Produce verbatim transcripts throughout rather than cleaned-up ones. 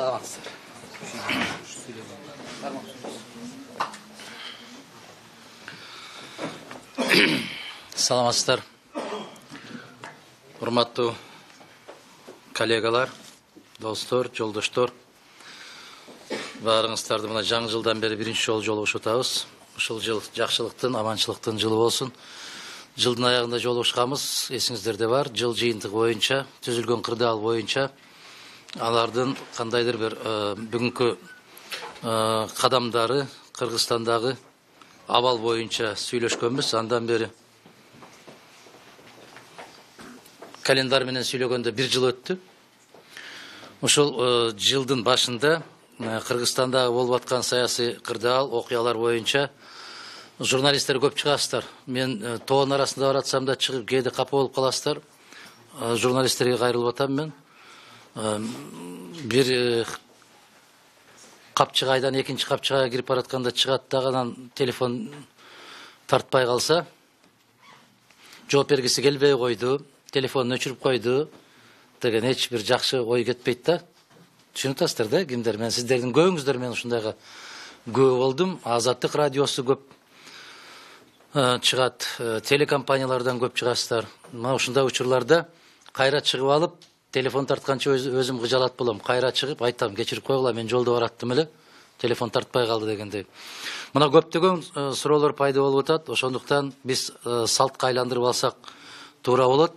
Саламатсыздар. Саламатсыздар. Урматтуу коллегалар, достор, жолдоштор. Баарыңыздарды мына жаңы жылдан бери биринчи жолу жолугушуп атабыз. Ушул жыл жакшылыктын, аманчылыктын жылы болсун. Жылдын аягында жолугушканбыз, эсиңиздерде бар. Жыл жыйынтыгы боюнча, түзүлгөн кырдаал боюнча алардын кандайдыр бир бүгүнкү кадамдары, Кыргызстандагы абал боюнча сүйлөшкөнбүз. Андан бери календар менен сүйлөгөндө бир жыл өттү. Ушул жылдын башында Кыргызстандагы болуп аткан саясий кырдаал, окуялар боюнча журналисттер көп чыгасыздар. Мен тоонун арасында баратсам да чыгып кээде капа болуп каласыздар. Журналисттерге кайрылып атам мен. Бир капчыгайдан экинчи капчыгайга кирип баратканда чыгат дагы анан телефон тартпай калса, жооп бергиси келбей койду, телефонун өчүрүп койду деген эч бир жакшы ой кетпейт да. Түшүнүп атасыздар да, кимдер? Мен сиздердин көбүңүздөр менен ушундайга күбө болдум. Азаттык радиосу көп чыгат, телекомпаниялардан көп чыгасыздар. Мына ушундай учурларда кайра чыгып алып, телефон тартканча өзүм кыжалат болом. Кайра чыгып айтам, кечирип койгула, мен жолдо бараттым эле, телефон тартпай калды дегендей. Мына көптөгөн суроолор пайда болуп атат. Ошондуктан биз салтка айландырып алсак туура болот.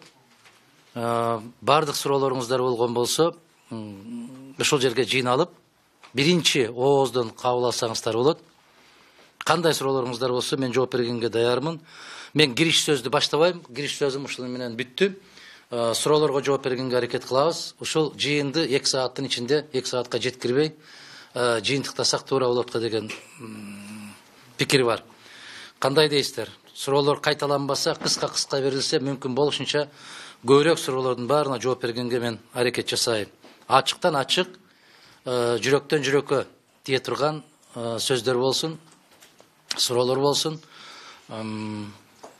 Бардык суроолоруңуздар болгон болсо, ушул жерге жыйналып, биринчи ооздон кабыл алсаңыздар болот. Кандай суроолоруңуздар болсо, мен жооп бергенге даярмын. Мен кириш сөздү баштабайм, кириш сөзүм ушул менен бүттү. Суроолорго жооп бергенге аракет кылабыз. Ушул жыйынды эки сааттын ичинде, эки саатка жеткирбей жыйынтыктасак туура болот деген пикир бар. Кандай дейсиздер? Суроолор кайталанбаса, кыска-кыска берилсе, мүмкүн болушунча көбүрөөк суроолордун баарына жооп бергенге мен аракет жасайм. Ачыктан ачык, жүрөктөн жүрөккө тие турган сөздөр болсун, суроолор болсун.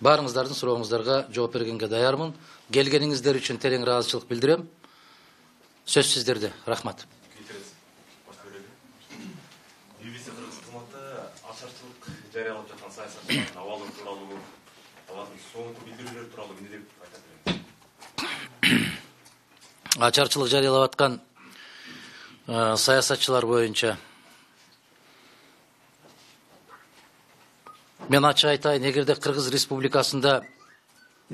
Баарыңыздардын сурооңуздарга жооп бергенге даярмын. Келгениңиздер үчүн терең ыраазычылык билдирем. Сөз сиздерде. Рахмат. Ачарчылык жарыялап жаткан саясатчылардын абалы тууралуу, алардын соңку билдирүүлөр тууралуу эмне деп айтат элеңиз? Ачарчылык жарыялап аткан саясатчылар боюнча мен ачык айтайын, эгерде Кыргыз Республикасында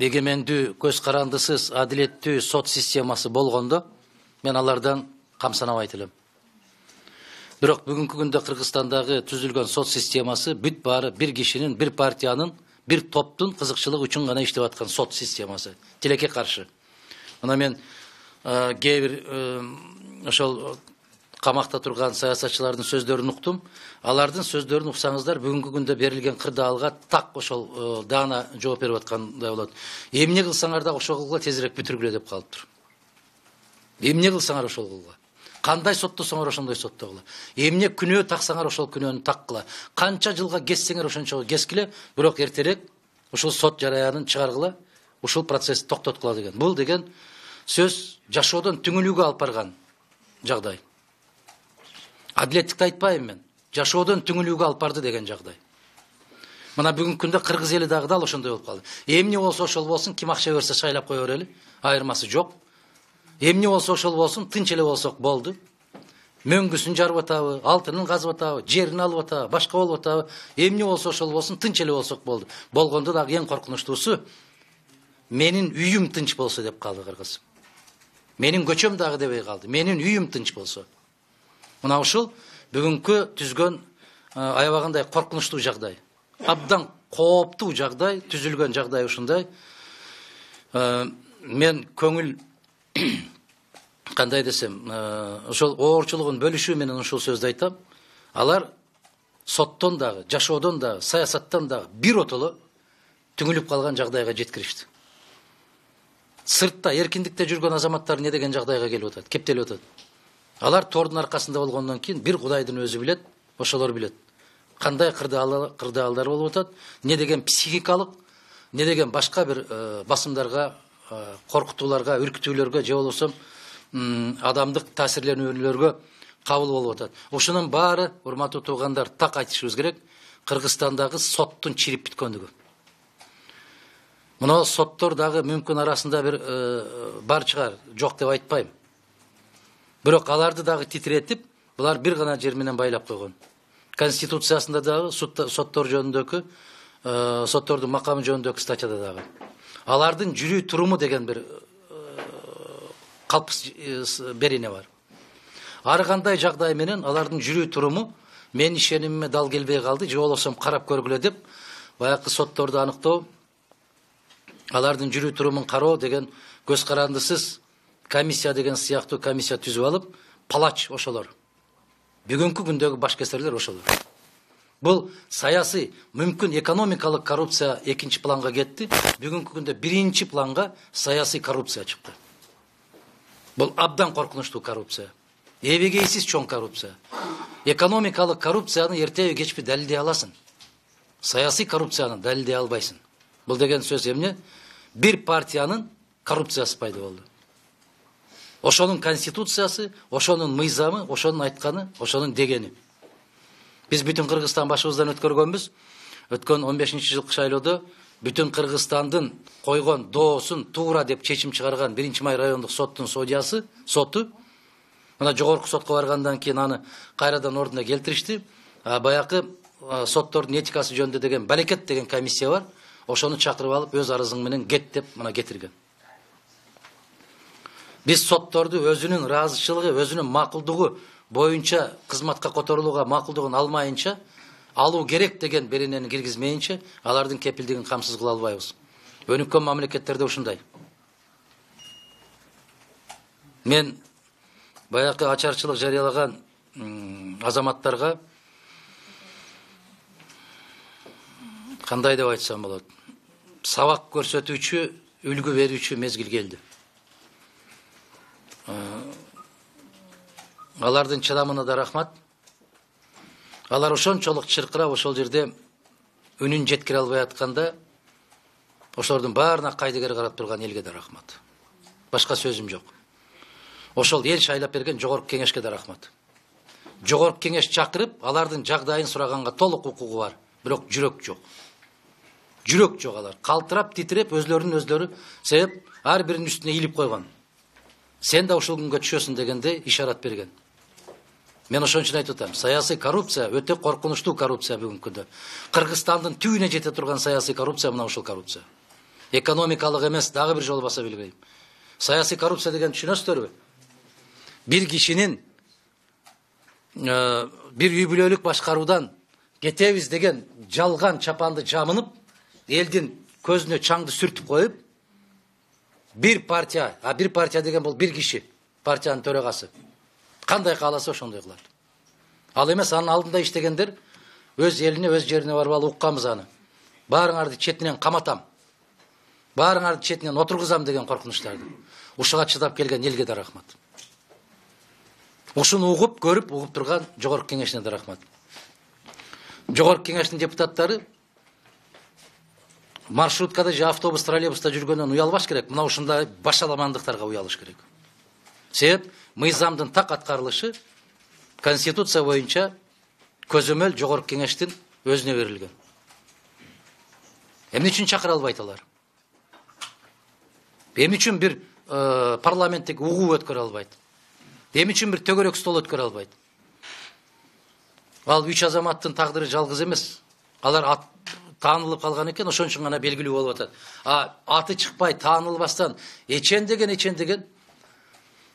эгемендүү, көз карандысыз, адилеттүү сот системасы болгондо, мен алардан камсанабайт элем. Бирок бүгүнкү күндө Кыргызстандагы түзүлгөн сот системасы бүт баары бир кишинин, бир партиянын, бир топтун кызыкчылыгы үчүн гана иштеп аткан сот системасы. Тилекке каршы. Мына мен кээ бир ошол камакта турган саясатчылардын сөздөрүн уктум. Алардын сөздөрүн уксаңыздар, бүгүнкү күндө берилген кырдаалга так ошол даана жооп берип аткандай болот. Эмне кылсаңар да ошол кылгыла, тезирээк бүтүргүлө деп калыптыр. Эмне кылсаңар ошол кылгыла. Кандай соттосоңор ошондой соттогула. Эмне күнөө таксаңар ошол күнөөнү таккыла. Канча жылга кессеңер ошончо кескиле, бирок эртерээк ушул сот жараянын чыгаргыла, ушул процессти токтоткула деген. Бул деген сөз жашоодон түңүлүүгө алып барган жагдай. Адилеттикти айтпайм мен. Жашоодон түңүлүүгө алып барды деген жагдай. Мына бүгүнкү күндө Кыргыз эли дагы дал ошондой болуп калды. Эмне болсо ошол болсун, ким акча берсе шайлап кое берели. Айырмасы жок. Эмне болсо ошол болсун, тынч эле болсок болду. Мөңгүсүн жарып атабы, алтынын казып атабы, жерин алып атабы, башка болуп атабы. Эмне болсо ошол болсун, тынч эле болсок болду. Болгондо дагы эң коркунучтуусу, менин үйүм тынч болсо деп калды Кыргыз. Менин көчөм дагы дебей калды. Менин үйүм тынч болсо. Мына ушул бүгүнкү түзгөн аябагандай коркунучтуу жагдай. Абдан кооптуу жагдай, түзүлгөн жагдай ушундай. Мен көңүл кандай десем, ошол оорчулугун бөлүшүү менен ушул сөздү айтам. Алар соттон дагы, жашоодон дагы, саясаттан дагы бир отоло түңүлүп калган жагдайга жеткиришти. Сыртта эркиндикте жүргөн азаматтар не деген жагдайга келип атат, кептелип атат. Алар тордун аркасында болгондон кийин бир Кудайдын өзү билет, ошолор билет. Кандай кырдаалдар болуп атат, не деген психикалык, не деген башка бир басымдарга, коркутууларга, үркүтүүлөргө же болбосо адамдык таасирленүүлөргө кабыл болуп атат. Ушунун баары, урматтуу туугандар, так айтышыбыз керек, Кыргызстандагы соттун чирип бүткөндүгү. Мына соттор дагы мүмкүн арасында бир бар чыгар, жок деп айтпайм. Бирок аларды дагы титиретип, булар бир гана жер менен байлап койгон. Конституциясында дагы соттор жөнүндөгү, соттордун макамы жөнүндөгү статьяда дагы. Алардын жүрүү туруму деген бир калпыс берене бар. Ар кандай жагдай менен алардын жүрүү туруму мен ишенимиме дал келбей калды, же болбосо карап көргүлө деп, баягы сотторду аныктоо, алардын жүрүү турумун кароо деген көз карандысыз комиссия деген сыяктуу комиссия түзүп алып, палач ошолор. Бүгүнкү күндөгү баш кесерлер ошолор. Бул саясий, мүмкүн экономикалык коррупция экинчи планга кетти. Бүгүнкү күндө биринчи планга саясий коррупция чыкты. Бул абдан коркунучтуу коррупция. Эбегейсиз чоң коррупция. Экономикалык коррупцияны эртеби кечпи далилдей аласың. Саясий коррупцияны далилдей албайсың. Бул деген сөз эмне? Бир партиянын коррупциясы пайда болду. Ошонун конституциясы, ошонун мыйзамы, ошонун айтканы, ошонун дегени. Биз бүтүн Кыргызстан башыбыздан өткөргөнбүз. Өткөн он бешинчи жылкы шайлоодо бүтүн Кыргызстандын койгон доосун туура деп чечим чыгарган биринчи май райондук соттун судьясы, соту, мына жогорку сотко баргандан кийин аны кайрадан ордуна келтиришти. Баякы соттордун этикасы жөнүндө деген балекет деген комиссия бар. Ошону чакырып алып, өз арызың менен кет деп мына кетирген. Биз сотторду өзүнүн ыраазычылыгы, өзүнүн макулдугу боюнча кызматка которулууга макулдугун алмайынча, алуу керек деген беренени киргизмейинче, алардын кепилдигин камсыз кыла албайбыз. Өнүккөн мамлекеттерде ушундай. Мен баякы ачарчылык жарыялаган азаматтарга кандай деп айтсам болот? Сабак көрсөтүүчү, үлгү берүүчү мезгил келди. Алардын чыдамына да рахмат. Алар ошончолук чыркырап ошол жерде үнүн жеткире албай атканда, ошолордун баарына кайдыгер карап турган элге да рахмат. Башка сөзүм жок. Ошол эл шайлап берген жогорку кеңешке да рахмат. Жогорку кеңеш чакырып, алардын жагдайын сураганга толук укугу бар, бирок жүрөк жок. Жүрөк жок алар. Калтырап, титиреп, өзлөрүнүн өзлөрү себеп ар биринин үстүнө ийилип койгон. Сен да ушул күнгө түшөсүң дегенде ишарат берген. Мен ошон үчүн айтып атам, саясий коррупция өтө коркунучтуу коррупция бүгүнкү күндө. Кыргызстандын түбүнө жете турган саясий коррупция мына ушул коррупция. Экономикалык эмес, дагы бир жолу баса билбейм. Саясий коррупция деген түшүнөсүздөрбү? Бир кишинин бир үй бүлөлүк башкаруудан кетебиз деген жалган чапанды жамынып, элдин көзүнө чаңды сүртүп коюп, бир партия, а бир партия деген бул бир киши, партиянын төрагасы. Кандай кааласа ошондой кылат. Ал эмес анын алдында иштегендер өз элине, өз жерине барып алып укканбыз аны. Баарыңарды четинен каматам. Баарыңарды четинен отургузам деген коркунучтарды. Ушуга чыдап келген элге да рахмат. Ушуну угуп, көрүп, угуп турган жогорку кеңешине да рахмат. Жогорку кеңештин депутаттары маршруткада же автобус, троллейбуста жүргөндөн уялбаш керек. Мына ушундай башаламандыктарга уялыш керек. Себеп мыйзамдын так аткарылышы конституция боюнча көзөмөл жогорку кеңештин өзүнө берилген. Эмне үчүн чакыра албайт алар? Эмне үчүн бир парламенттик угуу өткөрө албайт? Эмне үчүн бир төгөрөк стол өткөрө албайт? Ал үч азаматтын тагдыры жалгыз эмес. Алар таанылып калган экен, ошон үчүн гана белгилүү болуп атат. А аты чыкпай таанылбастан эчен деген эчен деген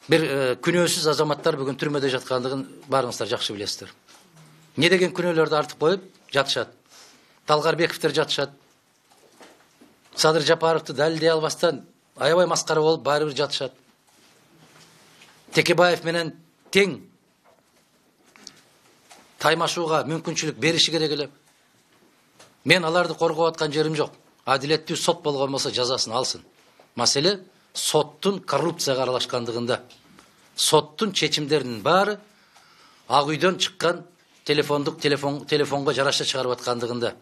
бир күнөөсүз азаматтар бүгүн түрмөдө жаткандыгын баарыңыздар жакшы билесиздер. Не деген күнөөлөрдү артып коюп жатышат. Талгарбековдер жатышат. Садыр Жапаровду далилдей албастан аябай маскара болуп баары бир жатышат. Текебаев менен тең таймашууга мүмкүнчүлүк бериши керек эле. Мен аларды коргоп аткан жерим жок. Адилеттүү сот болгон болсо жазасын алсын. Маселе соттун коррупцияга аралашкандыгында. Соттун чечимдеринин баары Ак үйдөн чыккан телефондук телефон телефонго жараша чыгарып аткандыгында.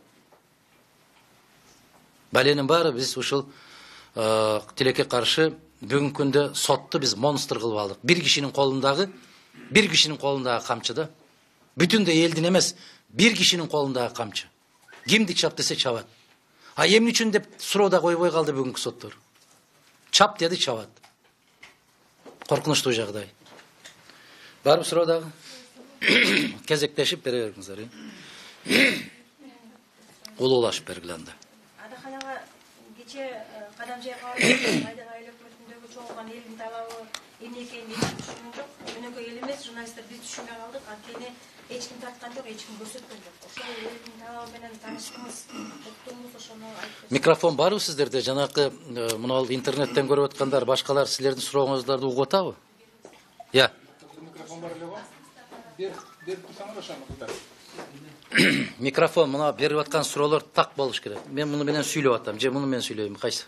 Баленин баары биз ушул тилекке каршы бүгүнкү күндө сотту биз монстр кылып алдык. Бир кишинин колундагы бир кишинин колундагы камчы да. Бүтүндөй элдин эмес, бир кишинин колундагы камчы. Кимди чап десе чабат. А эмне үчүн деп суроо да койбой калды бүгүнкү соттор. Чап деди, чабат. Коркунучтуу жагдай. Барып суроо дагы. Кезектешип бере бериңиздер. Улуулашып бергиле анда. Адаханага кече Кадамжай кабарлап Майдан айыл өкмөтүндөгү чогулган элдин талабы эмне экенин эч түшүнгөн жок. Өнөкөй эл эмес, журналисттер биз түшүнбөй калдык. Анткени эч ким тарткан жок, эч ким көрсөткөн жок. Ошол элдин талабы менен тааныштыңыз, уктуңуз, ошону айтып. Микрофон барбы сиздерде? Жанакы мына интернеттен көрүп аткандар, башкалар силердин сурооңуздарды угуп атабы? Я. Микрофон бар эле го? Бер, берип турсаңар ошону кыздар. Микрофон мына берип аткан суроолор так болуш керек. Мен муну менен сүйлөп атам, же муну менен сүйлөйм, кайсы?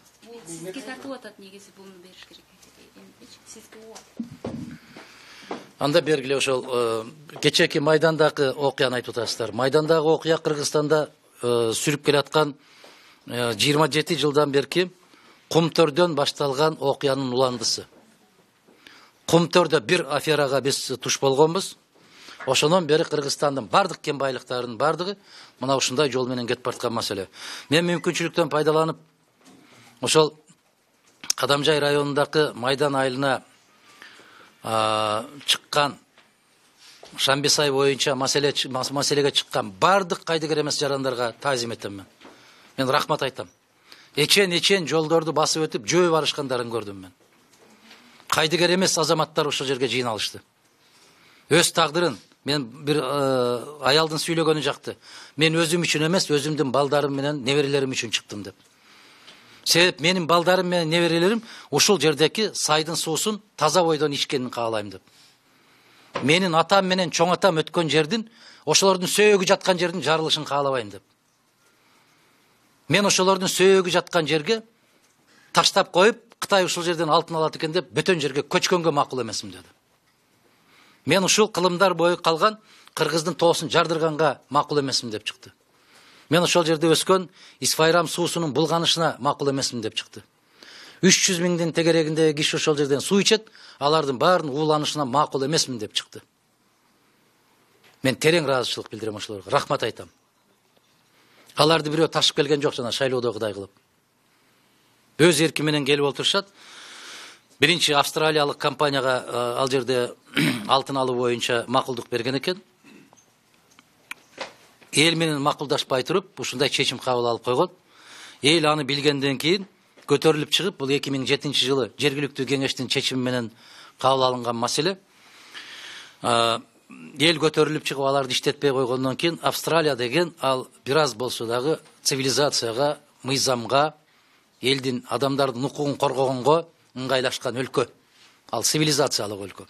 Сизге тартып атат, негизи буну бериш керек. Сизге уат. Анда бергиле ошол кечээки Майдандагы окуяны айтып атасыздар. Майдандагы окуя Кыргызстанда сүрүп келаткан жыйырма жети жылдан берки Кумтөрдөн башталган окуянын уландысы. Кумтөрдө бир аферага биз туш болгонбуз. Ошондон бери Кыргызстандын бардык кен байлыктарынын бардыгы мына ушундай жол менен кетип бараткан маселе. Мен мүмкүнчүлүктөн пайдаланып ошол Кадамжай районундагы Майдан айылына чыккан Шамбисай боюнча маселе маселеге чыккан бардык кайдыгер эмес жарандарга таазим этем мен. Мен рахмат айтам. Эчен-эчен жолдорду басып өтүп жөө барышкандарын көрдүм мен. Кайдыгер эмес азаматтар ошол жерге жыйналышты. Өз тагдырын мен бир аялдын сүйлөгөнү жакты. Мен өзүм үчүн эмес, өзүмдүн балдарым менен неберелерим үчүн чыктым деп. Себеп менин балдарым менен неберелерим ушул жердеки сайдын суусун таза бойдон ичкенин каалайм деп. Менин атам менен чоң атам өткөн жердин, ошолордун сөөгү жаткан жердин жарылышын каалабайм деп. Мен ошолордун сөөгү жаткан жерге таштап коюп, Кытай ушул жерден алтын алат экен деп, бөтөн жерге көчкөнгө макул эмесмин деди. Мен ушул кылымдар бою калган кыргыздын тоосун жардырганга макул эмесмин деп чыкты. Мен ошол жерде өскөн Исфайрам суусунун булганышына макул эмесмин деп чыкты. үч жүз миңдин тегерегиндеги киши ошол жерден суу ичет, алардын баарынын ууланышына макул эмесмин деп чыкты. Мен терең ыраазычылык билдирем ошолорго, рахмат айтам. Аларды бирөө ташып келген жок, жана шайлоодогудай кылып. Өз эрки менен келип отурушат. Биринчи австралиялык компанияга ал жерде алтын алуу боюнча макулдук берген экен. Эл менен макулдашпай туруп, ушундай чечим кабыл алып койгон. Эл аны билгенден кийин көтөрүлүп чыгып, бул эки миң жетинчи жылы жергиликтүү кеңештин чечими менен кабыл алынган маселе. Эл көтөрүлүп чыгып, аларды иштетпей койгондон кийин Австралия деген ал бир аз болсо дагы цивилизацияга, мыйзамга, элдин адамдардын укугун коргогонго ыңгайлашкан өлкө. Ал цивилизациялык өлкө.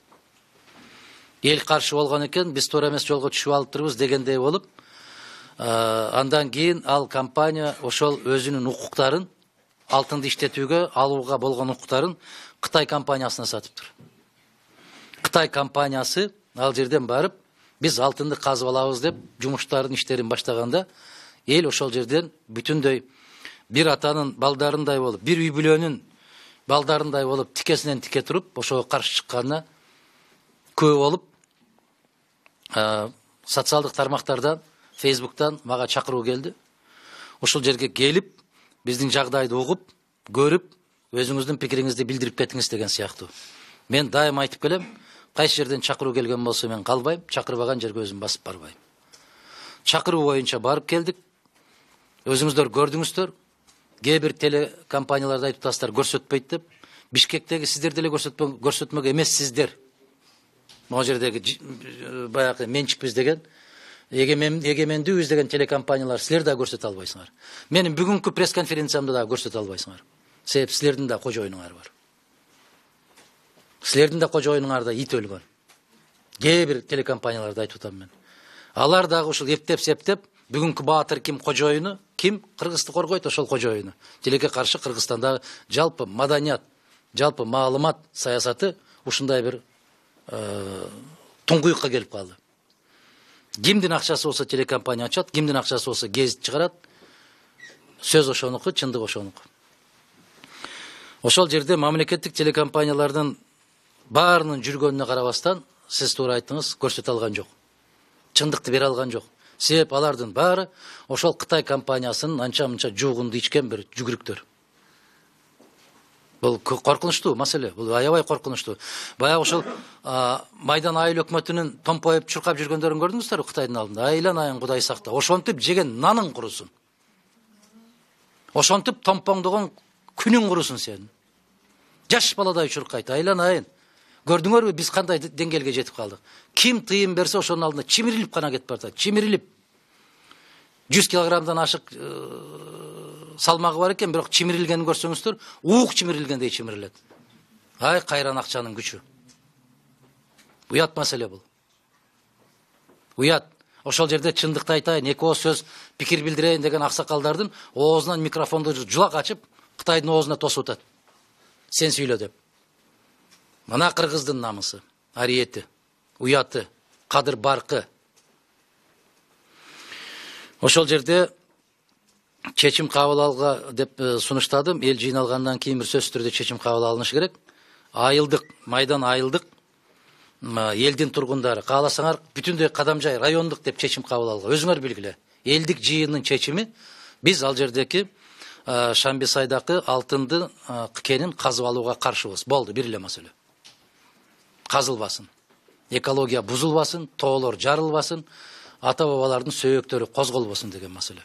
Эл каршы болгон экен, биз туура эмес жолго түшүп алыптырбыз дегендей болуп, андан кийин ал компания ошол өзүнүн укуктарын, алтынды иштетүүгө, алууга болгон укуктарын Кытай компаниясына сатыптыр. Кытай компаниясы ал жерден барып, биз алтынды казып алабыз деп жумуштардын иштерин баштаганда, эл ошол жерден бүтүндөй бир атанын балдарындай болуп, бир үй бүлөнүн балдарындай болуп, тикесинен тике туруп, ошого каршы чыкканына көп болуп, социалдык тармактардан, Фейсбуктан мага чакыруу келди. Ошол жерге келип, биздин жагдайды угуп, көрүп, өзүңүздүн пикириңизди билдирип кетиңиз деген сыяктуу. Мен дайым айтып келем, кайсы жерден чакыруу келген болсо мен калбайм, чакырбаган жерге өзүм басып барбайм. Чакыруу боюнча барып келдик. Өзүңүздөр көрдүңүздөр. Кээ бир телекомпанияларда айтып атасыздар, көрсөтпөйт деп. Бишкектеги сиздер деле көрсөтмөк эмессиздер. Могу жердеги баягы менчикпиз деген, эгемендүүбүз деген телекомпаниялар силер да көрсөтө албайсыңар. Менин бүгүнкү пресс-конференциямда да көрсөтө албайсыңар. Себеп силердин да кожоюнуңар бар. Силердин да кожоюнуңарда ит өлгөн. Кээ бир телекомпанияларда айтып атам мен. Алар дагы ушул эптеп-септеп, бүгүнкү баатыр ким, кожоюну ким, Кыргызды коргойт, ошол кожоюну. Тилекке каршы Кыргызстандагы жалпы маданият, жалпы маалымат саясаты ушундай бир туңгуюкка келип калды. Кимдин акчасы болсо телекомпания ачат, кимдин акчасы болсо гезит чыгарат. Сөз ошонуку, чындык ошонуку. Ошол жерде мамлекеттик телекомпаниялардын баарынын жүргөнүнө карабастан, сиз туура айттыңыз, көрсөтө алган жок. Чындыкты бере алган жок. Себеп алардын баары ошол Кытай компаниясынын анча-мынча жуугунду ичкен бир жүгүрүктөр. Бул коркунучтуу маселе, бул аябай коркунучтуу. Баягы ошол Майдан айыл өкмөтүнүн томпоюп чуркап жүргөндөрүн көрдүңүздөрбү Кытайдын алдында? Айлан айын Кудай сакта. Ошентип жеген наның курусун. Ошентип томпоңдогон күнүң курусун сенин. Жаш баладай чуркайт, айлан айын. Көрдүңөрбү биз кандай деңгээлге жетип калдык? Ким тыйым берсе ошонун алдында чимирилип гана кетип барат, чимирилип. жүз килограммдан ашык салмагы бар экен, бирок чимирилгенин көрсөңүздөр, уук чимирилгендей чимирилет. Ай, кайран акчанын күчү. Уят маселе бул. Уят. Ошол жерде чындыкты айтайын, эки ооз сөз пикир билдирейин деген аксакалдардын оозунан микрофонду жулак ачып, Кытайдын оозуна тосуп атат. Сен сүйлө деп. Мына кыргыздын намысы, ариети, уяты, кадыр баркы. Ошол жерде чечим кабыл алга деп сунуштадым. Эл жыйналгандан кийин бир сөзсүз түрдө чечим кабыл алынышы керек. Айылдык, Майдан айылдык элдин тургундары кааласаңар бүтүндөй Кадамжай райондук деп чечим кабыл алга. Өзүңөр билгиле. Элдик жыйынын чечими биз ал жердеки Шамбисайдагы алтынды кенин казып алууга каршыбыз. Болду, бир эле маселе. Казылбасын. Экология бузулбасын, тоолор жарылбасын, ата бабалардын сөөктөрү козголбосун деген маселе.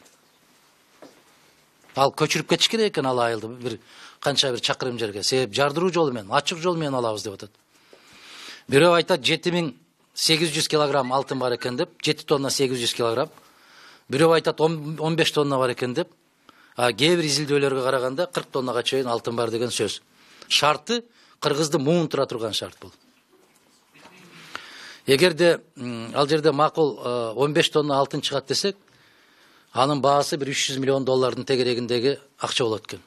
Ал көчүрүп кетиш керек экен ал айылды бир канча бир чакырым жерге. Себеп жардыруу жолу менен, ачык жол менен алабыз деп атат. Бирөө айтат жети миң сегиз жүз килограмм алтын бар экен деп, жети тонна сегиз жүз килограмм. Бирөө айтат он беш тонна бар экен деп. А кээ бир изилдөөлөргө караганда кырк тоннага чейин алтын бар деген сөз. Шарты кыргызды муунтура турган шарт бул. Эгерде ал жерде макул он беш тонна алтын чыгат десек, анын баасы бир үч жүз миллион доллардын тегерегиндеги акча болот экен.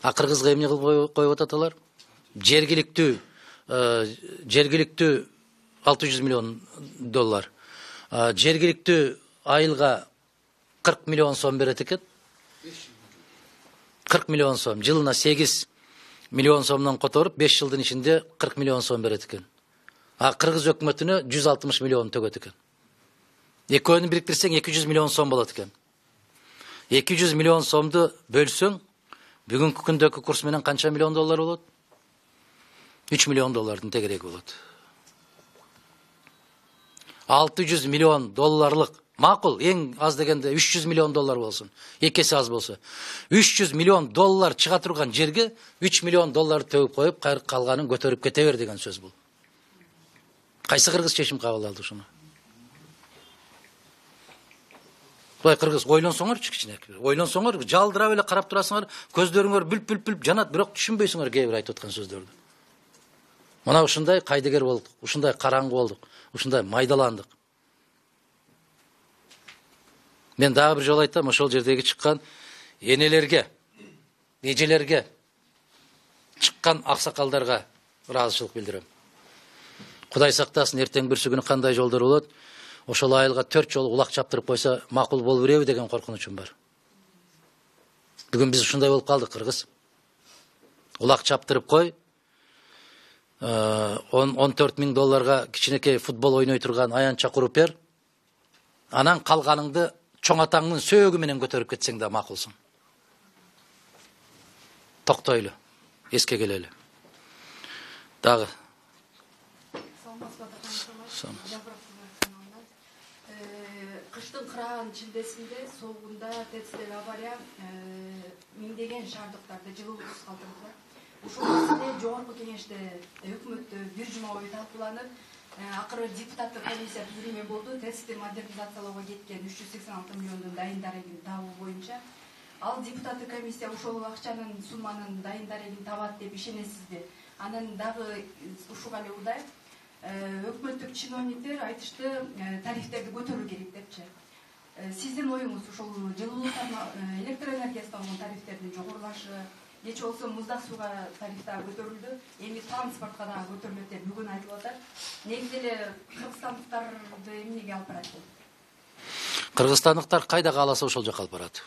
А кыргызга эмне кылып коюп атат алар? Жергиликтүү жергиликтүү алты жүз миллион доллар. Жергиликтүү айылга кырк миллион сом берет экен. кырк миллион сом, жылына сегиз миллион сомдон которуп, беш жылдын ичинде кырк миллион сом берет экен. А кыргыз өкмөтүнө жүз алтымыш миллион төгөт экен. Экөөнү бириктирсең эки жүз миллион сом болот экен. эки жүз миллион сомду бөлсөң, бүгүнкү күндөгү курс менен канча миллион доллар болот? үч миллион доллардын тегереги болот. алты жүз миллион долларлык макул, эң аз дегенде үч жүз миллион доллар болсун. эки эсе аз болсо. үч жүз миллион доллар чыга турган жерге үч миллион доллар төгүп коюп, калганын көтөрүп кете бер деген сөз бул. Кайсы кыргыз чечим кабыл алды ушуну? Бай кыргыз ойлонсоңорчу кичине. Ойлонсоңор, жалдырап эле карап турасыңар, көздөрүңөр бүлп-бүлп жанат, бирок түшүнбөйсүңөр кээ бир айтып аткан сөздөрдү. Мына ушундай кайдыгер болдук, ушундай караңгы болдук, ушундай майдаландык. Мен дагы бир жолу айтам, ошол жердеги чыккан энелерге, эжелерге, чыккан аксакалдарга ыраазычылык билдирем. Кудай сактасын, эртең бүрсү күнү кандай жолдор болот? Ошол айылга төрт жолу улак чаптырып койсо макул болуп береби деген коркунучум бар. Бүгүн биз ушундай болуп калдык, кыргыз. Улак чаптырып кой, он төрт миң долларга кичинекей футбол ойной турган аянча куруп бер, анан калганыңды чоң атаңдын сөөгү менен көтөрүп кетсең да макулсуң. Токтойлу, эске келели. Дагы. Кыштын кыраган чилдесинде соогунда ТЭЦдеги авария миңдеген шаардыктарды жылуусуз калтырды. Ушул маселе жогорку кеңеште өкмөттө бир жума бою талкууланып, акыры депутаттык комиссия түзүлмө болду. ТЭЦти модернизациялоого кеткен үч жүз сексен алты миллиондун дайын дарегин табуу боюнча. Ал депутаттык комиссия ушул акчанын сумманын дайын дарегин табат деп ишенесизби? Анан дагы ушуга эле удай өкмөттүк чиновниктер айтышты тарифтерди көтөрүү керек депчи. Сиздин оюңуз ушул жылуу электр энергиясына болгон тарифтердин жогорулашы, кече болсо муздак сууга тариф дагы көтөрүлдү, эми транспортко дагы көтөрүлөт деп бүгүн айтылып атат. Негизи эле кыргызстандыктарды эмнеге алып барат бул? Кыргызстандыктар кайда кааласа ошол жака алып барат.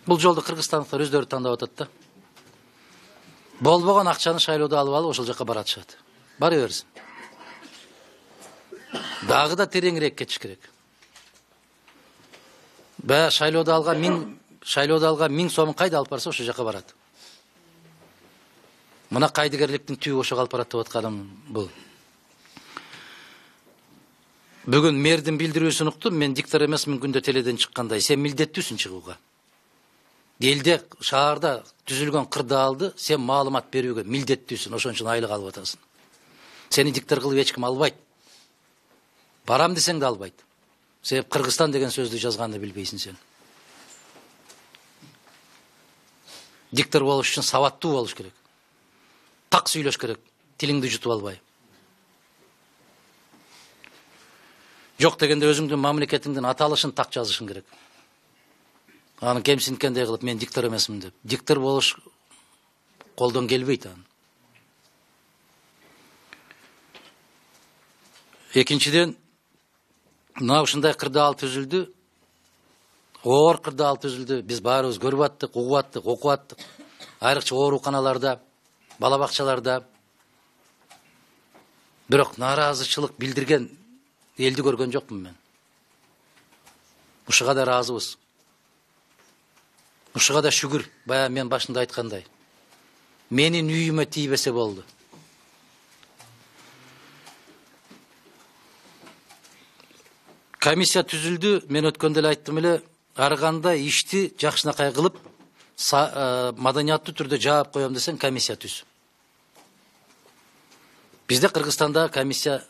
Бул жолду кыргызстандыктар өздөрү тандап атат да. Болбогон акчаны шайлоодо алып алып ошол жака баратышат. Бара берсин. Дагы да тереңирээк кетиш керек. Баягы шайлоодо алган миң шайлоодо алган миң сомун кайда алып барса ошол жака барат. Мына кайдыгерликтин түбү ошого алып барат деп атканым бул. Бүгүн мэрдин билдирүүсүн уктум, мен диктор эмесмин күндө теледен чыккандай. Сен милдеттүүсүң чыгууга. Элде, шаарда түзүлгөн кырдаалды сен маалымат берүүгө милдеттүүсүн, ошон үчүн айлык алып атасың. Сени диктор кылып эч ким албайт. Барам десең да албайт. Себеп Кыргызстан деген сөздү жазганды билбейсиң сен. Диктор болуш үчүн сабаттуу болуш керек. Так сүйлөш керек, тилиңди жутуп албай. Жок дегенде өзүңдүн мамлекетиңдин аталышын так жазышың керек. Аны кемсинткендей кылып мен диктор эмесмин деп. Диктор болуш колдон келбейт аны. Экинчиден, мына ушундай кырдаал түзүлдү. Оор кырдаал түзүлдү. Биз баарыбыз көрүп аттык, угуп аттык, окуп аттык. Айрыкча ооруканаларда, бала бакчаларда. Бирок нааразычылык билдирген элди көргөн жокмун мен. Ушуга да ыраазыбыз. Ушуга да шүгүр, бая мен башында айткандай. Менин үйүмө тийбесе болду. Комиссия түзүлдү, мен өткөндө эле айттым эле, ар кандай ишти жакшынакай кылып, маданияттуу түрдө жаап коем десең, комиссия түз. Бизде Кыргызстанда комиссия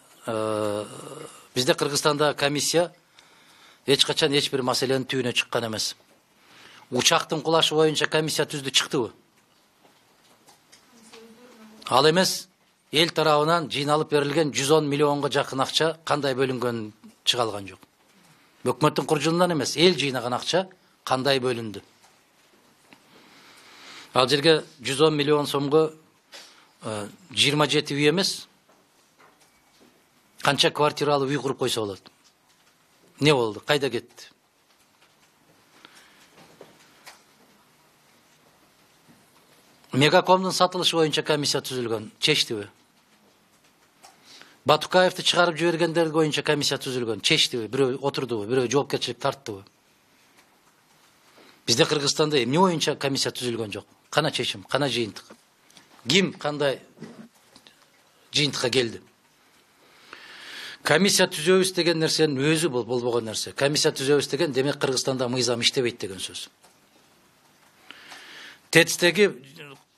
бизде Кыргызстанда комиссия эч качан эч бир маселенин түбүнө чыккан эмес. Учактын кулашы боюнча комиссия түздү, чыктыбы? Ал эмес, эл тарабынан жыйналып берилген жүз он миллионго жакын акча кандай бөлүнгөн чыга алган жок. Өкмөттүн куржунунан эмес, эл жыйнаган акча кандай бөлүндү. Ал жерге жүз он миллион сомго жыйырма жети үй эмес, канча квартиралуу үй куруп койсо болот. Не болду? Кайда кетти? Мегакомдун сатылышы боюнча комиссия түзүлгөн, чечтиби? Батукаевди чыгарып жибергендер боюнча комиссия түзүлгөн, чечтиби? Бирөө отурдубу, бирөө жоопкерчилик тарттыбы? Бизде Кыргызстанда эмне боюнча комиссия түзүлгөн жок? Кана чечим, кана жыйынтык? Ким кандай жыйынтыкка келди? Комиссия түзөбүз деген нерсенин өзү бул болбогон нерсе. Комиссия түзөбүз деген демек Кыргызстанда мыйзам иштебейт деген сөз. ТЭЦтеги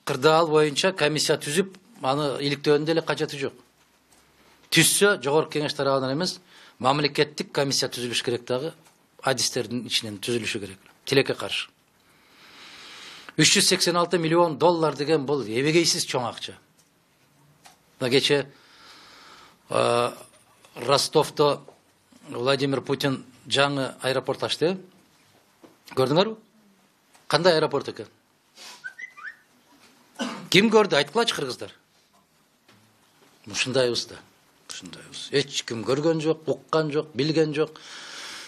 кырдаал боюнча комиссия түзүп, аны иликтөөнүн деле кажети жок. Түзсө, жогорку кеңеш тарабынан эмес, мамлекеттик комиссия түзүлүш керек дагы, адистердин ичинен түзүлүшү керек. Тилекке каршы. үч жүз сексен алты миллион доллар деген бул эбегейсиз чоң акча. Кече Ростовто Владимир Путин жаңы аэропорт ачты. Көрдүңөрбү? Кандай аэропорт экен? Ким көрдү? Айткылачы кыргыздар. Ушундайбыз да. Ушундайбыз. Эч ким көргөн жок, уккан жок, билген жок.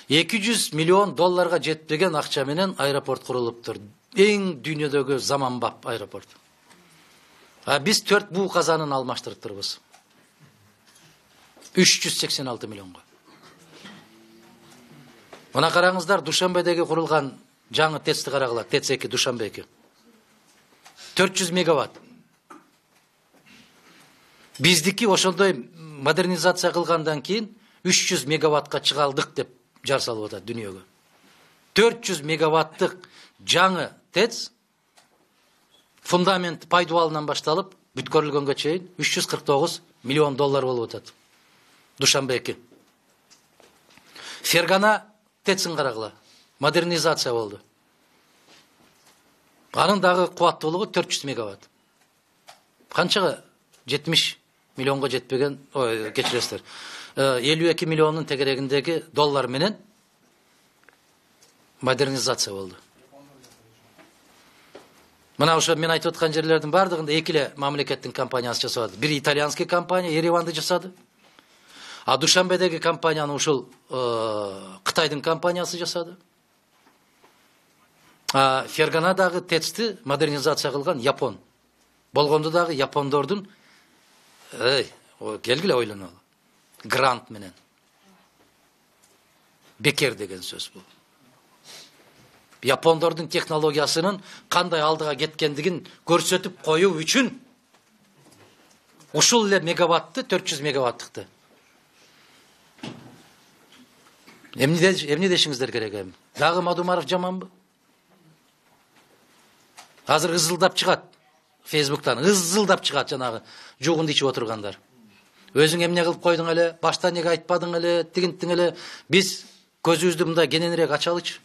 эки жүз миллион долларга жетпеген акча менен аэропорт курулуптур. Эң дүйнөдөгү заманбап аэропорт. А биз төрт буу казанын алмаштырыптырбыз. үч жүз сексен алты миллионго. Мына караңыздар, Душанбедеги курулган жаңы ТЭЦти карагыла, ТЭЦ эки Душанбе эки. төрт жүз мегаватт. Биздики ошондой модернизация кылгандан кийин үч жүз мегаваттка чыгалдык деп жар салып атат дүйнөгө. төрт жүз мегаваттык жаңы ТЭЦ фундамент пайдубалынан башталып бүткөрүлгөнгө чейин үч жүз кырк тогуз миллион доллар болуп атат. Душанбе эки. Фергана ТЭЦин карагыла. Модернизация болду. Анын дагы кубаттуулугу төрт жүз мегаватт. Канчага? жетимиш миллионго жетпеген, ой, кечиресиздер. элүү эки миллиондун тегерегиндеги доллар менен модернизация болду. Мына ошо мен айтып аткан жерлердин бардыгында эки эле мамлекеттин компаниясы жасады. Бир итальянский компания Ереванды жасады. А Душанбедеги компанияны ушул Кытайдын компаниясы жасады. А Ферганадагы ТЭЦти модернизация кылган Япон. Болгондо дагы япондордун эй, келгиле ойлонолу. Грант менен. бекер деген сөз бул. Япондордун технологиясынын кандай алдыга кеткендигин көрсөтүп коюу үчүн ушул эле мегаватты, төрт жүз мегаваттыкты. Эмне дешиңиздер керек эми? Дагы Мадумаров жаманбы? Азыр ызылдап чыгат Фейсбуктан, ызылдап чыгат жанагы жугунду ичип отургандар. Өзүң эмне кылып койдуң эле, башта неге айтпадың эле, тигинтиң эле. Биз көзүбүздү мындай кененирээк ачалычы.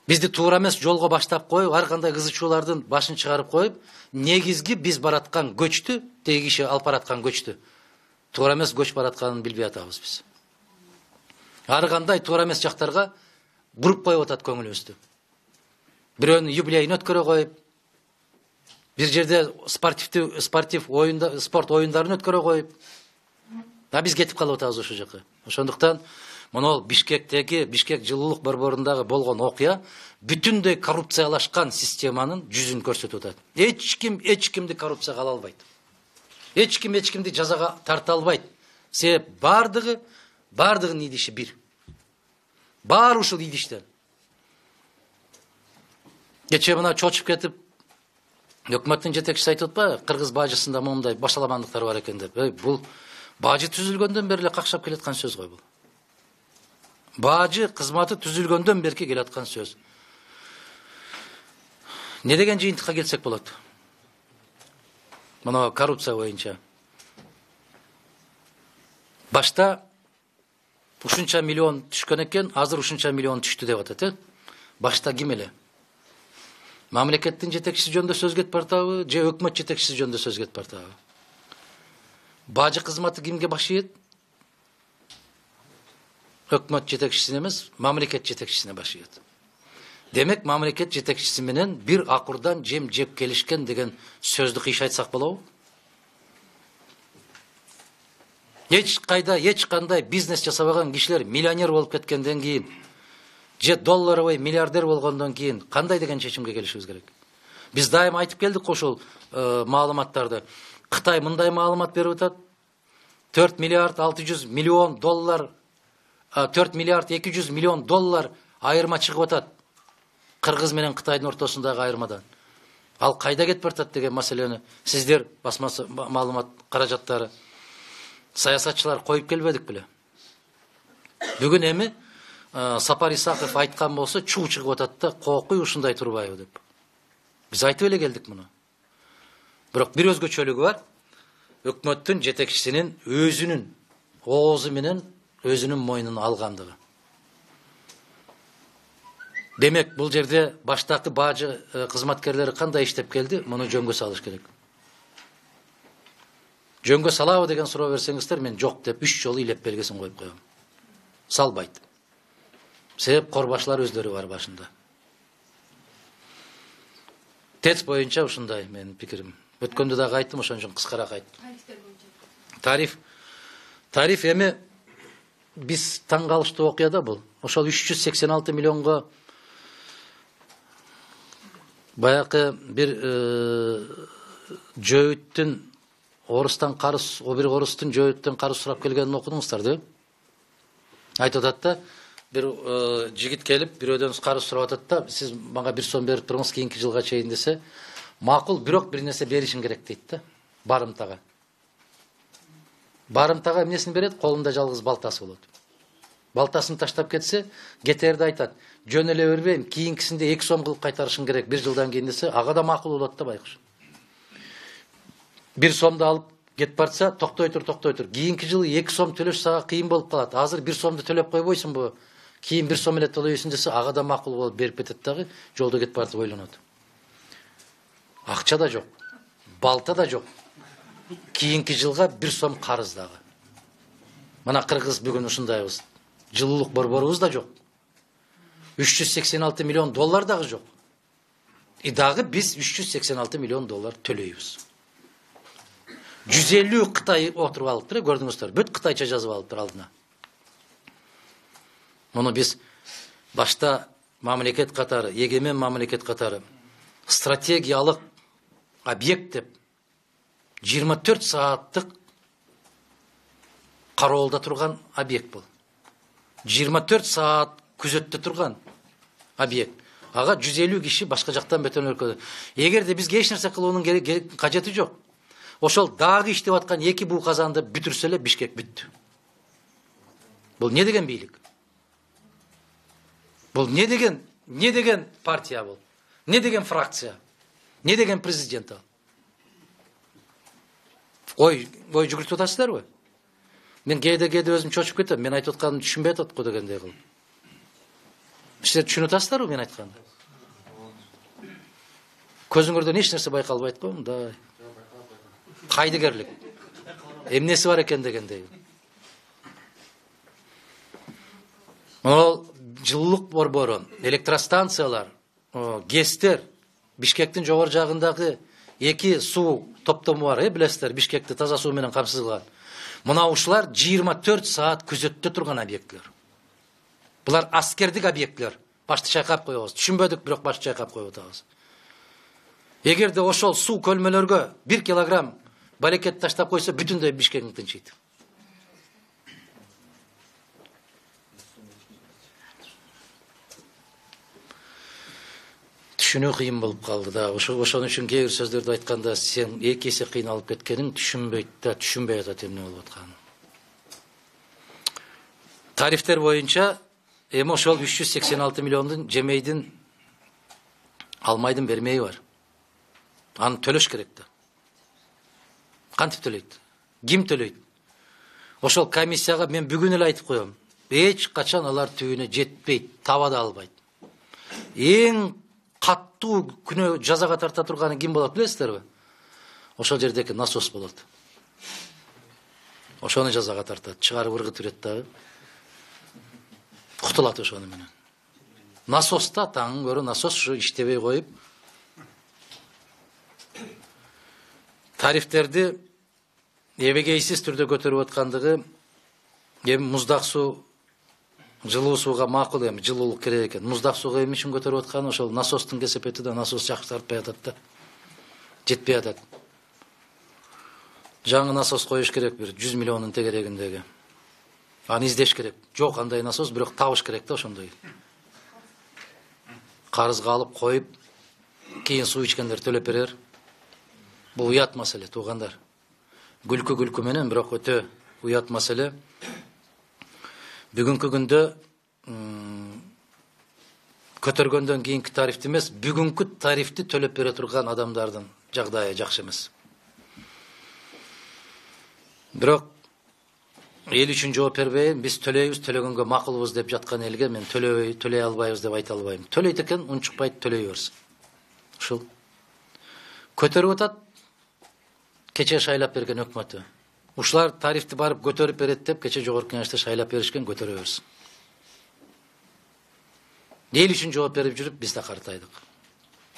Бизди туура эмес жолго баштап коюп, ар кандай кызычуулардын башын чыгарып коюп, негизги биз бараткан көчтү, теги киши алып бараткан көчтү туура эмес көч баратканын билбей атабыз биз. Ар кандай туура эмес жактарга буруп коюп атат көңүлүбүздү. Бирөөнүн юбилейин өткөрө коюп, бир жерде спортивдүү спортив оюнда спорт оюндарын өткөрө коюп, а биз кетип калып атабыз ошол жака. Ошондуктан Монол Бишкектеги, Бишкек жылуулук борборундагы болгон окуя бүтүндөй коррупциялашкан системанын жүзүн көрсөтүп атат. Эч ким эч кимди коррупцияга ала албайт. Эч ким эч кимди жазага тарта албайт. Себеп бардыгы бардыгынын идиши бир. Баары ушул идиштен. Кечээ мына чочуп кетип өкмөттүн жетекчиси айтып атпайбы, кыргыз бажысында моундай башаламандыктар бар экен деп. Бул бажы түзүлгөндөн бери эле какшап келаткан сөз го бул. Бажы кызматы түзүлгөндөн берки келаткан сөз. Не деген жыйынтыкка келсек болот? Мына коррупция боюнча. Башта ушунча миллион түшкөн экен, азыр ушунча миллион түштү деп атат, э? Башта ким эле? Мамлекеттин жетекчиси жөнүндө сөз кетип бартабы, же өкмөт жетекчиси жөнүндө сөз кетип бартабы? Бажы кызматы кимге баш ийет? Өкмөт жетекчисине эмес, мамлекет жетекчисине баш ийет. Демек, мамлекет жетекчиси менен бир акурдан жем жеп келишкен деген сөздү кыйш айтсак болобу? Эч кайда, эч кандай бизнес жасабаган кишилер миллионер болуп кеткенден кийин, же долларовый миллиардер болгондон кийин кандай деген чечимге келишибиз керек? Биз дайыма айтып келдик ошол маалыматтарды. Кытай мындай маалымат берип атат. төрт миллиард алты жүз миллион доллар, төрт миллиард эки жүз миллион доллар айырма чыгып атат. Кыргыз менен Кытайдын ортосундагы айырмадан. Ал кайда кетип бартат деген маселени сиздер басмасы маалымат каражаттары саясатчылар коюп келбедик беле? Бүгүн эми Сапар Исаков айткан болсо чуу чыгып атат да, кокуй ушундай турбайбы деп. Биз айтып эле келдик муну. Бирок бир өзгөчөлүгү бар. Өкмөттүн жетекчисинин өзүнүн оозу менен өзүнүн мойнуна алгандыгы. Демек, бул жерде баштакы бажы кызматкерлери кандай иштеп келди, муну жөнгө салыш керек. Жөнгө салабы деген суроо берсеңиздер, мен жок деп үч жолу илеп белгисин коюп коем. Салбайт. Себеп корбашлар өздөрү бар башында. ТЭЦ боюнча ушундай менин пикирим. Өткөндө дагы айттым, ошон үчүн кыскараак айттым. Тариф. Тариф эми биз таң калыштуу окуя да бул. Ошол үч жүз сексен алты миллионго баякы бир жөөүттүн орустан карыз, о бир орустун жөөүттөн карыз сурап келгенин окудуңуздар да? Айтып атат да, бир жигит келип, бирөөдөн карыз сурап атат да, сиз мага бир сом берип туруңуз кийинки жылга чейин десе, макул, бирок бир нерсе беришиң керек дейт да, барымтага. Барымтага эмнесин берет? Колунда жалгыз балтасы болот. Балтасын таштап кетсе, кетерди айтат. Жөн эле бербейм, кийинкисинде эки сом кылып кайтарышың керек бир жылдан кийин десе, ага да макул болот да байкуш. Бир сомду алып кетип барса, токтой тур, токтой тур. Кийинки жылы эки сом төлөш сага кыйын болуп калат. Азыр бир сомду төлөп койбойсуңбу? Кийин бир сом эле төлөйсүң десе, ага да макул болуп берип кетет дагы, жолдо кетип барып ойлонот. Акча да жок, балта да жок. Кийинки жылга бир сом карыз дагы. Мына Кыргыз бүгүн ушундайбыз. Жылуулук борборубуз да жок. үч жүз сексен алты миллион доллар дагы жок. И дагы биз үч жүз сексен алты миллион доллар төлөйбүз. жүз элүү Кытай отуруп алыптыр, көрдүңүздөр. Бүт кытайча жазып алыптыр алдына. Муну биз башта мамлекет катары, эгемен мамлекет катары стратегиялык объект деп жыйырма төрт сааттык кароолдо турган объект бул. жыйырма төрт саат күзөттө турган объект. Ага жүз элүү киши башка жактан бөтөн өлкөдө. Эгерде бизге эч нерсе кылуунун кажети жок. Ошол дагы иштеп аткан эки бул казанды бүтүрсө эле Бишкек бүттү. Бул не деген бийлик? Бул не деген, не деген партия бул? Не деген фракция? Не деген президент ал? Ой, ой жүгүртүп атасыздарбы? Мен кээде кээде өзүм чочуп кетем. Мен айтып атканымды түшүнбөй атат го дегендей кылып. Силер түшүнүп атасыздарбы мен айтканды? Көзүңөрдөн эч нерсе байкалбайт го, мындай. Кайдыгерлик. Эмнеси бар экен дегендей. Ол жылуулук борбору, электростанциялар, ГЭСтер, Бишкектин жогору жагындагы эки суу топтому бар, э, билесиздер, Бишкекти таза суу менен камсыз кылган. Мына ушулар жыйырма төрт саат күзөттө турган объектлер. Булар аскердик объектлер. Башты чайкап коебуз. Түшүнбөдүк, бирок башты чайкап коюп атабыз. Эгерде ошол суу көлмөлөргө бир килограмм балекет таштап койсо, бүтүндөй Бишкек тынчыйт. Түшүнүү кыйын болуп калды да. Ошон үчүн кээ бир сөздөрдү айтканда сен эки эсе кыйналып кеткениң түшүнбөйт да, түшүнбөй атат эмне болуп атканын. Тарифтер боюнча эми ошол үч жүз сексен алты миллиондун жемейдин алмайдын бермеyi бар. Аны төлөш керек да. Кантип төлөйт? Ким төлөйт? Ошол комиссияга мен бүгүн эле айтып коем. Эч качан алар түбүнө жетпейт, таба да албайт. Эң каттуу күнөө жазага тарта турганы ким болот билесиздерби? Ошол жердеки насос болот. Ошону жазага тартат, чыгарып ыргытып берет дагы. Кутулат ошону менен. Насоста таң көрө насос ушу иштебей коюп тарифтерди эбегейсиз түрдө көтөрүп аткандыгы эми муздак суу жылуу сууга макул, эми жылуулук керек экен. Муздак сууга эмне үчүн көтөрүп атканы ошол насостун кесепети да, насос жакшыртпай атат да. Жетпей атат. Жаңы насос коюш керек, бир жүз миллиондун тегерегиндеги. Аны издеш керек. Жок андай насос, бирок табыш керек да ошондой. Карызга алып коюп, кийин суу ичкендер төлөп берер. Бул уят маселе, туугандар. Күлкү күлкү менен, бирок өтө уят маселе. Бүгүнкү күндө көтөргөндөн кийинки тарифти эмес, бүгүнкү тарифти төлөп бере турган адамдардын жагдайы жакшы эмес. Бирок эл үчүн жооп бербейм, биз төлөйбүз, төлөгөнгө макулбуз деп жаткан элге мен төлөбөй, төлөй албайбыз деп айта албайм. Төлөйт экен, унчукпайт, төлөй берсин. Ушул көтөрүп атат, кече шайлап берген өкмөтү. Ушулар тарифти барып көтөрүп берет деп кече жогорку кеңеште шайлап беришкен, көтөрө берсин. Эл үчүн жооп берип жүрүп биз да картайдык.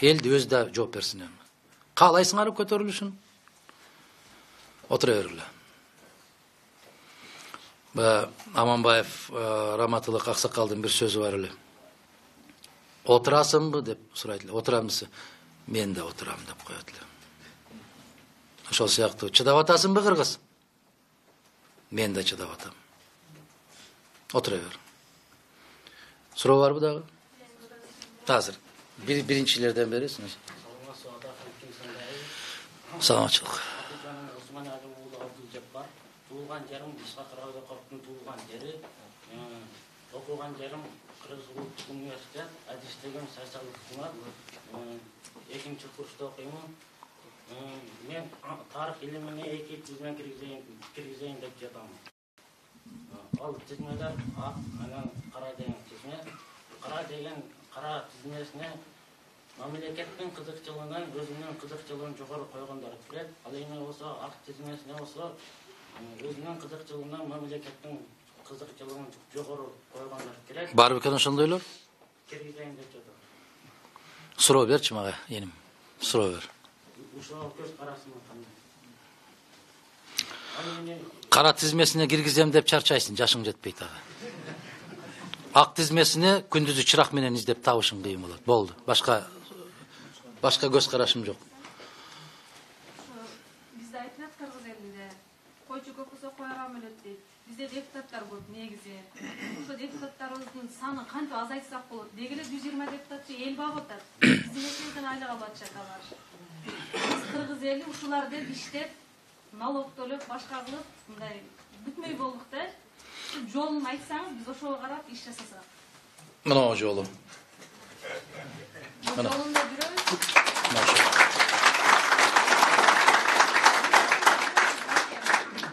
Элди өзү да жооп берсин эми. Каалайсыңарбы көтөрүлүшүн? Отура бергиле. Аманбаев Раматылык аксакалдын бир сөзү бар эле. Отурасыңбы деп сурайт эле. Отурамбысың? Мен да отурам деп коет эле. Ошол сыяктуу чыдап атасыңбы кыргыз? Мен да чыдап атам. Отура бер. Суроо барбы дагы? Азыр бир биринчилерден бересиңиз. Саламатчылык. Туулган жерим Ишак Рабдыкоровдун туулган жери, окуган жерим Кыргыз улуттук университет, адистеген социалдык кызмат, экинчи курста окуймун. Мен тарых илимине эки тизме киргизейин деп жатам. Ал тизмелер ак, анан кара деген тизме. Кара деген кара тизмесине мамлекеттин кызыкчылыгынан өзүнүн кызыкчылыгын жогору койгондор келет. Ал эми болсо ак тизмесине болсо өзүнүн кызыкчылыгынан мамлекеттин кызыкчылыгын жогору койгондор келет. Бар бекен ошондойлор? Киргизейин деп жатам. Суроо берчи мага, эним. Суроо бер. Ушул көз карасына кандай? Кара тизмесине киргизем деп чарчайсың, жашың жетпейт дагы. Ак тизмесине күндүзү чырак менен издеп табышың кыйын болот. Болду. Башка башка көз карашым жок. Бизде айтылат кыргыз элинде, койчу көп болсо койган өлөт дейт. Бизде бизде депутаттар көп негизи. Ошо депутаттарыбыздын санын кантип азайтсак болот? Деги эле жүз жыйырма депутатчы эл багып атат. Биздин эшебизден айлык алып атышат алар. Биз кыргыз эли ушулар деп иштеп, налог төлөп, башка кылып, мындай бүтмөй болдук да. Жолун айтсаңыз, биз ошого карап иш жасасак. Мына жолу. Жолунда жүрөбүз.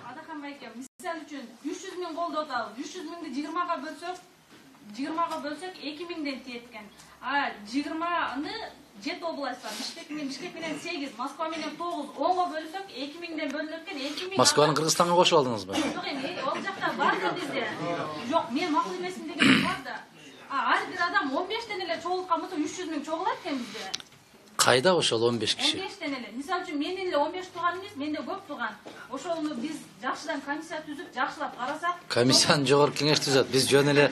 Адахан байке, мисалы үчүн үч жүз миң колдоп атабыз. үч жүз миңди жыйырмага бөлсөк, жыйырмага бөлсөк эки миңден тиет экен. А жыйырманы жети область бар. Бишкек менен Бишкек менен сегиз, Москва менен тогуз, онго бөлсөк эки миңден бөлүнөт экен. эки миң. Москваны Кыргызстанга кошуп алдыңызбы? Жок эми, ал жакта бар да бизде. Жок, мен макул эмесмин деген бар да. А ар бир адам он бештен эле чогулткан болсо үч жүз миң чогулат экен бизде. Кайда ошол он беш киши? он бештен эле. Мисалы үчүн менин эле он беш тууган эмес, менде көп тууган. Ошону биз жакшыдан комиссия түзүп, жакшылап карасак, Комиссияны жогорку кеңеш түзөт. Биз жөн эле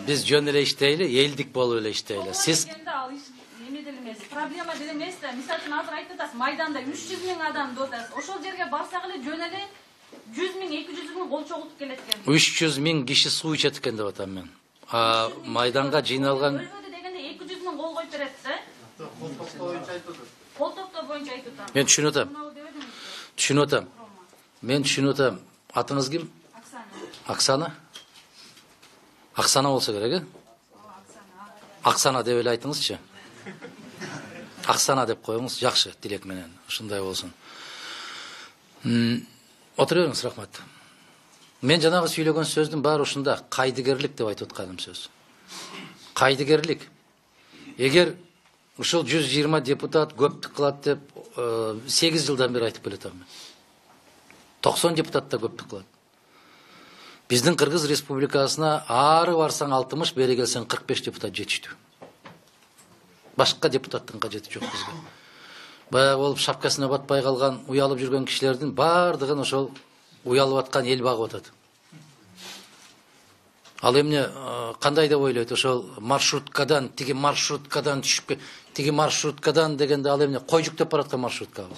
биз жөн эле иштейли, элдик болуп эле иштейли. Сиз ал иш эме деле эмес, проблема деле эмес да. Мисалы үчүн азыр айтып атасыз, майданда үч жүз миң адам деп атасыз. Ошол жерге барсак эле жөн эле жүз миң, эки жүз миң кол чогултуп келет экен. үч жүз миң киши суу ичет экен деп атам мен. А майданга жыйналган Өлкөдө дегенде эки жүз миң кол коюп берет да. Кол топтоо боюнча айтып атат. Кол топтоо боюнча айтып атам. Мен түшүнүп атам. Түшүнүп атам. Мен түшүнүп атам. Атыңыз ким? Оксана. Оксана? Оксана болсо керек, э? Оксана деп эле айтыңызчы. Оксана деп коюңуз, жакшы, тилек менен. Ушундай болсун. Отура бериңиз, рахмат. Мен жанагы сүйлөгөн сөздүн баары ушунда, кайдыгерлик деп айтып атканым сөз. Кайдыгерлик. Эгер ушул жүз жыйырма депутат көптүк кылат деп сегиз жылдан бери айтып келатам мен. токсон депутат да көптүк кылат. Биздин Кыргыз Республикасына ары барсаң алтымыш, бери келсең кырк беш депутат жетиштүү. Башка депутаттын кажети жок бизге. Баягы болуп шапкасына батпай калган, уялып жүргөн кишилердин баардыгын ошол уялып аткан эл багып атат. Ал эмне кандай деп ойлойт? Ошол маршруткадан, тиги маршруткадан түшүп, тиги маршруткадан дегенде ал эмне кой жүктөп бараткан маршруткабы?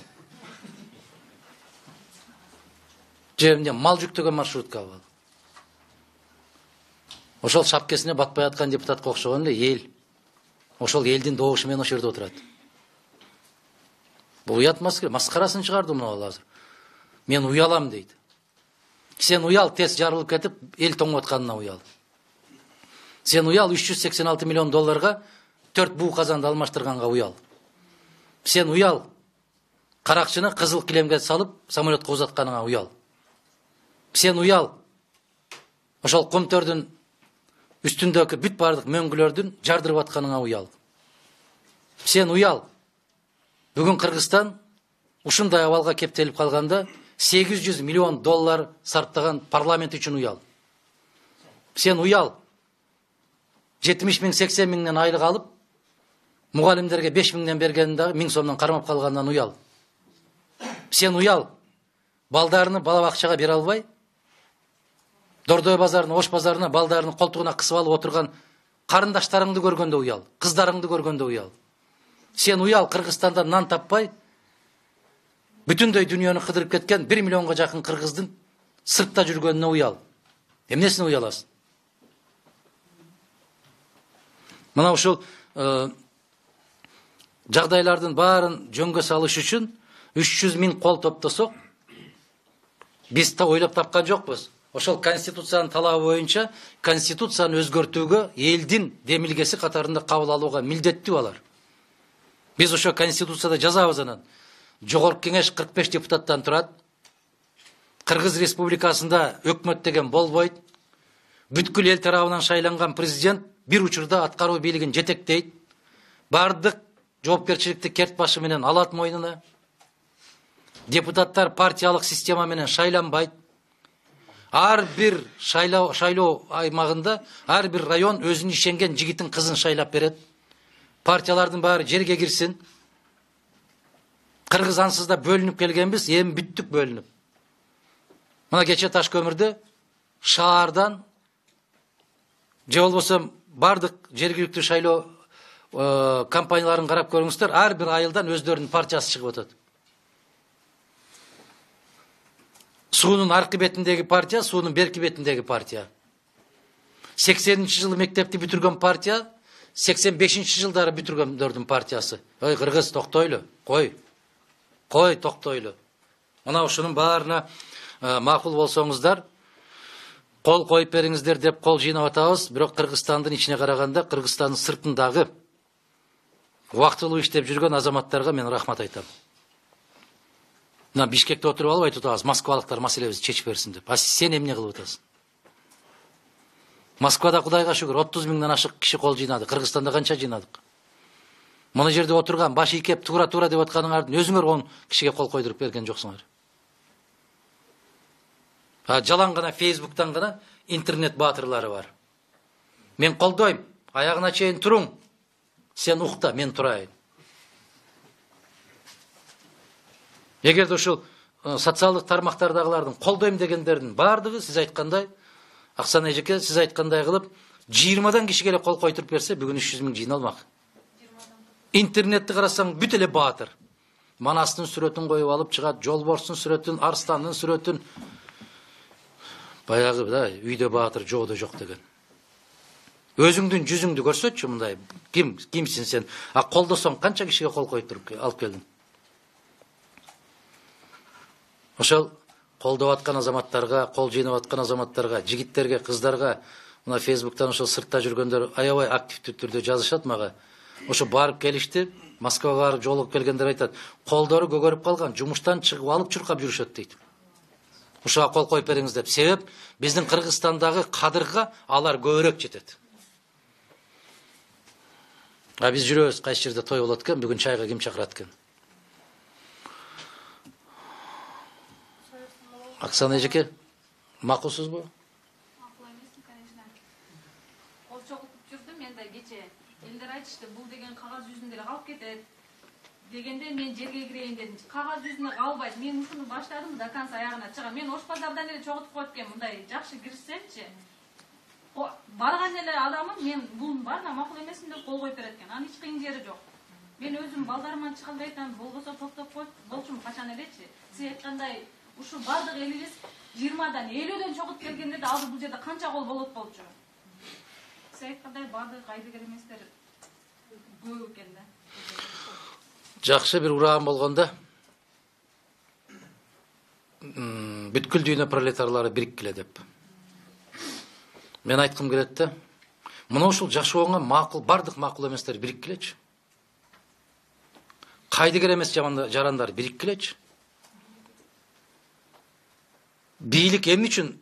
Же эмне мал жүктөгөн маршруткабы? Ошол шапкесине батпай аткан депутатка окшогон эле эл. Ошол элдин добушу менен ошол жерде отурат. Бул уятмас керек. Маскарасын чыгарды мына ал азыр. Мен уялам дейт. Сен уял, тез жарылып кетип, эл тоңуп атканына уял. Сен уял, үч жүз сексен алты миллион долларга төрт буу казанды алмаштырганга уял. Сен уял, каракчыны кызыл килемге салып, самолетко узатканыңа уял. Сен уял, ошол комтөрдүн үстүндөгү бүт бардык мөңгүлөрдүн жардырып атканыңа уял. Сен уял, бүгүн Кыргызстан ушундай абалга кептелип калганда сегиз жүз миллион доллар сарптаган парламент үчүн уял. Сен уял, жетимиш миң, сексен миңден айлык алып, мугалимдерге беш миңден бергенде миң сомдон кармап калгандан уял. Сен уял, балдарыны бала бакчага бере албай, Дордой базарына, Ош базарына балдарыны колтугуна кысып алып отурган карындаштарыңды көргөндө уял, кыздарыңды көргөндө уял. Сен уял, Кыргызстанда нан таппай, бүтүндөй дүйнөнү кыдырып кеткен бир миллионго жакын кыргыздын сыртта жүргөнүнө уял. Эмнесине уяласың? Мына ушул жагдайлардын баарын жөнгө салыш үчүн үч жүз миң кол топтосок, биз та ойлоп тапкан жокпуз. Ошол конституциянын талабы боюнча конституцияны өзгөртүүгө элдин демилгеси катарында кабыл алууга милдеттүү алар. Биз ошо конституцияда жазабыз анан. Жогорку кеңеш кырк беш депутаттан турат. Кыргыз Республикасында өкмөт деген болбойт. Бүткүл эл тарабынан шайланган президент бир учурда аткаруу бийлигин жетектейт. Бардык жоопкерчиликти керт башы менен алат мойнуна. Депутаттар партиялык система менен шайланбайт. Ар бир шайлоо шайлоо аймагында ар бир район өзүнүн ишенген жигитин кызын шайлап берет. Партиялардын баары жерге кирсин. Кыргыз ансыз да бөлүнүп келгенбиз, эми бүттүк бөлүнүп. Мына кече Таш көмүрдө шаардан же болбосо бардык жергиликтүү шайлоо компанияларын карап көрүңүздөр, ар бир айылдан өздөрүнүн партиясы чыгып атат. Суунун аркы бетиндеги партия, суунун берки бетиндеги партия. сексенинчи жылы мектепти бүтүргөн партия, сексен бешинчи жылдары бүтүргөндөрдүн партиясы. Ой, кыргыз, токтойлу, кой. Кой, токтойлу. Мына ушунун баарына макул болсоңуздар, кол коюп бериңиздер деп кол жыйнап атабыз. Бирок Кыргызстандын ичине караганда, Кыргызстандын сыртындагы убактылуу иштеп жүргөн азаматтарга мен рахмат айтам. Мына Бишкекте отуруп алып айтып атабыз, москвалыктар маселебизди чечип берсин деп. А сен эмне кылып атасың? Москвада Кудайга шүгүр отуз миңден ашык киши кол жыйнады. Кыргызстанда канча жыйнадык? Мына жерде отурган баш ийкеп туура-туура деп атканыңардын өзүңөр он кишиге кол койдуруп берген жоксуңар. А жалаң гана Фейсбуктан гана интернет баатырлары бар. Мен колдойм, аягына чейин туруң. Сен укта, мен турайын. Эгерде ушул социалдык тармактардагылардын колдойм дегендердин баардыгы сиз айткандай, Аксан эжеке сиз айткандай кылып, жыйырмадан кишиге эле кол койтуруп берсе, бүгүн үч жүз миң жыйналмак. Интернетти карасаң бүт эле баатыр. Манастын сүрөтүн коюп алып чыгат, Жолборстун сүрөтүн, Арстандын сүрөтүн. Баягы да үйдө баатыр, жоодо жок деген. Өзүңдүн жүзүңдү көрсөтчү мындай. Ким, кимсиң сен? А колдосоң канча кишиге кол койтуруп алып келдиң? Ошол колдоп аткан азаматтарга, кол жыйнап аткан азаматтарга, жигиттерге, кыздарга, мына Фейсбуктан ошол сыртта жүргөндөр аябай активдүү түрдө жазышат мага. Ошо барып келишти, Москвага барып жолугуп келгендер айтат, колдору көгөрүп калган, жумуштан чыгып алып чуркап жүрүшөт дейт. Ушуга кол коюп бериңиз деп. Себеп биздин Кыргызстандагы кадырга алар көбүрөөк жетет. А биз жүрөбүз, кайсы жерде той болот экен, бүгүн чайга ким чакырат экен? Аксан эжеке, макулсузбу? Макул эмесмин, конечно. Кол чогултуп жүрдүм, мен да кече. Элдер айтышты, бул деген кагаз жүзүндө эле калып кетет. Дегенде мен жерге кирейин дедим. Кагаз жүзүнө калбайт. Мен ушуну баштадым да конца аягына чыгам. Мен Ош базардан эле чогултуп коет экен, мындай жакшы кирсемчи. Барган эле адамым, мен бул баарына макул эмесмин деп кол коюп берет экен. Анын эч кыйын жери жок. Мен өзүм балдарыман чыга албай атам, болбосо токтоп коет, болчумун качан элечи. Сиз айткандай, ушул бардык элибиз жыйырмадан элүүдөн чогулуп келгенде да азыр бул жерде канча кол болот болчу. Сиз айткандай бардык айдыгер эместер көп экен да. Жакшы бир ураган болгондо бүткүл дүйнө пролетарлары бириккиле деп. Мен айткым келет да, мына ушул жашооңо макул, бардык макул эместер бириккилечи. Кайдыгер эмес жарандар бириккилечи. Бийлик эмне үчүн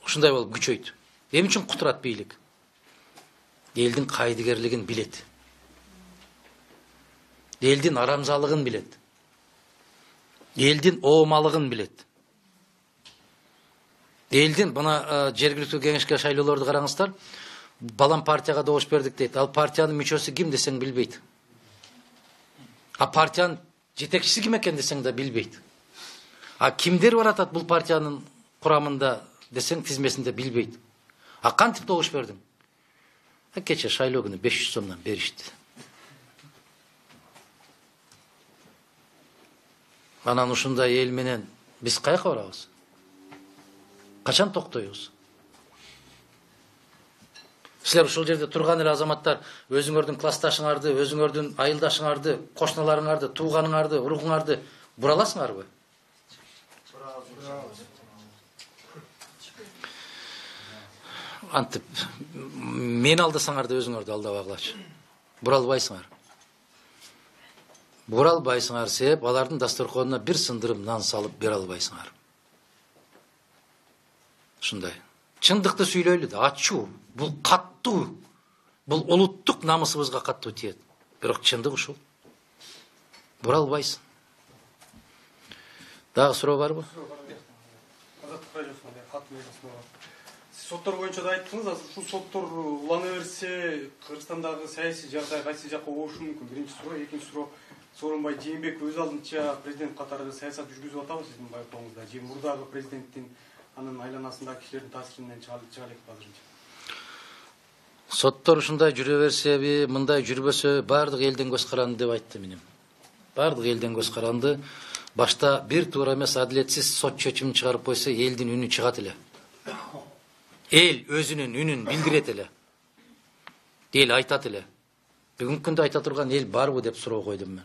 ушундай болуп күчөйт? Эмне үчүн кутурат бийлик? Элдин кайдыгерлигин билет. Элдин арамзалыгын билет. Элдин оомалыгын билет. Элдин мына жергиликтүү кеңешке шайлоолорду караңыздар. Балам партияга добуш бердик дейт. Ал партиянын мүчөсү ким десең билбейт. А партиянын жетекчиси ким экен десең да билбейт. А кимдер бар атат бул партиянын курамында десең тизмесинде билбейт. А кантип добуш бердиң? Кече шайлоо күнү беш жүз сомдон беришти. Анан ушундай эл менен биз каяка барабыз? Качан токтойбуз? Силер ушул жерде турган эле азаматтар өзүңөрдүн классташыңарды, өзүңөрдүн айылдашыңарды, кошуналарыңарды, тууганыңарды, урукуңарды бура аласыңарбы? Антип мен алдасаңарды өзүңөрдү алдабагылачы. Бура албайсыңар. Бура албайсыңар себеп алардын дасторконуна бир сындырым нан салып бере албайсыңар. Ушундай. Чындыкты сүйлөйлү да, ачуу. Бул каттуу. Бул улуттук намысыбызга каттуу тиет. Бирок чындык ушул. Бура албайсың. Дагы суроо барбы? Соттор боюнча да айттыңыз, азыр ушул соттор улана берсе, Кыргызстандагы саясий жагдай кайсы жакка оорушу мүмкүн? Биринчи суроо, экинчи суроо, Сооронбай Жээнбеков өз алдынча президент катары саясат жүргүзүп атабы сиздин байкооңузда? Же мурдагы президенттин анын айланасындагы кишилердин таасиринен чыга элекпи азырынча? Соттор ушундай жүрө берсеби, мындай жүрбөсө баардык элден көз каранды деп айтты менен. Баардык элден көз каранды. башта бир туура эмес адилетсиз сот чечимин чыгарып койсо элдин үнү чыгат эле. Эл өзүнүн үнүн билдирет эле. Эл айтат эле. Бүгүнкү күндө айта турган эл барбы деп суроо койдум мен.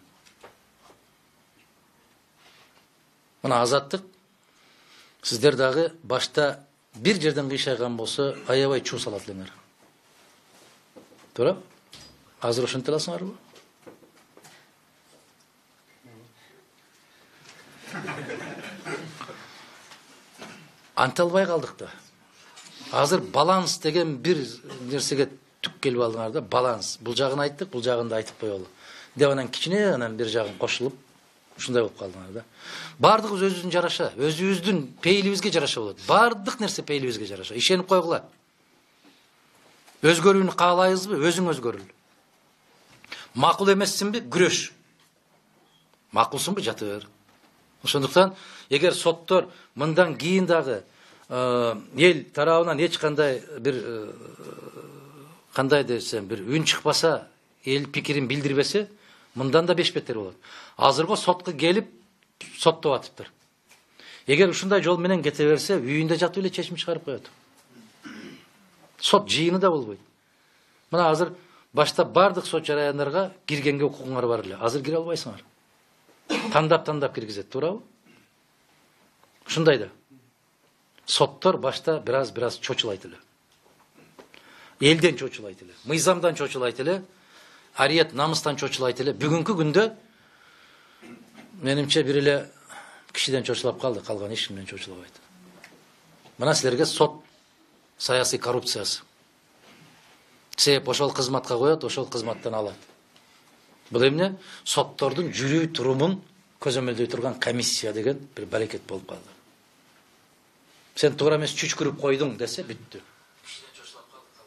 Мына азаттык, сиздер дагы башта бир жерден кыйшайган болсо аябай чуу салат элеңер. Туура? Азыр ошентип аласыңарбы? Анте албай калдык да. Азыр баланс деген бир нерсеге түк келип алдыңар да, баланс. Бул жагын айттык, бул жагын да айтып коелу. Деп анан кичине анан бир жагын кошулуп, ушундай болуп калдыңар да. Бардыгыбыз өзүбүздүн жараша, өзүбүздүн пейилибизге жараша болот. Бардык нерсе пейилибизге жараша. Ишенип койгула. Өзгөрүүнү каалайбызбы? Өзүң өзгөрүл. Макул эмессиңби? Күрөш. Макулсуңбу? Жата бер. Ошондуктан, эгер соттор мындан кийин дагы эл тарабынан эч кандай бир кандай десем, бир үн чыкпаса, эл пикирин билдирбесе, мындан да беш бетер болот. Азыркы сотко келип соттоп атыптыр. Эгер ушундай жол менен кете берсе, үйүндө жатып эле чечим чыгарып коет. Сот жыйыны да болбойт. Мына азыр башта бардык сот жараяндарга киргенге укугуңар бар эле. Азыр кире албайсыңар. Тандап-тандап киргизет, туурабы? Ушундай да. Соттор башта бираз-бираз чочулайт эле. Элден чочулайт эле, мыйзамдан чочулайт эле, ариет намыстан чочулайт эле. Бүгүнкү күндө менимче бир эле кишиден чочулап калды, калган эч кимден чочулабайт. Мына силерге сот саясий коррупциясы. Себеп ошол кызматка коет, ошол кызматтан алат. Бул эмне? Соттордун жүрүү турумун көзөмөлдөй турган комиссия деген бир баракет болуп калды. Сен туура эмес чүчкүрүп койдуң десе бүттү.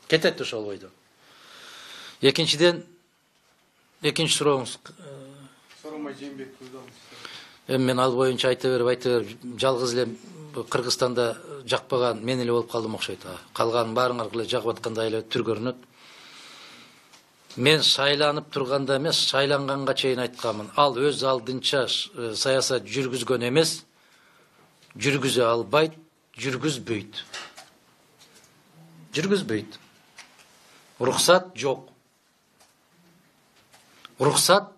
Кетет ошол бойдо. Экинчиден, экинчи сурооңуз. Соромай Жээнбек Көзалов. Эми мен ал боюнча айта берип, айта берип, жалгыз эле Кыргызстанда жакпаган мен эле болуп калдым окшойт. Калганын баарыңар эле жагып аткандай эле түр көрүнөт. Мен шайланып турганда эмес, шайланганга чейин айтканмын. Ал өз алдынча саясат жүргүзгөн эмес, жүргүзө албайт, жүргүзбөйт. Жүргүзбөйт. Уруксат жок. Уруксат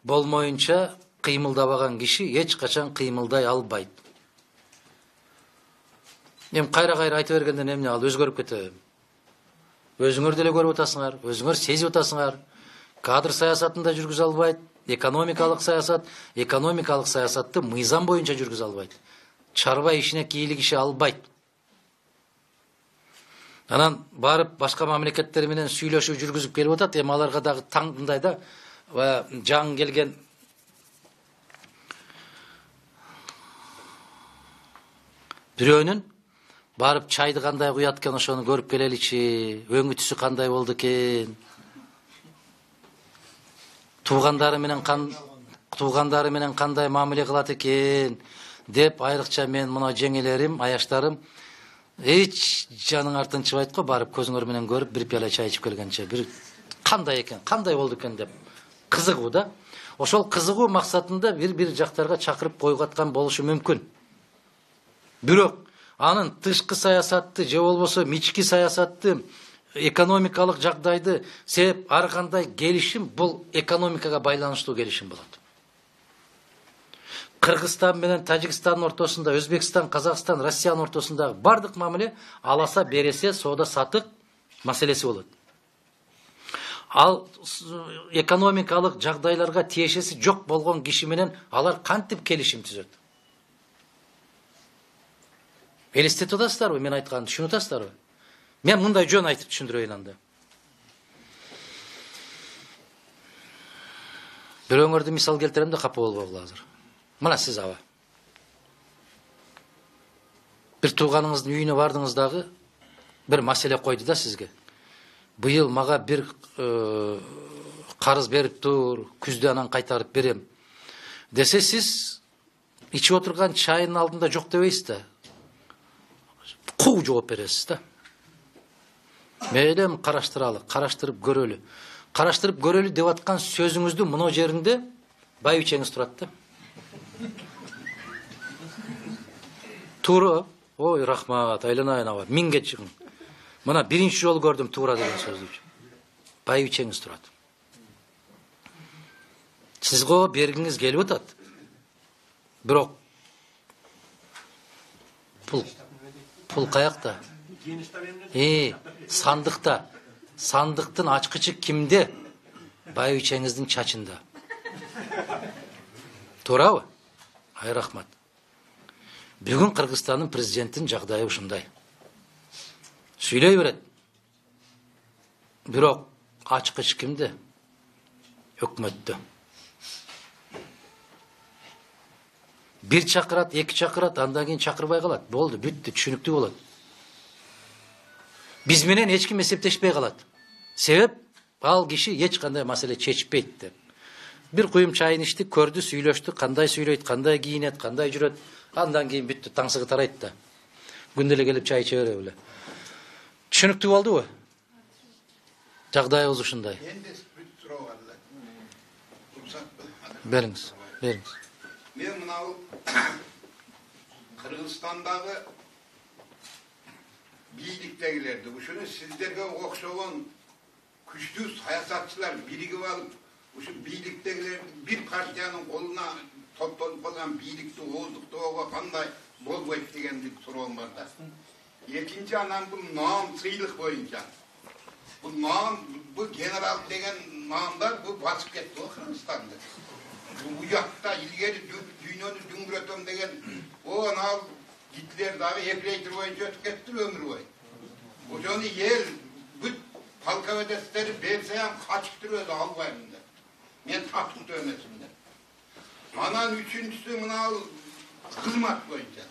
болмоюнча кыймылдабаган киши эч качан кыймылдай албайт. Эми кайра-кайра айта бергенден эмне ал өзгөрүп кетеби? Өзүңөр деле көрүп атасыңар, өзүңөр сезип атасыңар. Кадр саясатында жүргүзө албайт, экономикалык саясат, экономикалык саясатты мыйзам боюнча жүргүзө албайт. Чарба ишине кийлик иши албайт. Анан барып башка мамлекеттер менен сүйлөшүү жүргүзүп келип атат, эми аларга дагы таңдай да жаңы келген бирөөнүн барып чайды кандай куят экен, ошону көрүп келеличи, өңү түсү кандай болду экен, туугандары менен кан туугандары менен кандай мамиле кылат экен деп, айрыкча мен мына жеңелерим, аяштарым эч жаның артынчыбайт го, барып көзүңөр менен көрүп бир пиала чай ичип келгенче бир кандай экен, кандай болду экен деп кызыгуу да. Ошол кызыгуу максатында бир-бир жактарга чакырып койготкан болушу мүмкүн. Бирок анын тышкы саясатты же болбосо ички саясатты, экономикалык жагдайды, себеп ар кандай келишим бул экономикага байланыштуу келишим болот. Кыргызстан менен Тажикстандын ортосунда, Өзбекстан, Казакстан, Россиянын ортосундагы бардык мамиле аласа бересе соода сатык маселеси болот. Ал экономикалык жагдайларга тиешеси жок болгон киши менен алар кантип келишим түзөт? Элестетип атасыздарбы мен айтканды, түшүнүп атасыздарбы? Мен мындай жөн айтып түшүндүрөйүн анда. Бирөөңөрдү мисал келтирем да капа болбогула азыр. Мына сиз аба. Бир тууганыңыздын үйүнө бардыңыз дагы бир маселе койду да сизге. Быйыл мага бир карыз берип тур, күздө анан кайтарып берем десе, сиз ичип отурган чайынын алдында жок дебейсиз да. Куу жооп бересиз да. Мейлем караштыралы, караштырып көрөлү. Караштырып көрөлү деп аткан сөзүңүздүн мына жеринде байбичеңиз турат да. Туура. Ой, рахмат, айланайын аба. Миңге чыгың. Мына биринчи жолу көрдүм туура деген сөздү. Байбичеңиз турат. Сиз го бергиңиз келип атат. Бирок пул пул каякта? Э, сандыкта. Сандыктын ачкычы кимде? Байбичеңиздин чачында. Туурабы? Ай рахмат. Бүгүн Кыргызстандын президентинин жагдайы ушундай. Сүйлөй берет. Бирок ачкыч кимде? Өкмөттө. Бир чакырат, эки чакырат, андан кийин чакырбай калат. Болду, бүттү, түшүнүктүү болот. Биз менен эч ким эсептешпей калат. Себеп ал киши эч кандай маселе чечпейт деп. Бир куюм чайын ичтик, көрдү, сүйлөштү, кандай сүйлөйт, кандай кийинет, кандай жүрөт. Андан кийин бүттү, таңсыгы тарайт да. Күндө эле келип чай иче бере беле. Түшүнүктүү болдубу? Жагдайыбыз ушундай. Энди бүт суроо бар эле. Бериңиз, бериңиз. Мен мынау Кыргызстандагы бийликтегилерди, ушуну сиздерге окшогон күчтүү саясатчылар биригип алып, ушу бийликтегилерди бир партиянын колуна топтолуп калган бийликти ооздуктоого кандай болбойт деген суроом бар да. Экинчи анан бул наам сыйлык боюнча. Бул наам, бул генерал деген наамдар бул басып кетти го Кыргызстанды. Уякта илгери дүйнөнү дүңгүрөтөм деген о анау Гитлер дагы эфрейтор боюнча өтүп кетти өмүр бою. Ошону эл бүт полководецтери берсе ham качып туруп албайм деп. Мен тактыкта эмесмин деп. Анан үчүнчүсү мынау кызмат боюнча.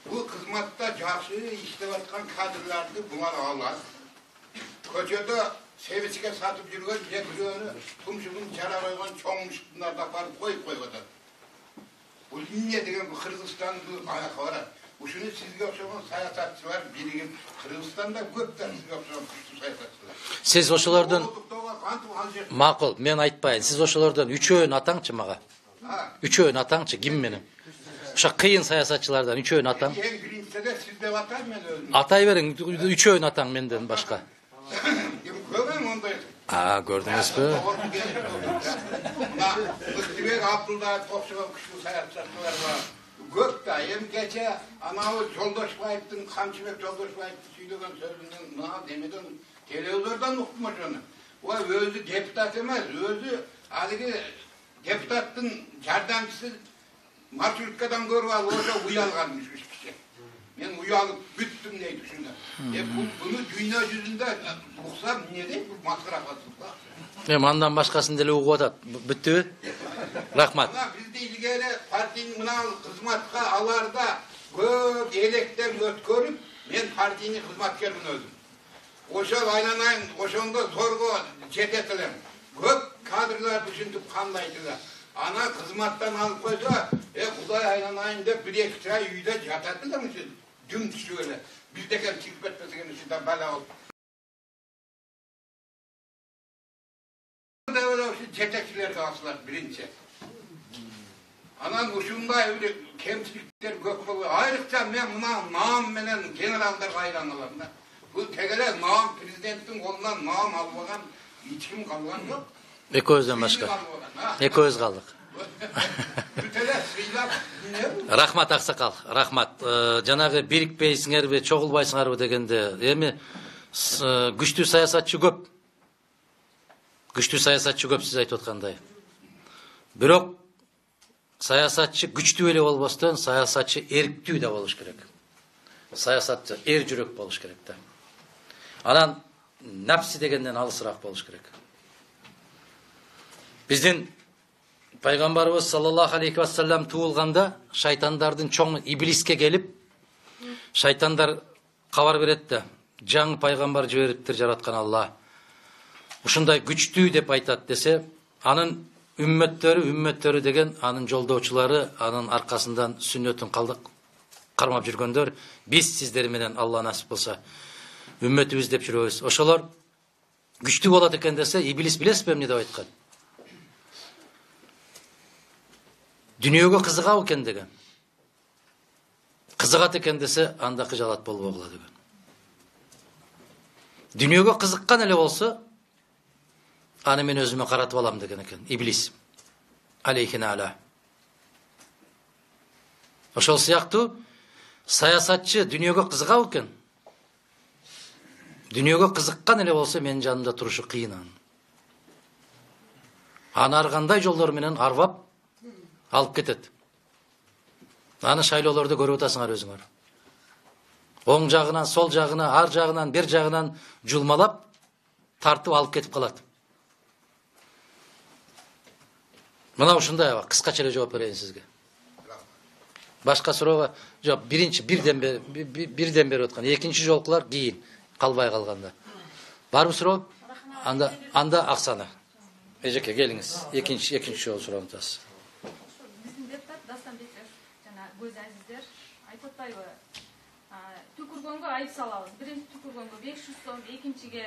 Бул кызматта жакшы иштеп аткан кадрларды булар алат. Көчөдө себичке сатып жүргөн бирөөнү тумшугун жара койгон чоң мушуктарды апарып коюп коюп атат. Бул эмне деген бул Кыргызстандын аякка барат. Ушуну сизге окшогон саясатчылар биригип, Кыргызстанда көп да сизге окшогон күчтүү саясатчылар. Сиз ошолордон макул, мен айтпайын. Сиз ошолордон үчөөнү атаңчы мага. Үчөөнү атаңчы, ким менен? Ошо кыйын саясатчылардан үчөөнү атаң. Эң биринчиде сиз деп атайм мен өзүм. Атай бериң, үчөөнү атаң менден башка. Көрөм ондай. А, көрдүңүзбү? Мына Ыктыбек Абдулдаев окшогон күчтүү саясатчылар бар. Көп да, эми кече анау Жолдошбаевдин, Камчыбек Жолдошбаевдин сүйлөгөн сөзүнөн мына демеден телевизордон уктум ошону. Ой, өзү депутат эмес, өзү алиги депутаттын жардамчысы маршруткадан көрүп алып ошо уялганмыш үч киши. Мен уялып бүттүм дейт ушунда. Э буну дүйнө жүзүндө уксам эмне дейт, бул маскара кылып. Эми андан башкасын деле угуп атат. Бүттүбү? Рахмат. Мына бизди илгери партиянын мына кызматка аларда көп электен өткөрүп, мен партиянын кызматкермин өзүм. Ошол айланайын, ошондо зорго жетет элем. Көп кадрларды ушинтип камдайдылар. Ана кызматтан алып койсо, э Кудай айланайын деп бир эки ай үйдө жатат эле ушул дүм түшүп эле. Биздекен чыгып кетпесеген ушунда бала болуп. Жетекчилерге асылат биринчи. Анан ушундай бир кемчиликтер көп болуп, айрыкча мен мына наам менен генералдарга айланалам да. Бул тегеле наам президенттин колунан наам албаган эч ким калган жок. Экөөбүздөн башка. Экөөбүз калдык. Рахмат аксакал, рахмат. Жанагы бирикпейсиңерби, чогулбайсыңарбы дегенде, эми күчтүү саясатчы көп. Күчтүү саясатчы көп сиз айтып аткандай. Бирок саясатчы күчтүү эле болбостон, саясатчы эрктүү да болуш керек. Саясатчы эр жүрөк болуш керек да. Анан напси дегенден алысыраак болуш керек. Биздин пайгамбарыбыз саллаллаху алейхи ва саллям туулганда шайтандардын чоң иблиске келип, шайтандар кабар берет да, жаңы пайгамбар жибериптир жараткан Алла. Ушундай күчтүү деп айтат десе, анын үммөттөрү, үммөттөрү деген анын жолдоочулары, анын аркасынан сүннөтүн калдык кармап жүргөндөр, биз сиздер менен Алла насип болсо үммөтүбүз деп жүрөбүз. Ошолор күчтүү болот экен десе, иблис билесизби эмне деп айткан? Дүйнөгө кызыгабы экен деген. Кызыгат экен десе, анда кыжалат болбогула деген. Дүйнөгө кызыккан эле болсо, аны мен өзүмө каратып алам деген экен иблис. Алейхина ала. Ошол сыяктуу саясатчы дүйнөгө кызыгабы экен? Дүйнөгө кызыккан эле болсо, менин жанымда турушу кыйын анын. Аны ар кандай жолдор менен арбап алып кетет. Аны шайлоолорду көрүп атасыңар өзүңөр. Оң жагынан, сол жагына, ар жагынан, бер жагынан жулмалап, тартып алып кетип калат. Мына ушундай аба, кыскача эле жооп берейин сизге. Башка суроого жооп, биринчи бирден бери бирден берип аткан, экинчи жолкулар кийин калбай калганда. Барбы суроо? Анда анда Аксана. Эжеке келиңиз. Экинчи экинчи жол суроону атасыз. Биздин депутат Дастанбеков жана көз азиздер айтып атпайбы? Түкүргөнгө айып салабыз. Биринчи түкүргөнгө беш жүз сом, экинчиге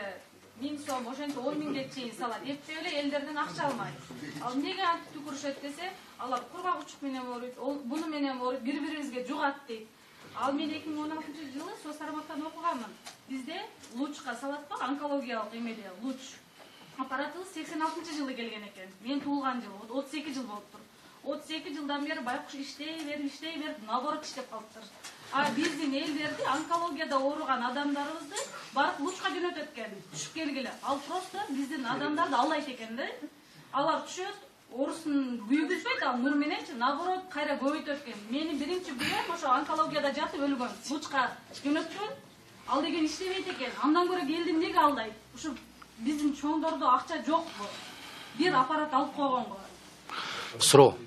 миң сом, ошентип он миңге чейин салат. Эптеп эле элдерден акча алмайт. Ал эмнеге антип түкүрүшөт десе, алар кургак учук менен ооруйт, буну менен ооруйт, бири-бирибизге жугат дейт. Ал мен эки миң он алтынчы жылы Соц тармактан окуганмын. Бизде лучка салат бар, онкологиялык эмеде луч. Аппаратыбыз сексен алтынчы жылы келген экен. Мен туулган жыл, отуз эки жыл болуптур. отуз эки жылдан бери байкуш иштей берип, иштей берип, наоборот иштеп калыптыр. А биздин элдерди онкологияда ооруган адамдарыбызды барып лучка жөнөтөт экен. Түшүп келгиле. Ал просто биздин адамдарды алдайт экен да. Алар түшөт, оорусун күйгүзбөйт, ал нур мененчи наоборот кайра көбөйтөт экен. Менин биринчи күйөөм ошо онкологияда жатып өлгөн. Лучка жөнөткөн. Ал деген иштебейт экен. Андан көрө келди эмнеге алдайт? Ушу биздин чоңдордо акча жокпу? Бир аппарат алып койгонго. Суроо.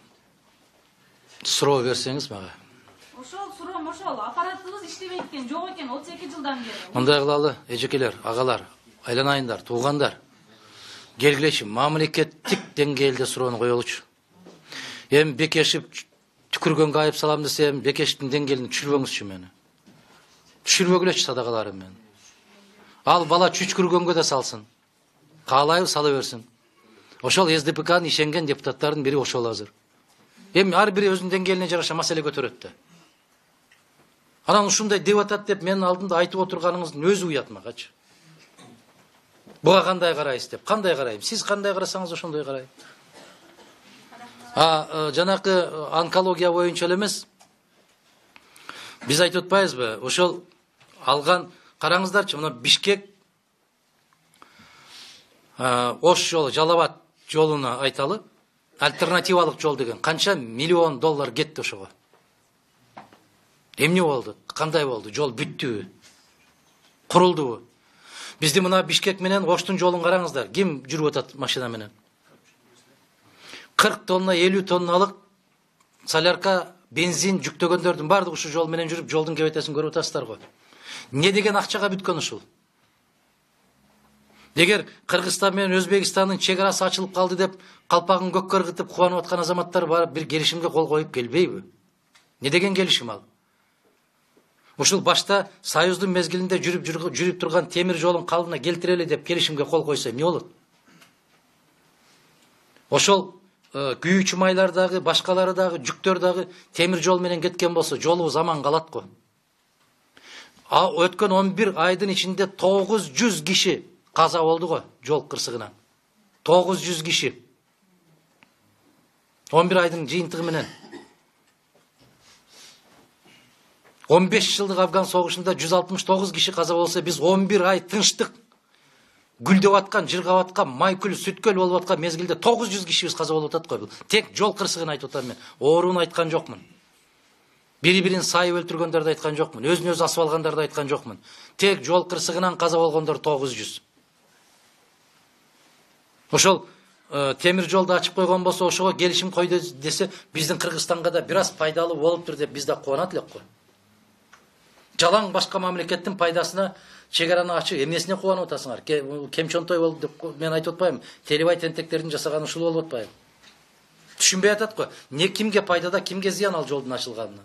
Суроо берсеңиз мага. Ошол суроом ошол. Аппаратыбыз иштебейт экен, жок экен отуз эки жылдан бери. Мындай кылалы, эжекелер, агалар, айланайындар, туугандар. Келгилечи, мамлекеттик деңгээлде суроону коелучу. Эми Бекешев түкүргөнгө айып салам десем, Бекешевдин деңгээлин түшүрбөңүзчү мени. Түшүрбөгүлөчү садакаларым мен. Ал бала чүчкүргөнгө да салсын. Каалайбы сала берсин. Ошол эс дэ пэ канын ишенген депутаттардын бири ошол азыр. Эми ар бири өзүнүн деңгээлине жараша маселе көтөрөт да. Анан ушундай деп атат деп менин алдымда айтып отурганыңыздын өзү уят магачы. Буга кандай карайсыз деп, кандай карайм? Сиз кандай карасаңыз ошондой карайм. А жанакы онкология боюнча эле эмес. Биз айтып атпайбызбы? Ошол алган караңыздарчы, мына Бишкек Ош жолу, Жалал-Абад жолуна айталы. Альтернативалык жол деген канча миллион доллар кетти ошого. Эмне болду? Кандай болду? Жол бүттүбү? Курулдубу? Бизди мына Бишкек менен Оштун жолун караңыздар. Ким жүрүп атат машина менен? кырк тонна, элүү тонналык солярка, бензин жүктөгөндөрдүн баардыгы ушу жол менен жүрүп, жолдун кебетесин көрүп атасыздар го. Не деген акчага бүткөн ушул? Эгер Кыргызстан менен Өзбекстандын чек арасы ачылып калды деп, калпагын көккө ыргытып кубанып аткан азаматтар барып бир келишимге кол коюп келбейби? Не деген келишим ал? Ушул башта Союздун мезгилинде жүрүп жүрүп турган темир жолун калдына келтирели деп келишимге кол койсо эмне болот? Ошол күйүүчү майлар дагы, башкалары дагы, жүктөр дагы темир жол менен кеткен болсо, жолубуз аман калат го. А өткөн он бир айдын ичинде тогуз жүз киши каза болду го жол кырсыгынан. тогуз жүз киши. он бир айдын жыйынтыгы менен. он беш жылдык Афган согушунда жүз алтымыш тогуз киши каза болсо, биз он бир ай тынчтык гүлдөп аткан, жыргап аткан, майкүл, сүткөл болуп аткан мезгилде тогуз жүз кишибиз каза болуп атат го. Тек жол кырсыгын айтып атам мен. Ооруну айткан жокмун. Бири-бирин сайып өлтүргөндөрдү айткан жокмун. Өзүн өзү асып алгандарды айткан жокмун. Тек жол кырсыгынан каза болгондор тогуз жүз. Ошол темир жолду ачып койгон болсо, ошого келишим койду десе, биздин Кыргызстанга да бир аз пайдалуу болуптур деп биз да кубанат элек го. Жалаң башка мамлекеттин пайдасына чек араны ачып, эмнесине кубанып атасыңар? Кем чонтой болду деп мен айтып атпайм. Телебай тентектердин жасаганы ушул болуп атпайбы? Түшүнбөй атат го. Не кимге пайдада, кимге зыян ал жолдун ачылганынан?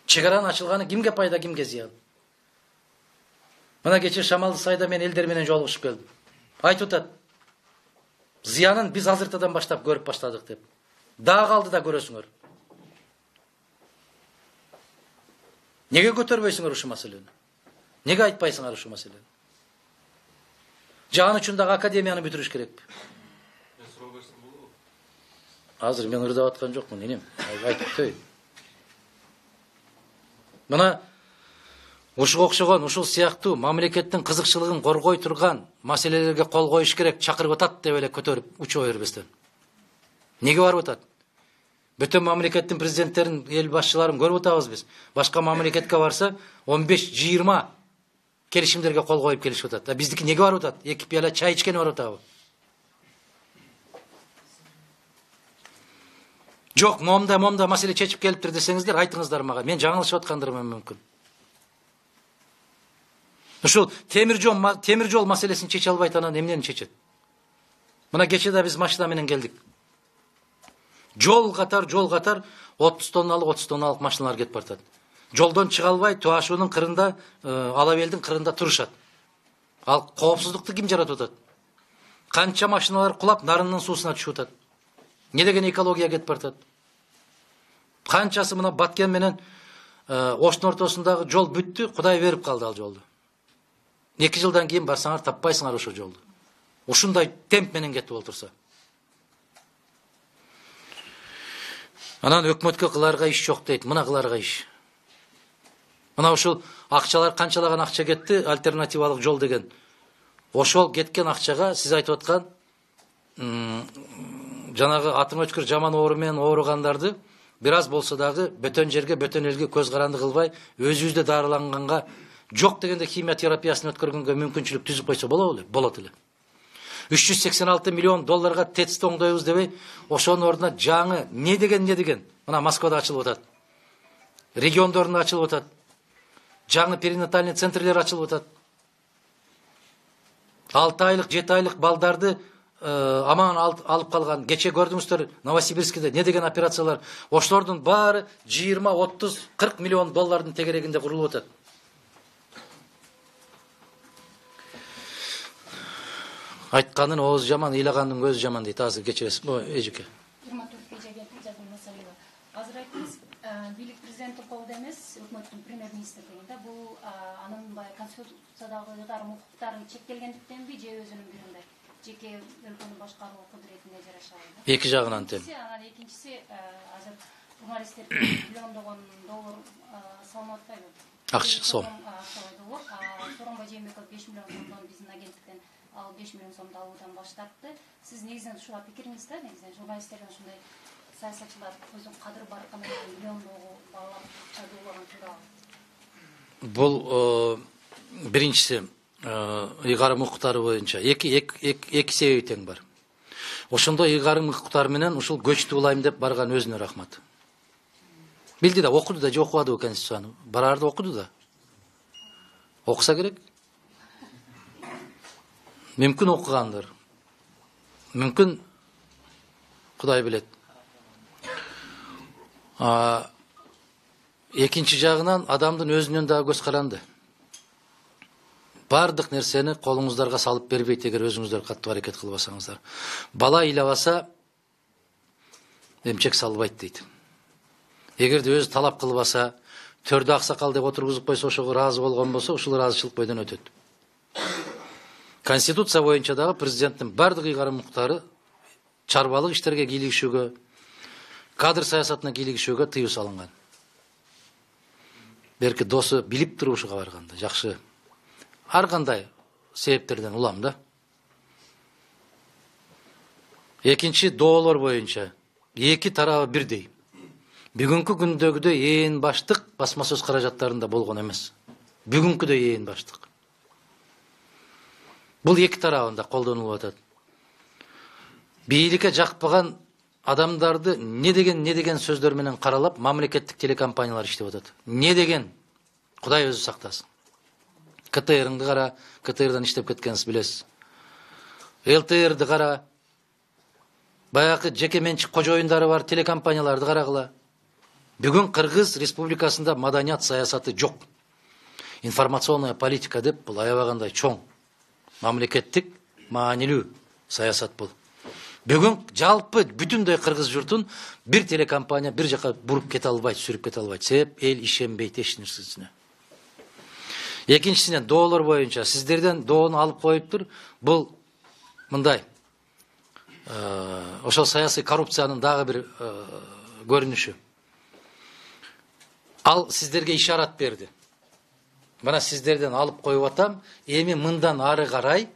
Чек аранын ачылганы кимге пайда, кимге зыян? Мына кечээ Шамалды Сайда мен элдер менен жолугушуп келдим. Айтып атат. Зыянын биз азыртадан баштап көрүп баштадык деп. Дагы калды да көрөсүңөр. Неге көтөрбөйсүңөр ушул маселени? Неге айтпайсыңар ушул маселени? Жан үчүн дагы академияны бүтүрүш керекпи? Азыр мен ырдап аткан жокмун, энем. Айтып өтөйүн. Мына ушуга окшогон, ушул сыяктуу мамлекеттин кызыкчылыгын коргой турган маселелерге кол коюш керек, чакырып атат деп эле көтөрүп учуп бербестен. Неге барып атат? Бүтүн мамлекеттин президенттерин, эл башчыларын көрүп атабыз биз. Башка мамлекетке барса он беш жыйырма келишимдерге кол коюп келишип атат. А биздики неге барып атат? Эки пияла чай ичкени барып атабы? Жок, момда момда маселе чечип келиптир десеңиздер, айтыңыздар мага. Мен жаңылышып аткандырмын мүмкүн. Ушул темир жол темир жол маселесин чече албайт, анан эмнени чечет? Мына кече да биз машина менен келдик. Жол катар, жол катар отуз тонналык, отуз тонналык машиналар кетип баратат. Жолдон чыга албай, Туашуунун кырында, Алабелдин кырында турушат. Ал коопсуздукту ким жаратып атат? Канча машиналар кулап, нарынын суусуна түшүп атат. Не деген экология кетип баратат? Канчасы мына Баткен менен Оштун ортосундагы жол бүттү, Кудай берип калды ал жолду. Эки жылдан кийин барсаңар таппайсыңар ошол жолду. Ушундай темп менен кетип олтурса. Анан өкмөткө кыларга иш жок дейт, мына кыларга иш. Мына ушул акчалар канчалаган акча кетти, альтернативалык жол деген. Ошол кеткен акчага сиз айтып аткан жанагы атың өчкүр жаман оору менен ооругандарды бир аз болсо дагы бөтөн жерге, бөтөн элге көз каранды кылбай, өзүбүздө дарыланганга, жок дегенде химия терапиясын өткөргөнгө мүмкүнчүлүк түзүп койсо болобу эле? Болот эле. үч жүз сексен алты миллион долларга ТЭЦ оңдойбуз дебей, ошонун ордуна жаңы не деген не деген? Мына Москвада ачылып атат. Региондорунда ачылып атат. Жаңы перинатальный центрлер ачылып атат. алты айлык, жети айлык балдарды аман алып калган. Кече көрдүңүздөр Новосибирскиде не деген операциялар. Ошолордун баары жыйырма, отуз, кырк миллион доллардын тегерегинде курулуп атат. Айтканын ооз жаман, ыйлагандын көзү жаман дейт. Азыр кечиресиз. О, эжеке. жыйырма төрт кече келди, жазым маселеге. Азыр айттыңыз, бийлик президенттин колунда эмес, өкмөттүн премьер-министрлигинде. Бул анын баягы конституциядагы ыйгарым укуктарын чектелгендиктенби, же өзүнүн биринде жеке өлкөнү башкаруу кудуретине жараша? Эки жагынан тең. Анан экинчиси, азыр журналисттер миллиондогон доллар салынып атпайбы? Акча сом. Сооронбай Жээнбеков беш миллион сомдон биздин агенттиктен ал беш миллион сомду алуудан баш тартты. Сиз негизинен ушуга пикириңиз да, негизинен журналисттерден ушундай саясатчылар өзүнүн кадыр барканы менен миллиондогу баалап акча дуулаган туурабы? Бул биринчиси ыйгарым укуктары боюнча эки эки себеби тең бар. Ошондой ыйгарым укуктары менен ушул көчтү улайм деп барган өзүнө рахмат. Билди да, окуду да, же окубадыбы конституцияны? Барарды окуду да. Окуса керек. Мүмкүн окугандыр. Мүмкүн Кудай билет. Экинчи жагынан адамдын өзүнөн дагы көз каранды. Бардык нерсени колуңуздарга салып бербейт, эгер өзүңүздөр каттуу аракет кылбасаңыздар. Бала ыйлабаса эмчек салбайт дейт. Эгерде өзү талап кылбаса, төрдө аксакал деп отургузуп койсо, ошого ыраазы болгон болсо, ушул ыраазычылык бойдон өтөт. Конституция боюнча дагы президенттин бардык ыйгарым укуктары чарбалык иштерге кийлигишүүгө, кадр саясатына кийлигишүүгө тыюу салынган. Берки досу билип туруп ушуга барганда, жакшы. Ар кандай себептерден улам да. Экинчи, доолор боюнча эки тарабы бирдей. Бүгүнкү күндөгүдөй ээн баштык басма сөз каражаттарында болгон эмес. Бүгүнкүдөй ээн баштык. Бул эки тарабында колдонулуп атат. Бийликке жакпаган адамдарды не деген не деген сөздөр менен каралап, мамлекеттик телекомпаниялар иштеп атат. Не деген? Кудай өзү сактасын. КТР'ыңды кара, КТР'дан иштеп кеткенсиз билесиз. ЛТР'ды кара, баягы жеке менчик кожоюндары бар телекомпанияларды карагыла. Бүгүн Кыргыз Республикасында маданият саясаты жок. Информационная политика деп бул аябагандай чоң мамлекеттик маанилүү саясат бул. Бүгүн жалпы бүтүндөй кыргыз журтун бир телекомпания бир жака буруп кете албайт, сүрүп кете албайт. Себеп эл ишенбейт эч нерсесине. Экинчисинен доолор боюнча сиздерден доону алып коюптур. Бул мындай ошол саясий коррупциянын дагы бир көрүнүшү. Ал сиздерге ишарат берди. Мына сиздерден алып коюп атам, эми мындан ары карай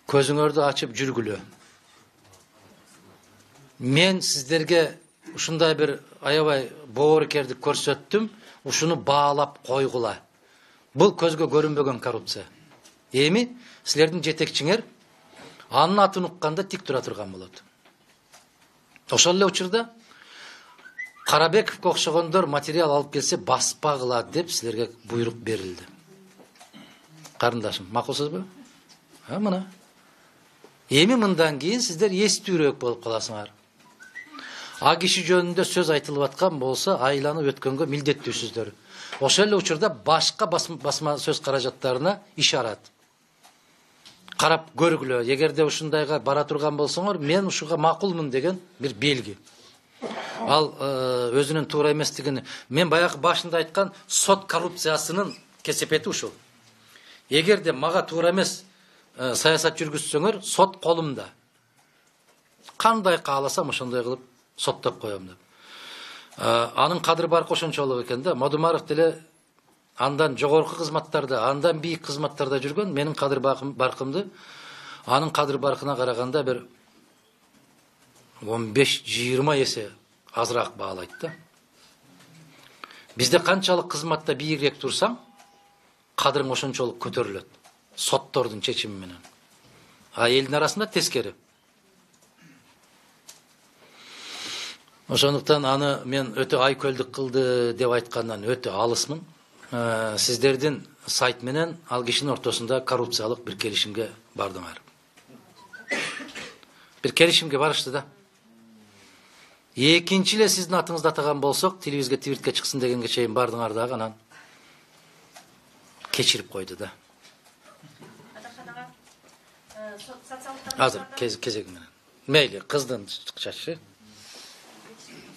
көзүңөрдү ачып жүргүлө. Мен сиздерге ушундай бир аябай боорукердик көрсөттүм, ушуну баалап койгула. Бул көзгө көрүнбөгөн коррупция. Эми силердин жетекчиңер анын атын укканда тик тура турган болот. Ошол эле учурда Карабековго окшогондор материал алып келсе баспагыла деп силерге буйрук берилди. Карындашым, макулсузбу? Ha мына. Эми мындан кийин сиздер эстүүрөөк болуп каласыңар. А киши жөнүндө сөз айтылып аткан болсо, айланып өткөнгө милдеттүүсүздөр. Ошол эле учурда башка басма сөз каражаттарына ишарат. Карап көргүлө, эгерде ушундайга бара турган болсоңор, мен ушуга макулмун деген бир белги. Ал өзүнүн туура эместигин мен баягы башында айткан сот коррупциясынын кесепети ушул. Эгерде мага туура эмес саясат жүргүзсөңөр, сот колумда. Кандай кааласам ошондой кылып соттоп коем деп. Анын кадыр баркы ошончолук экен да. Модумаров деле андан жогорку кызматтарда, андан бийик кызматтарда жүргөн, менин кадыр баркымды анын кадыр баркына караганда бир он беш жыйырма эсе азыраак баалайт да. Бизде канчалык кызматта бийигирээк турсаң, кадырың ошончолук көтөрүлөт. Соттордун чечими менен. А элдин арасында тескери. Ошондуктан аны мен өтө айкөлдүк кылды деп айткандан өтө алысмын. Сиздердин сайт менен ал кишинин ортосунда коррупциялык бир келишимге бардыңар. Бир келишимге барышты да. Экинчи эле сиздин атыңызды атаган болсок, телевизге твиртке чыксын дегенге чейин бардыңар дагы, анан кечирип койду да. Азыр кезеги менен. Мейли, кыздын чачы.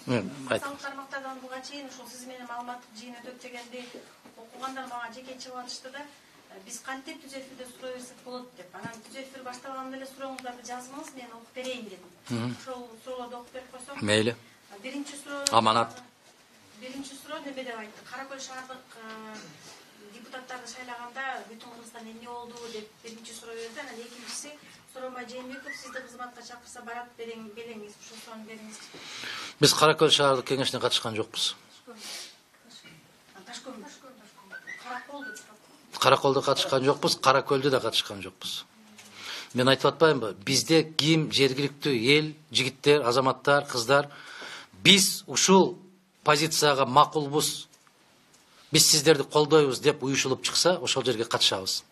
Социалдык тармактардан буга чейин ушул сиз менен маалымат жыйын өтөп дегенде окугандар мага жеке чыгып атышты да, биз кантип түз эфирде суроо берсек болот деп. Анан түз эфир башталганда эле сурооңуздарды жазыңыз, мен окуп берейин дедим. Ошол суроолорду окуп берип койсоң. Мейли. Биринчи суроо аманат. Биринчи суроо неме деп айтты? Каракөл шаардык депутаттарды шайлаганда бүтүн Кыргызстан эмне болду деп биринчи суроо берди. Анан экинчиси Сооронбай Жээнбеков сизди кызматка чакырса барат белеңиз, ушул суроону бериңиз. Биз Каракөл шаардык кеңешине катышкан жокпуз. Каракөлдө катышкан жокпуз, Каракөлдө да катышкан жокпуз. Мен айтып атпаймынбы? Бизде ким жергиликтүү эл, жигиттер, азаматтар, кыздар, биз ушул позицияга макулбуз. Биз сиздерди колдойбуз деп уюшулуп чыкса, ошол жерге катышабыз.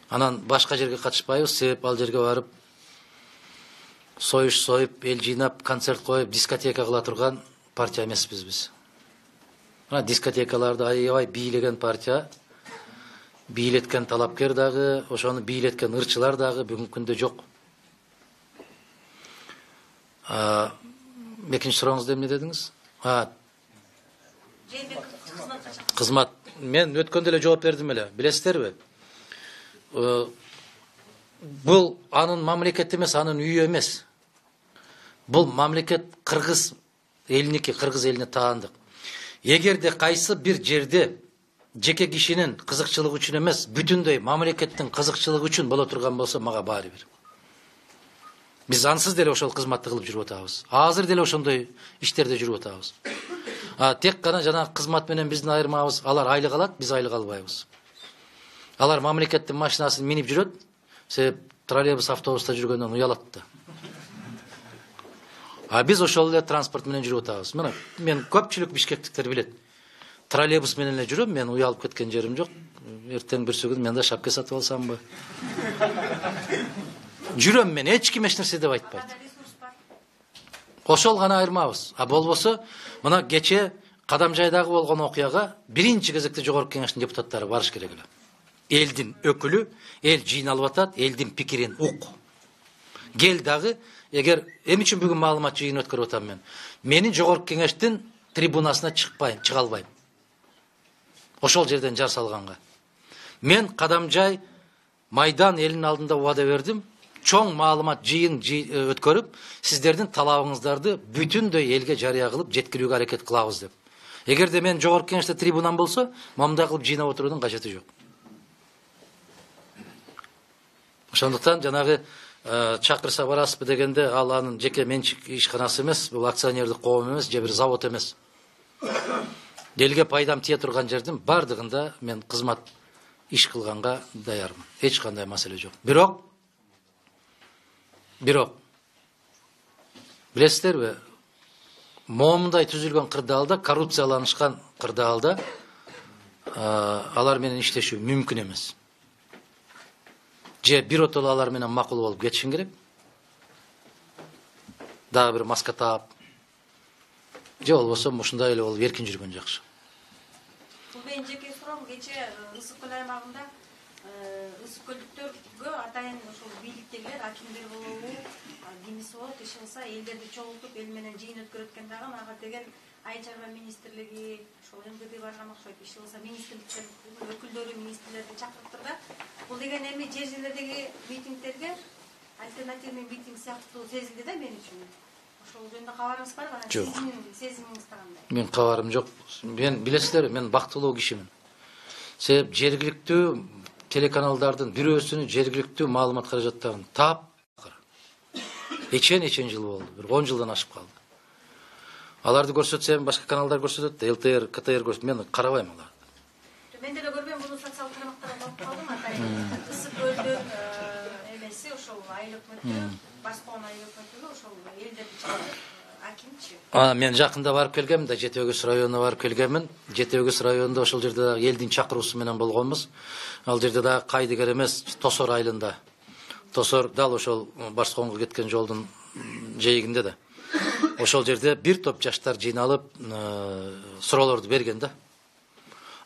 Анан башка жерге катышпайбыз, себеп ал жерге барып союш союп, эл жыйнап, концерт коюп, дискотека кыла турган партия эмеспиз биз. Мына дискотекаларды аябай бийлеген партия, бийлеткен талапкер дагы, ошону бийлеткен ырчылар дагы бүгүнкү күндө жок. Экинчи сурооңузду эмне дедиңиз? Кызмат. Мен өткөндө эле жооп бердим эле. Билесиздерби? Бул анын мамлекети эмес, анын үйү эмес. Бул мамлекет кыргыз элиники, кыргыз элине таандык. Эгерде кайсы бир жерде жеке кишинин кызыкчылыгы үчүн эмес, бүтүндөй мамлекеттин кызыкчылыгы үчүн боло турган болсо, мага баары бир. Биз ансыз деле ошол кызматты кылып жүрүп атабыз. Азыр деле ошондой иштерде жүрүп атабыз. А тек гана жанагы кызмат менен биздин айырмабыз, алар айлык алат, биз айлык албайбыз. Алар мамлекеттин машинасын минип жүрөт, себеп троллейбус, автобуста жүргөндөн уялат да. А биз ошол эле транспорт менен жүрүп атабыз. Мына мен көпчүлүк бишкектиктер билет. Троллейбус менен эле жүрөм, мен уялып кеткен жерим жок. Эртең бир күн мен да шапка сатып алсамбы? Жүрөм мен, эч ким эч нерсе деп айтпайт. Ошол гана айырмабыз. А болбосо, мына кече Кадамжайдагы болгон окуяга биринчи кезекте жогорку кеңештин депутаттары барыш керек эле. элдин өкүлү, эл жыйналып атат, элдин пикирин ук. Кел дагы, эгер эмне үчүн бүгүн маалымат жыйын өткөрүп атам мен? Менин жогорку кеңештин трибунасына чыкпайм, чыга албайм. Ошол жерден жар салганга. Мен Кадамжай Майдан элинин алдында убада бердим. Чоң маалымат жыйын өткөрүп, сиздердин талабыңыздарды бүтүндөй элге жарыя кылып жеткирүүгө аракет кылабыз деп. Эгерде мен жогорку кеңеште трибунам болсо, мындай кылып жыйнап отуруудун кажети жок. Ошондуктан жанагы чакырса барасызбы дегенде, ал анын жеке менчик ишканасы эмес, бул акционердик коом эмес, же бир завод эмес. Элге пайдам тие турган жердин бардыгында мен кызмат иш кылганга даярмын. Эч кандай маселе жок. Бирок Бирок билесиздерби, момундай түзүлгөн кырдаалда, коррупцияланышкан кырдаалда алар менен иштешүү мүмкүн эмес. Же биротоло алар менен макул болуп кетишин керек. Дагы бир маска таап. Же болбосо ушундай эле болуп эркин жүргөн жакшы. Бул менин жеке суроом, кече Ысык көл аймагында ысык көлдүктөргө атайын ошол бийликтегилер, акимдер болобу, кимиси болот, иш кылса элдерди чогултуп, эл менен жыйын өткөрөт экен дагы, ага деген Айыл чарба министрлиги, ошол эм гэ дэ барган окшойт, иш кылса министрликтердин өкүлдөрү, министрлерди чакырыптыр да. Бул деген эми жер жерлердеги митингдерге альтернативный митинг сыяктуу сезилди да мен үчүн. Ошол жөнүндө кабарыңыз барбы? Сиздин сезимиңиз кандай? Мен кабарым жок. Мен билесиздер, мен бактылуу кишимин. Себеп жергиликтүү телеканалдардын бирөөсүнүн жергиликтүү маалымат каражаттарын таап эчен эчен жыл болду. Бир он жылдан ашып калды. Аларды көрсөтсөм, башка каналдар көрсөтөт, эл тэ эр, ка тэ эр көрсөтөт. Мен карабайм аларды. Мен деле көрбөйм, буну социалдык тармактарда окуп калдым, атайын. Ысык көлдүн эмеси ошол айыл өкмөтү, Баскоон айыл өкмөтү ошол элдерди чакырып, акимчи. А, мен жакында барып келгемин да, Жети Өгүз районуна барып келгемин. Жети Өгүз районунда ошол жерде дагы элдин чакыруусу менен болгонбуз. Ал жерде дагы Кайдыгер эмес, Тосор айылында. Тосор дал ошол Баскоонго кеткен жолдун жээгинде да. Ошол жерде бир топ жаштар жыйналып, суроолорду берген да.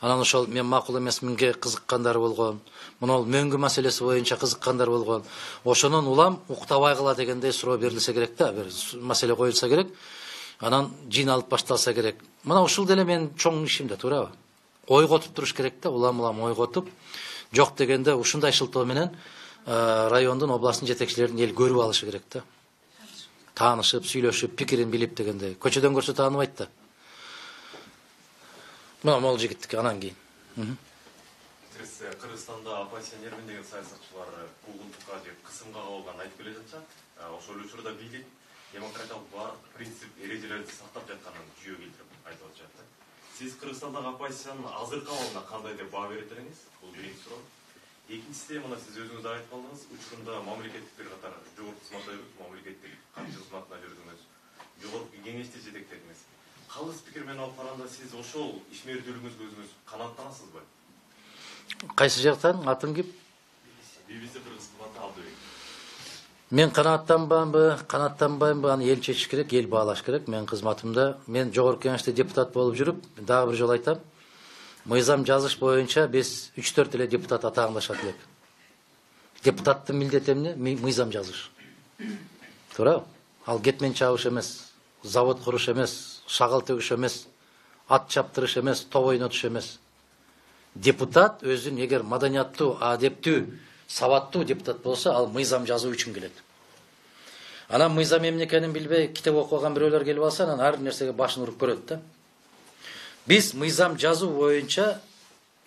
Анан ошол мен макул эмесминге кызыккандар болгон, мына мөңгү маселеси боюнча кызыккандар болгон. Ошонун улам уктабай кала дегендей суроо берилсе керек да, бир маселе коюлса керек. Анан жыйналып башталса керек. Мына ушул деле менин чоң ишим да, туурабы? Ойготуп туруш керек да, улам-улам ойготуп. Жок дегенде ушундай шылтоо менен райондун, областтын жетекчилерин эл көрүп алышы керек да. Таанышып, сүйлөшүп, пикирин билип дегенде. Көчөдөн көрсө тааныбайт да. Мына могул жигиттики анан кийин. Кыргызстанда оппозиционермин деген саясатчылар куугунтукка же кысымга кабылганын айтып келе жатышат. Ошол учурда бийлик демократиялык баардык принцип эрежелерди сактап жатканын жүйө келтирип айтып атышат. Сиз Кыргызстандагы оппозициянын азыркы абалына кандай деп баа берет элеңиз? Бул биринчи суроо. Экинчиси, мына сиз өзүңүз айтып калдыңыз, учурунда мамлекеттик бир катар жогорку кызматта мамлекеттик катчы кызматына жүрдүңүз, жогорку кеңешти жетектедиңиз. Калыс пикир менен алып караганда сиз ошол ишмердүүлүгүңүзгө өзүңүз канааттанасызбы? Кайсы жактан? Атым ким? би би си Кыргыз кызматы Абдыбек. Мен канааттанбаймбы, канааттанбаймбы, аны эл чечиш керек, эл баалаш керек. Мен кызматымда, мен жогорку кеңеште депутат болуп жүрүп, дагы бир жолу айтам. Мыйзам жазыш боюнча биз үч төрт эле депутат атааңдашат элек. Депутаттын милдети эмне? Мыйзам жазыш. Туурабы? Ал кетмен чабыш эмес, завод куруш эмес, шагал төгүш эмес, ат чаптырыш эмес, топ ойнотуш эмес. Депутат өзүн эгер маданияттуу, адептүү, сабаттуу депутат болсо, ал мыйзам жазуу үчүн келет. Анан мыйзам эмне экенин билбей, китеп окуган бирөөлөр келип алса, анан ар бир нерсеге башын уруп көрөт да. Биз мыйзам жазуу боюнча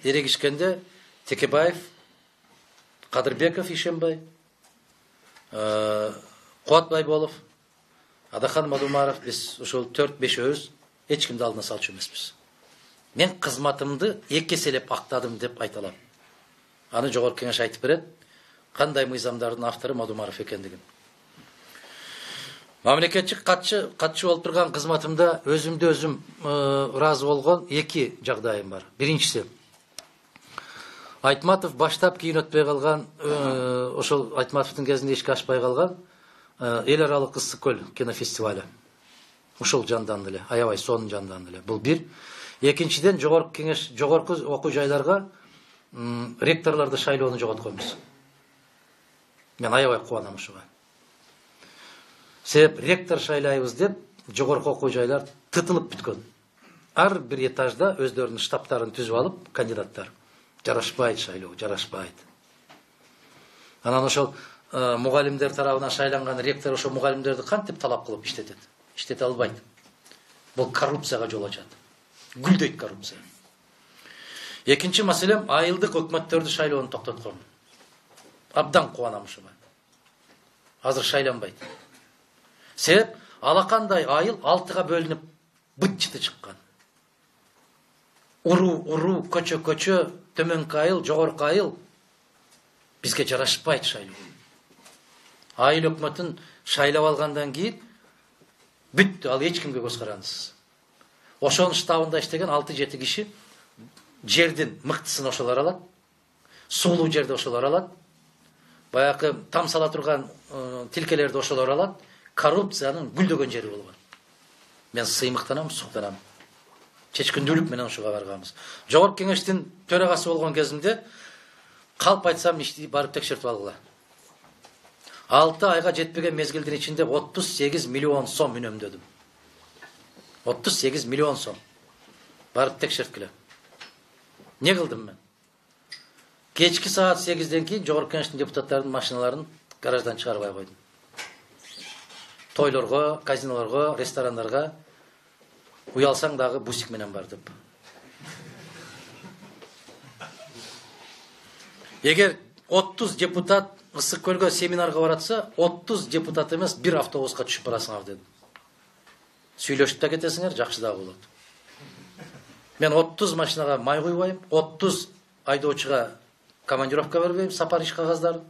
эрегишкенде Текебаев, Кадырбеков Ишембай, Кубатбай Болов, Адахан Мадумаров, биз ошол төрт бешөөбүз эч кимди алдына салчу эмеспиз. Мен кызматымды эки эселеп актадым деп айта алам. Аны жогорку кеңеш айтып берет, кандай мыйзамдардын автору Мадумаров экендигин. Мамлекетчик катчы катчы болуп турган кызматымда өзүмдө өзүм ыраазы болгон эки жагдайым бар. Биринчиси, Айтматов баштап кийин өтпөй калган, ошол Айтматовдун кезинде ишке ашпай калган эл аралык ысык көл кинофестивалю. Ушул жанданды эле, аябай сонун жанданды эле. Бул бир. Экинчиден, жогорку кеңеш, жогорку окуу жайларга ректорлорду шайлоону жоготконбуз. Мен аябай кубанам ушуга. Себеп ректор шайлайбыз деп жогорку окуу жайлар тытылып бүткөн. Ар бир этажда өздөрүнүн штабтарын түзүп алып, кандидаттар. Жарашпайт шайлоо, жарашпайт. Анан ошол мугалимдер тарабынан шайланган ректор ошо мугалимдерди кантип талап кылып иштетет? Иштете албайт. Бул коррупцияга жол ачат. Гүлдөйт коррупция. Экинчи маселем айылдык өкмөттөрдү шайлоону токтоткон. Абдан кубанам ушуга. Азыр шайланбайт. Себеп алакандай айыл алтыга бөлүнүп быт-чыты чыккан. Уру, уру, көчө, көчө, төмөнкү айыл, жогорку айыл бизге жарашпайт шайлоо. Айыл өкмөтүн шайлап алгандан кийин бүттү, ал эч кимге көз карандысыз. Ошонун штабында иштеген алты жети киши жердин мыктысын ошолор алат, суулуу жерди ошолор алат, баягы там сала турган тилкелерди ошолор алат, коррупциянын гүлдөгөн жери болгон. Мен сыймыктанам, суктанам. Чечкиндүүлүк менен ушуга барганбыз. Жогорку кеңештин төрагасы болгон кезимде калп айтсам ишти барып текшертип алгыла. алты айга жетпеген мезгилдин ичинде отуз сегиз миллион сом үнөмдөдүм. отуз сегиз миллион сом. Барып текшерткиле. Не кылдым мен? Кечки саат сегизден кийин жогорку кеңештин депутаттарынын машиналарын гараждан чыгарбай койдум. Тойлорго, казинолорго, ресторандарга уялсаң дагы бусик менен бар деп. Эгер отуз депутат Ысык көлгө семинарга баратса, отуз депутат эмес, бир автобуска түшүп барасыңар дедим. Сүйлөшүп да кетесиңер, жакшы да болот. Мен отуз машинага май куйбайм, отуз айдоочуга командировка бербейм, сапар иш кагаздарын.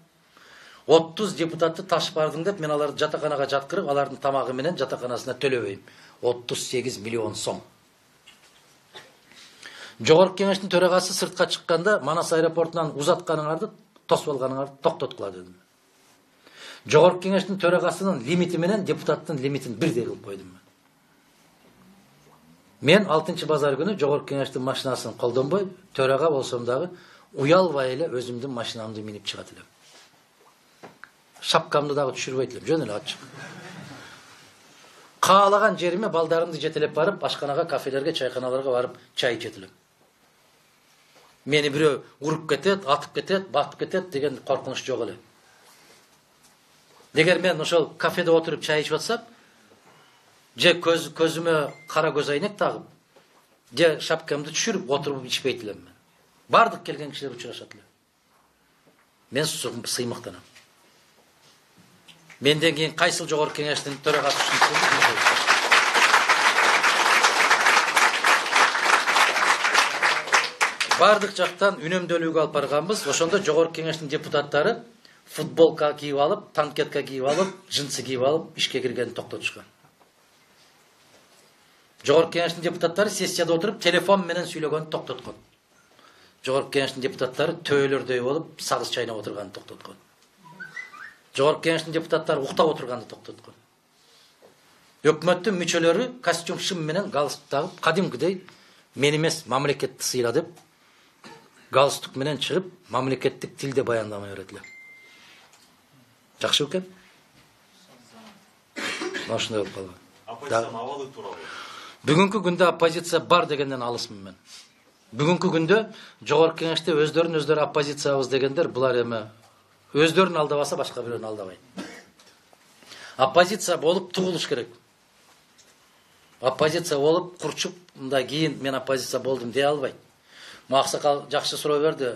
отуз депутатты ташып бардың деп, мен аларды жатаканага жаткырып, алардын тамагы менен жатаканасына төлөбөйм. отуз сегиз миллион сом. Жогорку кеңештин төрагасы сыртка чыкканда, Манас аэропортунан узатканыңарды, тосуп алганыңарды токтоткула дедим. Жогорку кеңештин төрагасынын лимити менен депутаттын лимитин бирдей кылып койдум. Мен алтынчы базар күнү жогорку кеңештин машинасын колдонбой, төрага болсом дагы уялбай эле өзүмдүн машинамды минип чыгат элем. Шапкамды дагы түшүрбөйт элем, жөн эле ачык. Каалаган жериме балдарымды жетелеп барып, ашканага, кафелерге, чайканаларга барып чай ичет элем. Мени бирөө уруп кетет, атып кетет, батып кетет деген коркунуч жок эле. Эгер мен ошол кафеде отуруп чай ичип атсам, же көз көзүмө кара көз айнек тагып, же шапкамды түшүрүп отуруп ичпейт элем мен. Бардык келген кишилер учурашат эле. Мен сыймыктанам. Менден кийин кайсыл жогорку кеңештин төрагасы ушинтсе бардык жактан үнөмдөлүүгө алып барганбыз. Ошондо жогорку кеңештин депутаттары футболка кийип алып, танкетка кийип алып, жинсы кийип алып ишке киргенин токтотушкан. Жогорку кеңештин депутаттары сессияда отуруп телефон менен сүйлөгөнү токтоткон. Жогорку кеңештин депутаттары төөлөрдөй болуп сагыз чайнап отурганын токтоткон. Жогорку кеңештин депутаттары уктап отурганды токтоткон. Өкмөттүн мүчөлөрү костюм шым менен галстук тагып, кадимкидей мен эмес мамлекетти сыйла деп галстук менен чыгып, мамлекеттик тилде баяндама берет эле. Жакшы экен? Ошондой болуп калган. Оппозициянын абалы тууралуу. Бүгүнкү күндө оппозиция бар дегенден алысмын мен. Бүгүнкү күндө жогорку кеңеште өздөрүн өздөрү оппозициябыз дегендер булар эме өздөрүн алдабаса башка бирөөнү алдабайт. Оппозиция болуп тугулуш керек. Оппозиция болуп курчуп, мындай кийин мен оппозиция болдум дей албайт. Максакал жакшы суроо берди,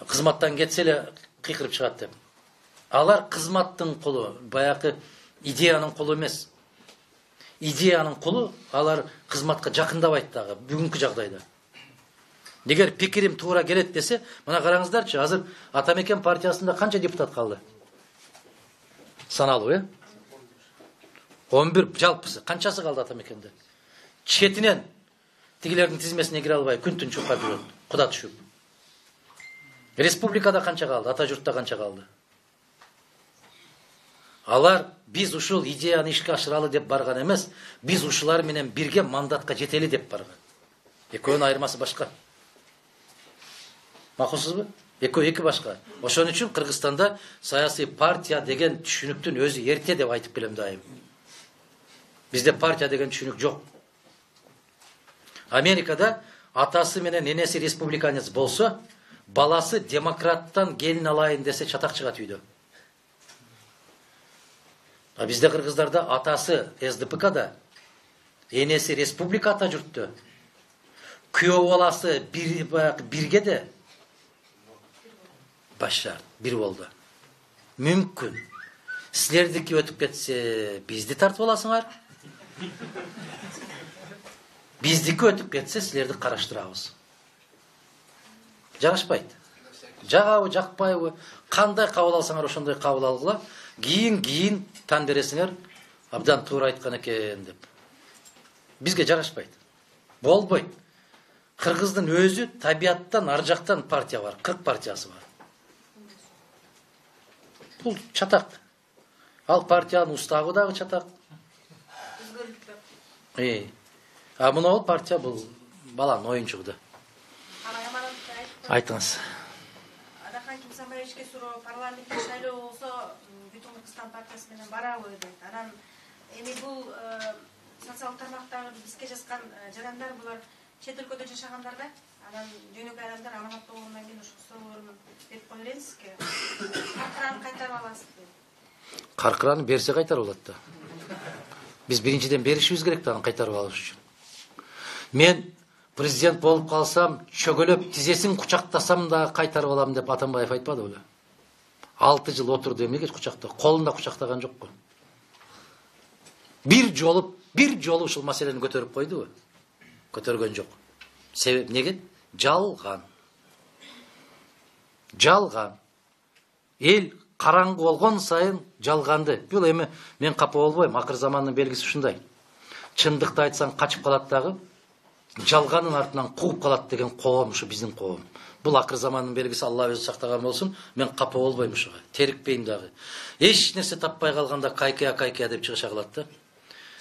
кызматтан кетсе эле кыйкырып чыгат деп. Алар кызматтын кулу, баягы идеянын кулу эмес. Идеянын кулу, алар кызматка жакындабайт дагы бүгүнкү жагдайда. Эгер пикирим туура келет десе, мына караңыздарчы, азыр Атамекен партиясында канча депутат калды? Саналуу, э? он бир жалпысы. Канчасы калды Атамекенде? Четинен тигилердин тизмесине кире албай күн түн чуккап жүрөт. Куда түшүп. Республикада канча калды? Ата журтта канча калды? Алар биз ушул идеяны ишке ашыралы деп барган эмес, биз ушулар менен бирге мандатка жетели деп барган. Экөөнүн айырмасы башка. Макулсузбу? Экөө эки башка. Ошон үчүн Кыргызстанда саясий партия деген түшүнүктүн өзү эрте деп айтып келем дайым. Бизде партия деген түшүнүк жок. Америкада атасы менен энеси республиканец болсо, баласы демократтан келин алайын десе чатак чыгат үйдө. А бизде кыргыздарда атасы эс дэ пэ када, энеси республикада жүрттү. Күйөө баласы бир биргеде башар бир болду. Мүмкүн. Силердики өтүп кетсе, бизди тартып аласыңар. Биздики өтүп кетсе, силерди караштырабыз. Жагышпайт. Жагабы, жакпайбы, кандай кабыл алсаңар ошондой кабыл алгыла. Кийин кийин тан бересиңер, абдан туура айткан экен деп. Бизге жарашпайт. Болбойт. Кыргыздын өзү табияттан ар жактан партия бар, кырк партиясы бар. Бул чатак. Ал партиянын устабы дагы чатак. Э. А мына партия бул баланын оюнчугу. Айтыңыз. Адахан Кимсанбаевичке суроо, парламенттик шайлоо болсо, бүтүн Кыргызстан партиясы менен барабы дейт. Анан эми бул социалдык тармактагы бизге жазган жарандар булар чет өлкөдө жашагандар да. Анан жөнөкөй адамдар аманат болгондон кийин ошо суроолорун берип кое бересизби? Каркыраны кайтарып аласызбы? Каркыраны берсе кайтарып алат да. Биз биринчиден беришибиз керек да аны кайтарып алыш үчүн. Мен президент болуп калсам, чөгөлөп тизесин кучактасам да кайтарып алам деп Атамбаев айтпады беле? алты жыл отурду, эмнеге кучакта? Колунда кучактаган жокпу. Бир жолу, бир жолу ушул маселени көтөрүп койдубу? Көтөргөн жок. Себеп неге? Жалган. Жалган. Эл караңгы болгон сайын жалганды. Бул эми мен капа болбойм, акыр замандын белгиси ушундай. Чындыкты айтсаң качып калат дагы, жалганын артынан кууп калат деген коом ушу биздин коом. Бул акыр замандын белгиси, Алла өзү сактаган болсун. Мен капа болбойм ушуга. Терикпейм дагы. Эч нерсе таппай калганда кайкая кайкая деп чыгыша калат да.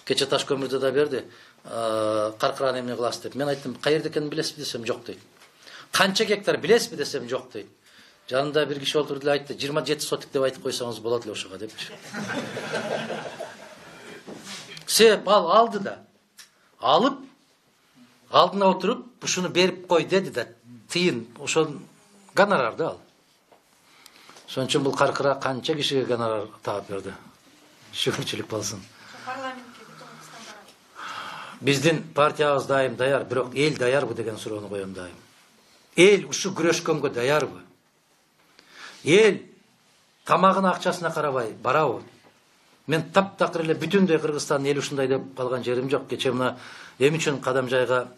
Кече таш көмүрдү да берди. Каркыраны эмне кыласыз деп. Мен айттым, каерде экенин билесизби десем, жок дейт. Канча гектар билесизби десем, жок дейт. Жанында бир киши отурду эле айтты, жыйырма жети сотик деп айтып койсоңуз болот эле ошого депчи. Себеп ал алды да. Алып алдына отуруп, ушуну берип кой деди да. Тыйын, ошол гонорарды ал. Ошон үчүн бул каркыра канча кишиге гонорар таап берди. Шүгүрчүлүк болсун. Биздин партиябыз дайым даяр, бирок эл даярбы деген суроону коем дайым. Эл ушу күрөшкөнгө даярбы? Эл тамагына акчасына карабай барабы? Мен таптакыр эле бүтүндөй Кыргызстандын эли ушундай деп калган жерим жок. Кече мына эми үчүн Кадамжайга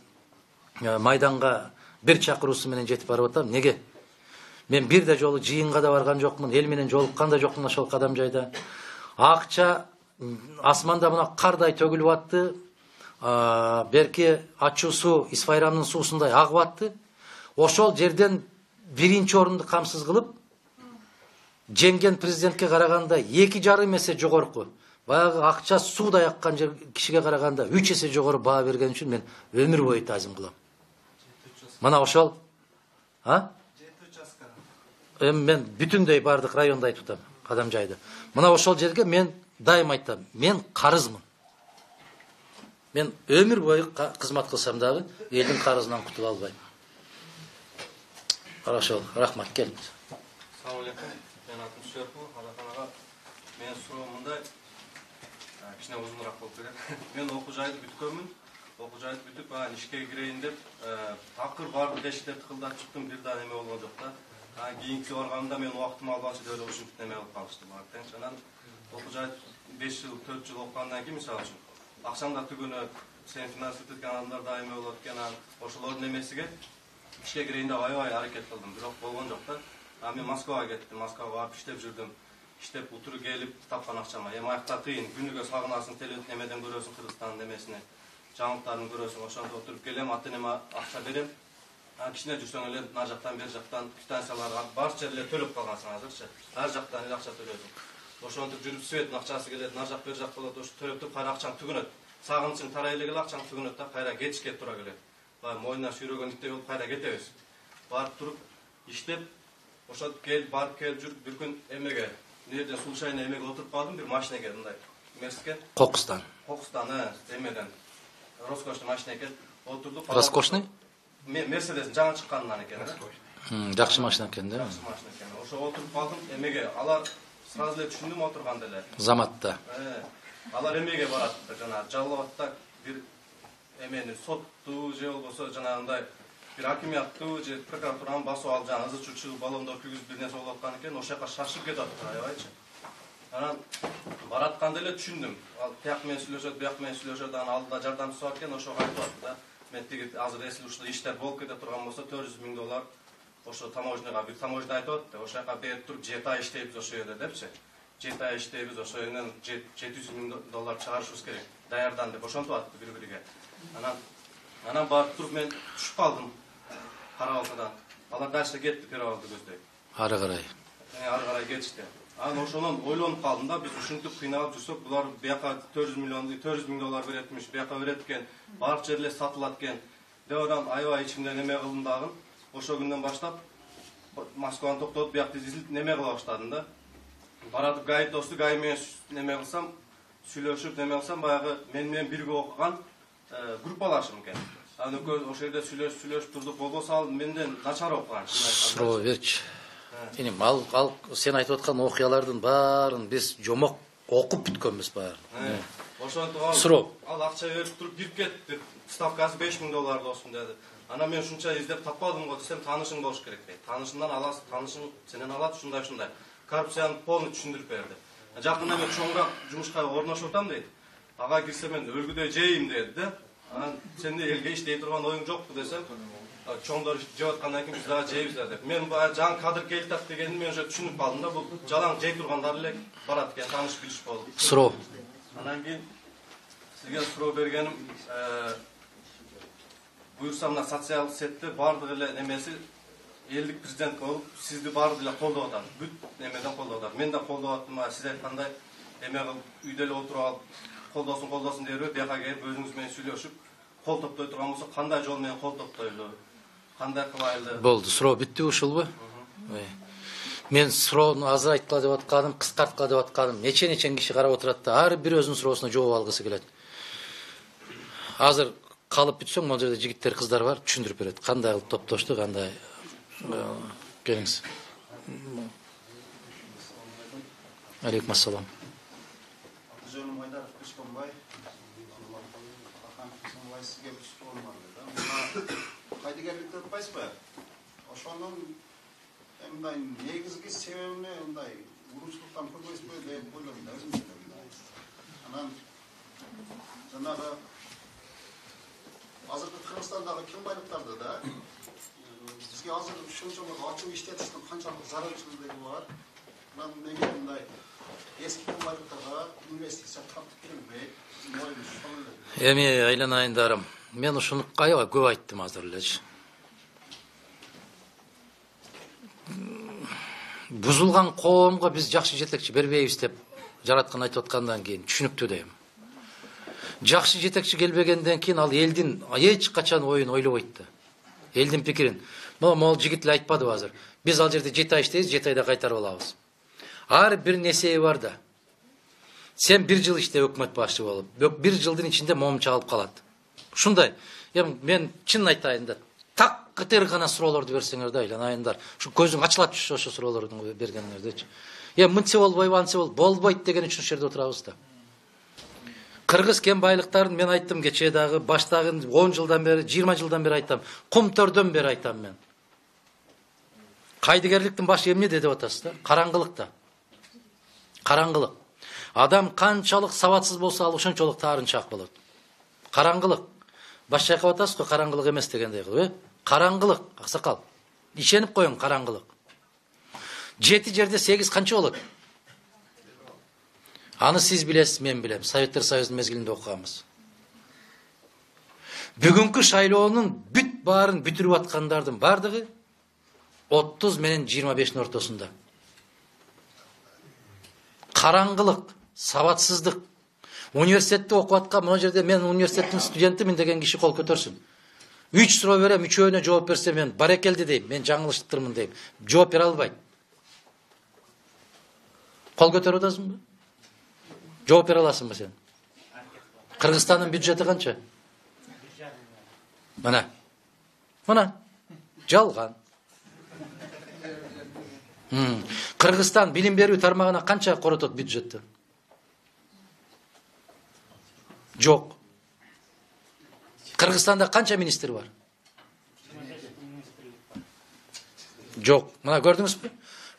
майданга бир чакыруусу менен жетип барып атам. Неге? Мен бир да жолу жыйынга да барган жокмун, эл менен жолуккан да жокмун ошол Кадамжайда. Акча асманда мына кардай төгүлүп атты. Берки ачуу суу Исфайрандын суусундай агып атты. Ошол жерден биринчи орунду камсыз кылып, жеңген президентке караганда эки жарым эсе жогорку, баягы акча суудай аккан кишиге караганда үч эсе жогору баа берген үчүн мен өмүр бою тазим кылам. Мына ошол, а? Эми мен бүтүндөй бардык районду айтып атам, Кадамжайды. Мына ошол жерге мен дайым айтам, мен карызмын. Мен өмүр бою кызмат кылсам дагы элдин карызынан кутула албайм. Ошол, рахмат, келиңиз. Assalamu alaikum. Мен атым Сүйөркул, Адахан ага. Мен суроом мындай, кичине узунураак болуп кетет. Мен окуу жайды бүткөнмүн. Окуу жайды бүтүп, анан ишке кирейин деп, такыр бардык эшиктерди тыкылдатып чыктым, бир да неме болгон жок да. Анан кийинки барганымда мен убактым албакчы деп эле ушинтип неме кылып калышты баары тең. Анан окуу жайды беш жыл, төрт жыл окугандан кийин мисалы үчүн акчаңдар түгөнөт, сен финансист эткен адамдар да эме болот экен, анан ошолордун эмесиге ишке кирейин деп аябай аракет кылдым, бирок болгон жок да. А мен Москвага кеттим, Москвага барып иштеп жүрдүм. Иштеп утуру келип тапкан акчама. Эми аякта кыйын, күнүгө сагынасың, телевизион эмеден көрөсүң Кыргызстандын эмесини, жаңылыктарын көрөсүң, ошондо отуруп келем, ата энеме акча берем. А кичине жүрсөң эле нар жактан бер жактан квитанцияларга барча эле төлөп калгансың азырчы. Ар жактан эле акча төлөсүң. Ошентип жүрүп светтин акчасы келет, нар жак бер жак болот, ошо төлөп туруп кайра акчаң түгөнөт. Сагынычың тарай эле келе акчаң түгөнөт да, кайра кетишке туура келет. Баягы мойнуна сүйрөгөн иттей болуп кайра кетебиз. Барып туруп иштеп ошо кел барып келип жүрүп бир күн эмеге мына жерде случайно эмеге отуруп калдым, бир машинеге мындай мерске Кокустан. Кокустан, эмеден роскошный машина экен. Отурдук. Роскошный? Мерседестин жаңы чыкканынан экен да. Жакшы машина экен да. Жакшы машина экен. Ошо отуруп калдым, эмеге алар сразу эле түшүндүм отурганда эле. Заматта. Алар эмеге барат, жана Жалал-Абадта бир эмени сотту же болбосо жанагындай бир акимияттуу же прокуратуранын басып алып жана ызы чучу баллондор күйгүзүп бир нерсе болуп аткан экен, ошол жака шашып кетип атты, аябайчы. Анан баратканда эле түшүндүм. Ал тияк менен сүйлөшөт, бияк менен сүйлөшөт, анан алдыда жардамчысы бар экен, ошого айтып атты да. Мен тиги азыр эсил ушул иштер болуп кете турган болсо төрт жүз миң доллар ошо таможняга бир таможня айтып атты. Ошол жака берип туруп жети ай иштейбиз ошол жерде депчи. жети ай иштейбиз, ошол жерден жети жүз миң доллар чыгарышыбыз керек. Даярдан деп ошентип атты бири-бириге. Анан анан барып туруп мен түшүп калдым. Карабалтадан. Алар дальше кетти перевалды көздөй. Ары карай. Ары карай кетишти. Анан ошондон ойлонуп калдым да, биз ушинтип кыйналып жүрсөк, булар бияка төрт жүз миллион, төрт жүз миң доллар беретмиш, бияка берет экен, баардык жерлер сатылат экен. Деп анан аябай ичимден неме кылдым дагы. Ошол күндөн баштап Москваны токтотуп биякты изилип неме кыла баштадым да. Баратып гайдосту гай менен неме кылсам, сүйлөшүп неме кылсам, баягы мен менен бирге окуган группалашым экен. Анан экөөбүз ошол жерде сүйлөшүп сүйлөшүп турдук, болбосо ал менден начар окуган. Суроо берчи. Энем ал ал сен айтып аткан окуялардын баарын биз жомок окуп бүткөнбүз баарын. Ошентип ал суроо. Ал акча берип туруп кирип кетти. Ставкасы беш миң доллар досум деди. Анан мен ушунча издеп таппадым го десем, таанышың болуш керек дейт. Таанышыңдан аласың, таанышың сенен алат ушундай ушундай. Коррупцияны полный түшүндүрүп берди. Жакында мен чоңураак жумушка орношуп атам дейт. Ага кирсе мен өлгүдөй жейм деди да. Анан сенде элге иштей турган оюң жокпу десем, чоңдор жеп аткандан кийин биз дагы жейбиз деп. Мен баягы жаңы кадр келип атат дегенди мен уже түшүнүп калдым да, бул жалаң жей тургандар эле барат экен, тааныш билиш болду. Суроо. Анан кийин сизге суроо бергеним, буюрса мына социалдык сетте баардык эле немеси элдик президент болуп, сизди баардык эле колдоп атат. Бүт немеден колдоп атат. Мен да колдоп аттым, сиз айткандай эме кылып үйдө эле отуруп алып колдосун колдосун дербей, бияка келип өзүңүз менен сүйлөшүп, кол топтой турган болсо, кандай жол менен кол топтойлу? Кандай кылайлы? Болду, суроо бүттү ушулбу? Мен суроону азыр айткыла деп атканым, кыскарткыла деп атканым, нече-нече киши карап отурат да, ар бир өзүнүн суроосуна жооп алгысы келет. Азыр калып бүтсөң, могу жерде жигиттер, кыздар бар, түшүндүрүп берет. Кандай кылып топтошту, кандай келиңиз. Алейкум ассалам. Жөнүм Айдаров Кышконбай. Ахан Кышконбай сизге бир суроом бар да. Кайдыгерликти айтпайсызбы? Ошонун мындай негизги себебине мындай урушчулуктан көрбөйсүзбү деп ойлойм да өзүм. Анан жанагы азыркы Кыргызстандагы кен байлыктарды да бизге азыр ушунчалык ачуу иштетиштин канчалык зарылчылыгы бар. Анан неге мындай эски кен байлыктарга инвестиция тартып келбей, моюн ушул эле. Эми айланайындарым, мен ушуну аябай көп айттым азыр элечи. Бузулган коомго биз жакшы жетекчи бербейбиз деп жараткан айтып аткандан кийин түшүнүктүү дейм. Жакшы жетекчи келбегенден кийин ал элдин эч качан оюн ойлобойт да. Элдин пикирин. Могул жигит эле айтпадыбы азыр? Биз ал жерде жети ай иштейбиз, жети айда кайтарып алабыз. Ар бир несеби бар да. Сен бир жыл иште өкмөт башчы болуп, бир жылдын ичинде момун чагылып калат. Ушундай. Эми мен чын айтайын да, так кытыр гана суроолорду берсеңер да, айланайындар. Ушу көзүң ачылат түшү ошо суроолордун бергениңердечи. Эми мынча болбойбу, анча болбойбу, болбойт деген үчүн ушул жерде отурабыз да. Кыргыз кен байлыктарын мен айттым кечээ дагы, баштагы он жылдан бери, жыйырма жылдан бери айтам. Кумтөрдөн бери айтам мен. Кайдыгерликтин башы эмне деп атасыз да? Караңгылыкта. Караңгылык. Адам канчалык сабатсыз болсо, ал ошончолук таарынчаак болот. Караңгылык. Баш чайкап атасыз го, караңгылык эмес дегендей кылып, э? Караңгылык, аксакал. Ишенип коюң, караңгылык. Жети жерде сегиз канча болот? Аны сиз билесиз, мен билем. Советтер Союзунун мезгилинде окуганбыз. Бүгүнкү шайлоонун бүт баарын бүтүрүп аткандардын бардыгы отуз менен жыйырма бештин ортосунда. Караңгылык, сабатсыздык. Университетте окуп аткан, могу жерде мен университеттин студентимин деген киши кол көтөрсүн. Үч суроо берем, үчөөнө жооп берсе мен барекелди дейм, мен жаңылыштырмын дейм. Жооп бере албайт. Кол көтөрүп атасыңбы? Жооп бере аласыңбы сен? Кыргызстандын бюджети канча? Мына. Мына. Жалган. Кыргызстан билим берүү тармагына канча коротот бюджетти? Жок. Кыргызстанда канча министр бар? Жок. Мына көрдүңүзбү?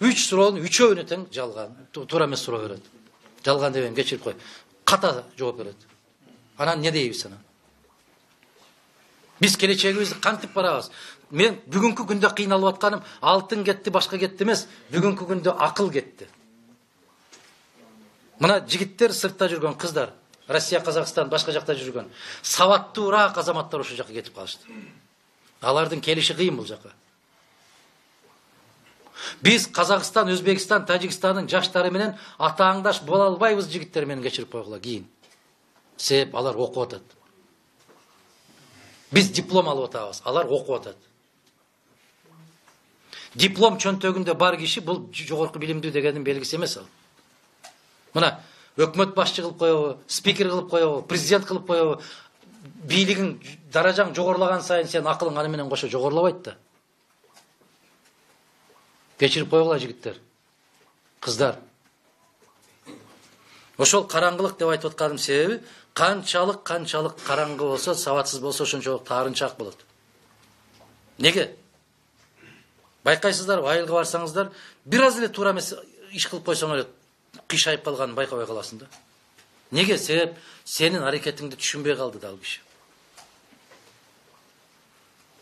Үч суроонун үчөөнү тең жалган. Туура эмес суроо берет. Жалган дебем, кечирип кой. Ката жооп берет. Анан не дейбиз анан? Биз келечегибизди кантип барабыз? Мен бүгүнкү күндө кыйналып атканым алтын кетти, башка кетти эмес, бүгүнкү күндө акыл кетти. Мына жигиттер сыртта жүргөн, кыздар, Россия, Казакстан, башка жакта жүргөн сабаттуураак азаматтар ошол жака кетип калышты. Алардын келиши кыйын бул жака. Биз Казакстан, Өзбекстан, Тажикстандын жаштары менен атааңдаш боло албайбыз, жигиттер менен кечирип койгула кийин. Себеп алар окуп атат. Биз диплом алып атабыз, алар окуп атат. Диплом чөнтөгүндө бар киши бул жогорку билимдүү дегендин белгиси эмес ал. Мына өкмөт башчы кылып коебу, спикер кылып коебу, президент кылып коебу, бийлигиң, даражаң жогорулаган сайын сен акылың аны менен кошо жогорулабайт да. Кечирип койгула жигиттер, кыздар. Ошол караңгылык деп айтып атканым себеби, канчалык канчалык караңгы болсо, сабатсыз болсо ошончолук таарынчаак болот. Неге? Байкайсыздар, айылга барсаңыздар, бир аз эле туура эмес иш кылып койсоң эле кыйшайып калганын байкабай каласың да. Неге? Себеп сенин аракетиңди түшүнбөй калды да ал киши.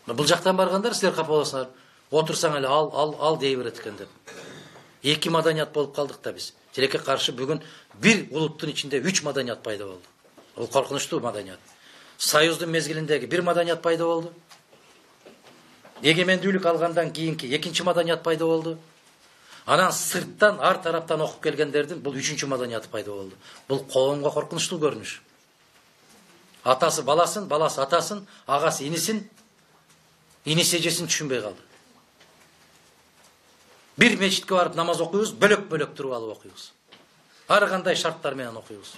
Бул жактан баргандар силер капа болосуңар. Отурсаң эле ал ал ал дей берет экен деп. Эки маданият болуп калдык да биз. Тилекке каршы бүгүн бир улуттун ичинде үч маданият пайда болду. Ол коркунучтуу маданият. Союздун мезгилиндеги бир маданият пайда болду. Эгемендүүлүк алгандан кийинки экинчи маданият пайда болду. Анан сырттан, ар тараптан окуп келгендердин бул үчүнчү маданият пайда болду. Бул коомго коркунучтуу көрүнүш. Атасы баласын, баласы атасын, агасы инисин, иниси эжесин түшүнбөй калды. Бир мечитке барып намаз окуйбуз, бөлөк-бөлөк туруп алып окуйбуз. Ар кандай шарттар менен окуйбуз.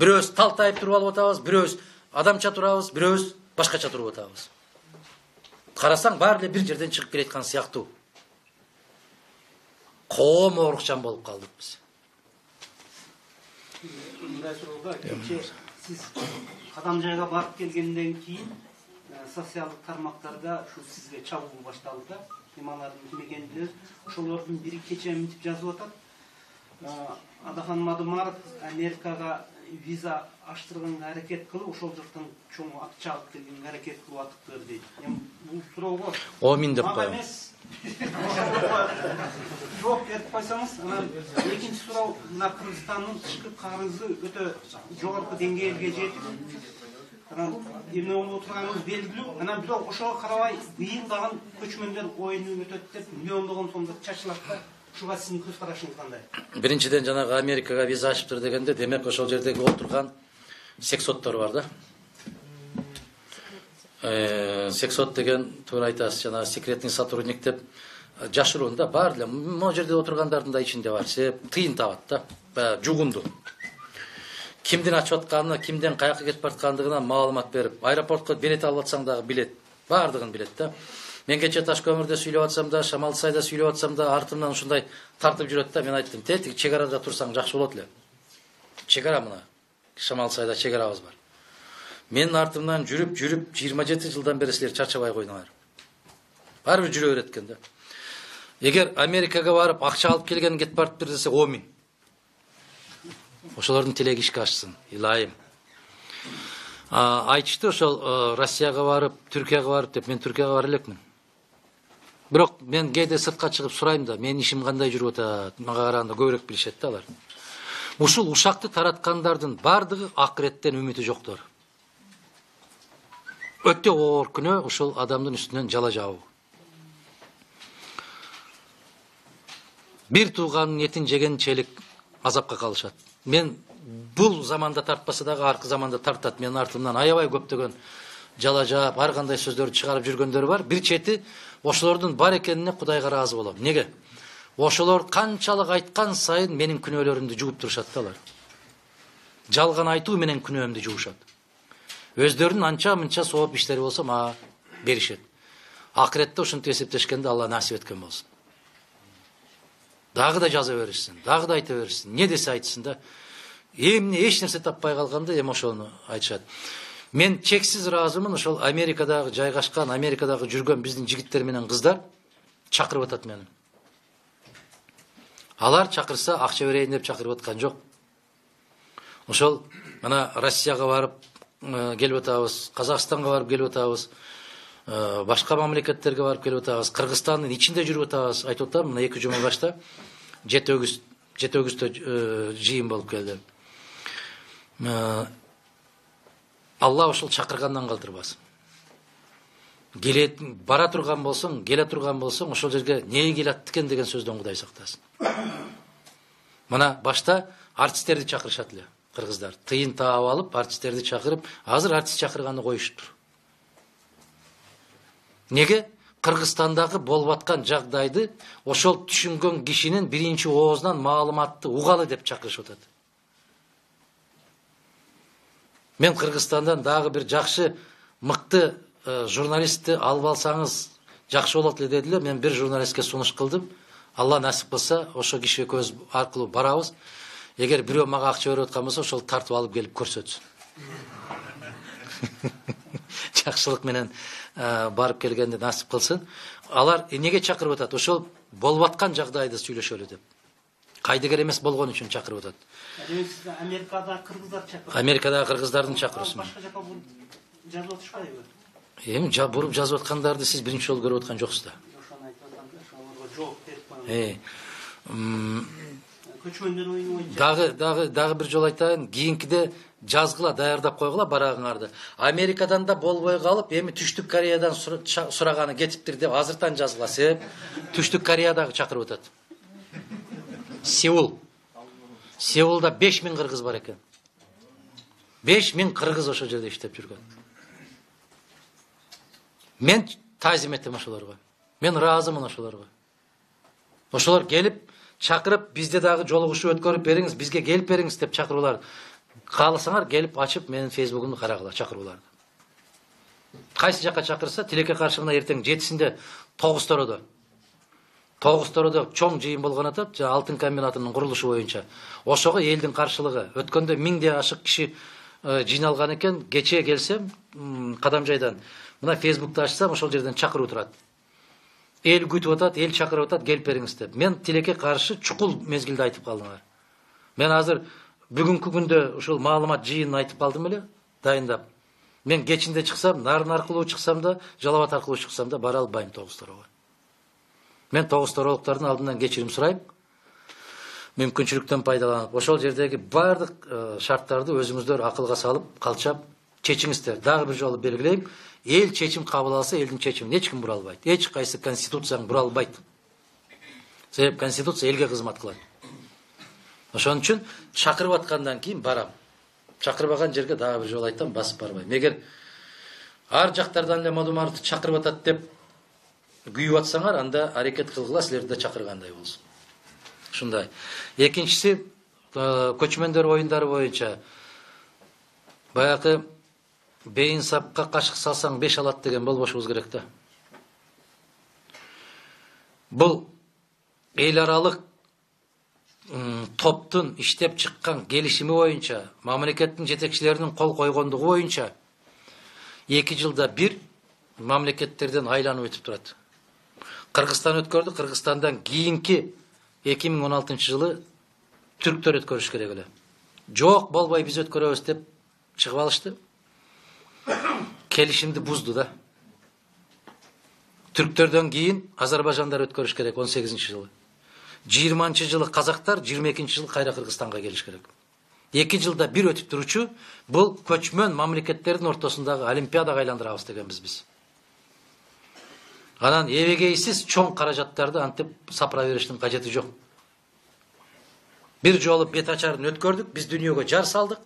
Бирөөбүз талтайып туруп алып атабыз, бирөөбүз адамча турабыз, бирөөбүз башкача туруп атабыз. Карасаң баары эле бир жерден чыгып келаткан сыяктуу. Коом оорукчан болуп калдык биз. Мындай суроого кече сиз кадам жайга барып келгенден кийин социалдык тармактарда ушу сизге чабуу башталды да. Алардын ким экенин билебиз. Ошолордун бири кече мынтип жазып атат. Адахан Мадумаров Америкага виза аштырганга аракет кылып, ошол жактан чоң акча алып келгенге аракет кылып атыптыр дейт. Эми бул суроого Омин деп коем. Жооп берип койсоңуз, анан экинчи суроо, мына Кыргызстандын тышкы карызы өтө жогорку деңгээлге жетип, анан эмне болуп отурганыбыз белгилүү. Анан бирок ошого карабай быйылдаган көчмөндөр оюну өтөт деп миллиондогон сомдор чачылат да. Ушуга сиздин көз карашыңыз кандай? Биринчиден жанагы Америкага виза ачыптыр дегенде, демек ошол жердеги отурган сексоттор бар да. Э, сексот деген туура айтасыз, жанагы секретный сотрудник деп жашыруун да, бар эле могу жерде отургандардын да ичинде бар. Себеп тыйын табат да, баягы жугунду. Кимдин ачып атканына, кимден каяка кетип бараткандыгына маалымат берип, аэропортко билет алып атсаң дагы билет, баардыгын билет да. Мен кече Таш көмүрдө сүйлөп атсам да, Шамал Сайда сүйлөп атсам да, артымдан ушундай тартып жүрөт да. Мен айттым, тетиги чек арада турсаң жакшы болот эле. Чек ара мына. Шамал Сайда чек арабыз бар. Менин артымдан жүрүп, жүрүп жыйырма жети жылдан бери силер чарчабай койдуңар. Баары бир жүрө берет экен да. Эгер Америкага барып акча алып келген кетип барыптыр десе, омин. Ошолордун тилеги ишке ашсын, илайым. Айтышты ошол Россияга барып, Түркияга барып деп, мен Түркияга бара элекмин. Бирок мен кээде сыртка чыгып сурайм да, менин ишим кандай жүрүп атат, мага караганда көбүрөөк билишет да алар. Ушул ушакты тараткандардын бардыгы акыреттен үмүтү жоктор. Өтө оор күнөө ушул адамдын үстүнөн жала жабуу. Бир тууганын этин жегенчелик азапка калышат. Мен бул заманда тартпаса дагы аркы заманда тартат. Менин артымдан аябай көптөгөн жала жаап ар кандай сөздөрдү чыгарып жүргөндөр бар. Бир чети ошолордун бар экенине Кудайга ыраазы болом. Неге? Ошолор канчалык айткан сайын менин күнөөлөрүмдү жууп турушат да алар. Жалган айтуу менен күнөөмдү жуушат. Өздөрүнүн анча мынча сооп иштери болсо мага беришет. Акыретте ушинтип эсептешкенде Алла насип эткен болсун. Дагы да жаза беришсин, дагы да айта беришсин. Не десе айтсын да. Эмне эч нерсе таппай калганда эми ошону айтышат. Мен чексиз ыраазымын, ошол Америкадагы жайгашкан, Америкадагы жүргөн биздин жигиттер менен кыздар чакырып атат мени. Алар чакырса акча берейин деп чакырып аткан жок. Ошол мына Россияга барып келип атабыз, Казакстанга барып келип атабыз, башка мамлекеттерге барып келип атабыз, Кыргызстандын ичинде жүрүп атабыз. Айтып атам, мына эки жума башта жети өгүз жети өгүздө жыйын болуп келди. Алла ошол чакыргандан калтырбасын. Келет бара турган болсоң, келе турган болсоң, ошол жерге не келет экен деген сөздөн Кудай сактасын. Мына башта артисттерди чакырышат эле. Кыргыздар тыйын таап алып, артисттерди чакырып, азыр артист чакырганды коюшуптур. Неге? Кыргызстандагы болуп аткан жагдайды ошол түшүнгөн кишинин биринчи оозунан маалыматты угалы деп чакырышып атат. Мен Кыргызстандан дагы бир жакшы, мыкты журналистти алып алсаңыз жакшы болот эле дедилер. Мен бир журналистке сунуш кылдым. Алла насип кылса, ошо киши көз аркылуу барабыз. Эгер бирөө мага акча берип аткан болсо, ошол тартып алып келип көрсөтсүн. Жакшылык менен барып келгенде насип кылсын. Алар эмнеге чакырып атат? Ошол болуп аткан жагдайды сүйлөшөлү деп. Кайдыгер эмес болгон үчүн чакырып атат. Америкадагы кыргыздар чакырып. Америкадагы кыргыздардын чакырысын. Башка жака жазып атышпайбы? Эми буруп жазып аткандарды сиз биринчи жолу көрүп аткан жоксуз да. Ошону айтып атам да, ошолорго жооп берип коюңуз. Э. Көчмөндөр оюну боюнча. Дагы дагы дагы бир жол айтайын, кийинкиде жазгыла, даярдап койгула барагыңарды. Америкадан да болбой калып, эми Түштүк Кореядан сураганы кетиптир деп азыртан жазгыла. Себеп Түштүк Кореядагы чакырып атат. Сеул. Сеулда беш миң кыргыз бар экен. беш миң кыргыз ошол жерде иштеп жүргөн. Мен таазим этем ошолорго. Мен ыраазымын ошолорго. Ошолор келип чакырып, бизде дагы жолугушуу өткөрүп бериңиз, бизге келип бериңиз деп чакыруулар. Кааласаңар келип ачып менин фейсбугумду карагыла чакырууларды. Кайсы жакка чакырса, тилекке каршы мына эртең жетисинде тогуз тородо. тогуз тородо чоң жыйын болгон атат, алтын комбинатынын курулушу боюнча. Ошого элдин каршылыгы. Өткөндө миңде ашык киши жыйналган экен. Кечээ келсем, Кадамжайдан мына фейсбукту ачсам, ошол жерден чакыруу турат. Эл күтүп атат, эл чакырып атат, келип бериңиз деп. Мен тилекке каршы чукул мезгилде айтып калдыңар. Мен азыр бүгүнкү күндө ушул маалымат жыйынын айтып калдым эле, дайындап. Мен кечинде чыксам, Нарын аркылуу чыксам да, Жалал Абад аркылуу чыксам да бара албайм тогуз торого. Мен тогуз торолуктардын алдынан кечирим сурайм. Мүмкүнчүлүктөн пайдаланып, ошол жердеги бардык шарттарды өзүңүздөр акылга салып, калчап чечиңиздер. Дагы бир жолу белгилейм. Эл чечим кабыл алса, элдин чечимин эч ким бура албайт. Эч кайсы конституцияң бура албайт. Себеп конституция элге кызмат кылат. Ошон үчүн чакырып аткандан кийин барам. Чакырбаган жерге дагы бир жолу айтам, басып барбайм. Эгер ар жактардан эле мадумарды чакырып атат деп күйүп атсаңар, анда аракет кылгыла, силерди да чакыргандай болсун. Ушундай. Экинчиси, көчмөндөр оюндары боюнча баягы бейин сапка кашык салсаң беш алат деген болбошубуз керек да. Бул эл аралык топтун иштеп чыккан келишими боюнча, мамлекеттин жетекчилеринин кол койгондугу боюнча эки жылда бир мамлекеттерден айланып өтүп турат. Кыргызстан өткөрдү, Кыргызстандан кийинки эки миң он алтынчы жылы түрктөр өткөрүш керек эле. Жок, болбой биз өткөрөбүз деп чыгып алышты. Келишимди бузду да. Түрктөрдөн кийин Азербайжандар өткөрүш керек он сегизинчи жылы. жыйырманчы жылы казактар, жыйырма экинчи жылы кайра Кыргызстанга келиш керек. эки жылда бир өтүп туручу бул көчмөн мамлекеттердин ортосундагы олимпиадага айландырабыз дегенбиз биз. Анан эбегейсиз чоң каражаттарды антип сапыра бериштин кажети жок. Бир жолу бет ачарын өткөрдүк, биз дүйнөгө жар салдык.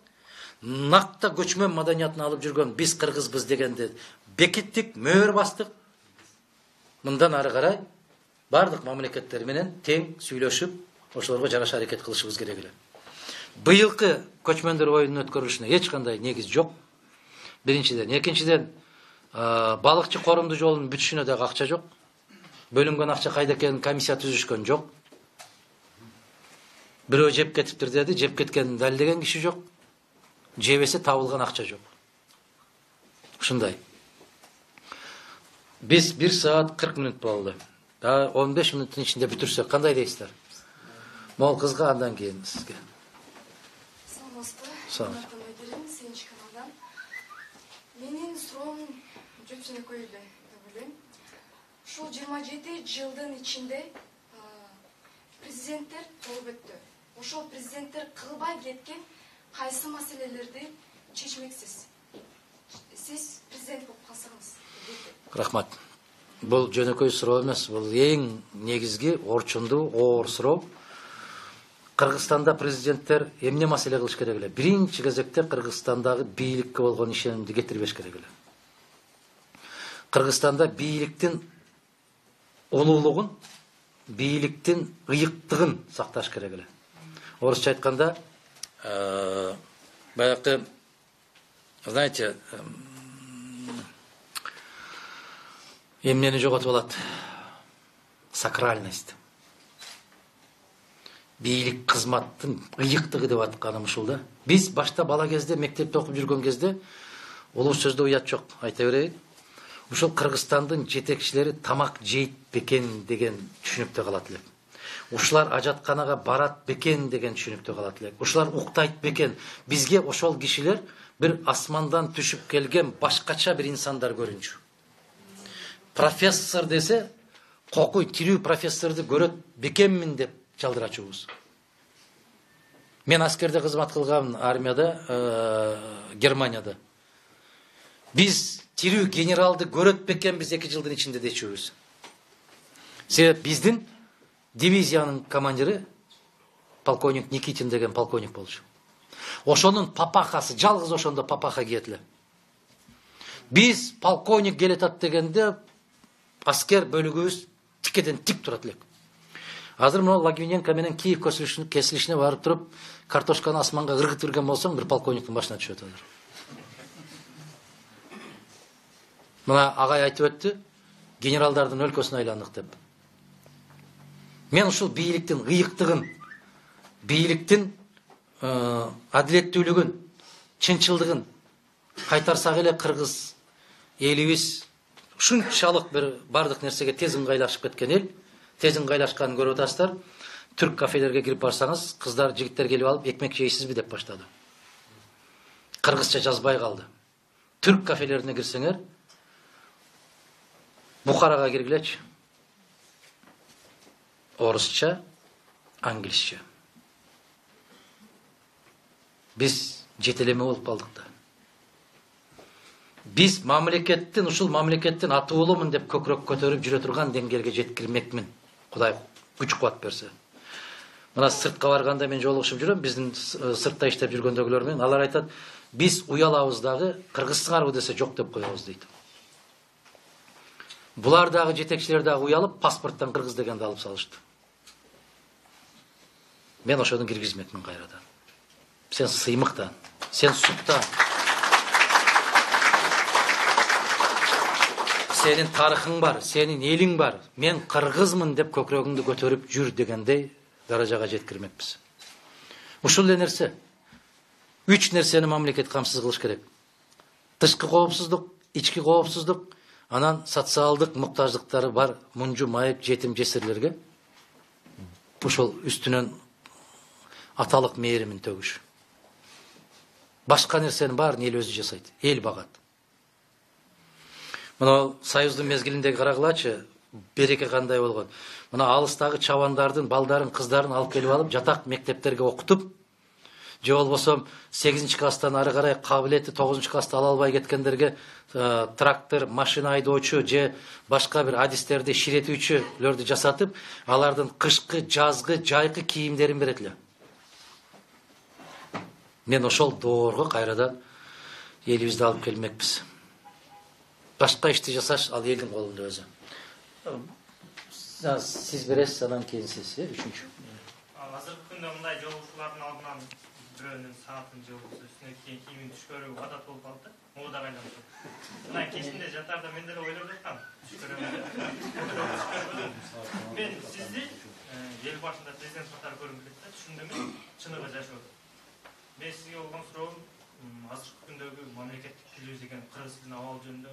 накта көчмөн маданиятын алып жүргөн биз кыргызбыз дегенди бекиттик, мөөр бастык. Мындан ары карай бардык мамлекеттер менен тең сүйлөшүп, ошолорго жараша аракет кылышыбыз керек эле. Быйылкы көчмөндөр оюнунун өткөрүлүшүнө эч кандай негиз жок. Биринчиден, экинчиден, балыкчы корумду жолунун бүтүшүнө дагы акча жок. Бөлүнгөн акча кайда экенин комиссия түзүшкөн жок. Бирөө жеп кетиптир деди, жеп кеткенин далилдеген киши жок. Жебесе табылган акча жок. Ушундай. Биз бир саат кырк мүнөт болду. Да он беш мүнөттүн ичинде бүтүрсөк кандай дейсиздер? Мол кызга андан кийин сизге. Саламатсызбы? Менин суроом жөпсөнөкөй эле деп ойлойм. Ушул жыйырма жети жылдын ичинде президенттер болуп өттү. Ошол президенттер кылбай кеткен кайсы маселелерди чечмексиз? Сиз президент болуп калсаңыз. Рахмат. Бул жөнөкөй суроо эмес, бул эң негизги, орчундуу, оор суроо. Кыргызстанда президенттер эмне маселе кылыш керек эле? Биринчи кезекте Кыргызстандагы бийликке болгон ишенимди кетирбеш керек эле. Кыргызстанда бийликтин улуулугун, бийликтин ыйыктыгын сакташ керек эле. Орусча айтканда, баягы, знаете, эмнени жоготуп алат? Сакральность. Бийлик кызматтын ыйыктыгы деп атканым ушул да. Биз башта бала кезде, мектепте окуп жүргөн кезде улуу сөздө уят жок, айта берейин. Ушул Кыргызстандын жетекчилери тамак жейт бекен деген түшүнүктө калат элек. Ушулар ажатканага барат бекен деген түшүнүктө калат элек. Ушулар уктайт бекен. Бизге ошол кишилер бир асмандан түшүп келген башкача бир инсандар көрүнчү. Профессор десе, кокуй тирүү профессорду көрөт бекенмин деп чалдырачубуз. Мен аскерде кызмат кылгам, армияда, Германияда. Биз тирүү генералды көрөт бекенбиз эки жылдын ичинде дечүбүз. Себеп биздин дивизиянын командири полковник Никитин деген полковник болчу. Ошонун папахасы, жалгыз ошондо папаха киет эле. Биз полковник келетат дегенде аскер бөлүгүбүз тикеден тик турат элек. Азыр мына Лагвиненко менен Киев кесилишине барып туруп, картошканы асманга ыргытып берген болсоң, бир полковниктин башына түшөт азыр. Мына агай айтып өттү, генералдардын өлкөсүнө айландык деп. Мен ушул бийликтин ыйыктыгын, бийликтин адилеттүүлүгүн, чынчылдыгын кайтарсак эле кыргыз элибиз ушунчалык бир бардык нерсеге тез ыңгайлашып кеткен эл, тез ыңгайлашканын көрүп атасыздар. Түрк кафелерге кирип барсаңыз, кыздар, жигиттер келип алып, экмек жейсизби деп баштады. Кыргызча жазбай калды. Түрк кафелерине кирсеңер, Бухарага киргилечи. Орусча, англисче. Биз жетелеме болуп калдык да. Биз мамлекеттин, ушул мамлекеттин атуулумун деп көкүрөк көтөрүп жүрө турган деңгээлге жеткирмекмин. Кудай күч кубат берсе. Мына сыртка барганда мен жолугушуп жүрөм, биздин сыртта иштеп жүргөндөгүлөр менен. Алар айтат, биз уялабыз дагы, кыргызсыңарбы десе жок деп коебуз дейт. Булар дагы жетекчилер дагы уялып, паспорттон кыргыз дегенди алып салышты. Мен ошону киргизмекмин кайрадан. Сен сыймыктан, сен суктан. Сенин тарыхың бар, сенин элиң бар. Мен кыргызмын деп көкүрөгүңдү көтөрүп жүр дегендей даражага жеткирмекпиз. Ушул эле нерсе. Үч нерсени мамлекет камсыз кылыш керек. Тышкы коопсуздук, ички коопсуздук, анан социалдык муктаждыктары бар мунжу майып жетим жесирлерге ошол үстүнөн аталык мээримин төгүш. Башка нерсенин баарын эл өзү жасайт, эл багат. Мына союздун мезгилиндеги карагылачы, береке кандай болгон. Мына алыстагы чабандардын балдарын, кыздарын алып келип алып, жатак мектептерге окутуп, же болбосо сегизинчи класстан ары карай кабилети тогузунчу класста ала албай кеткендерге трактор, машина айдоочу же башка бир адистерди ширетүүчүлөрдү жасатып, алардын кышкы, жазгы, жайкы кийимдерин берет эле. Мен ошол доорго кайрадан элибизди алып келмекпиз. Башка ишти жасаш ал элдин колунда өзү. Сиз бересиз, анан кийин сиз, э, үчүнчү. Азыркы күндө мындай жолугушуулардын алдынан бирөөнүн саатын жолугусу үстүнө кийин кийимин түшкөрүү адат болуп калды. Могу да байланыштуу. Мына кечинде жатарда мен деле ойлоп жаткам. Мен сизди эл башында президент катары көргүм келет да, түшүндүм, чыныгы жашоо. Мен сизге болгон суроом азыркы күндөгү мамлекеттик тилибиз деген кыргыз тилинин абалы жөнүндө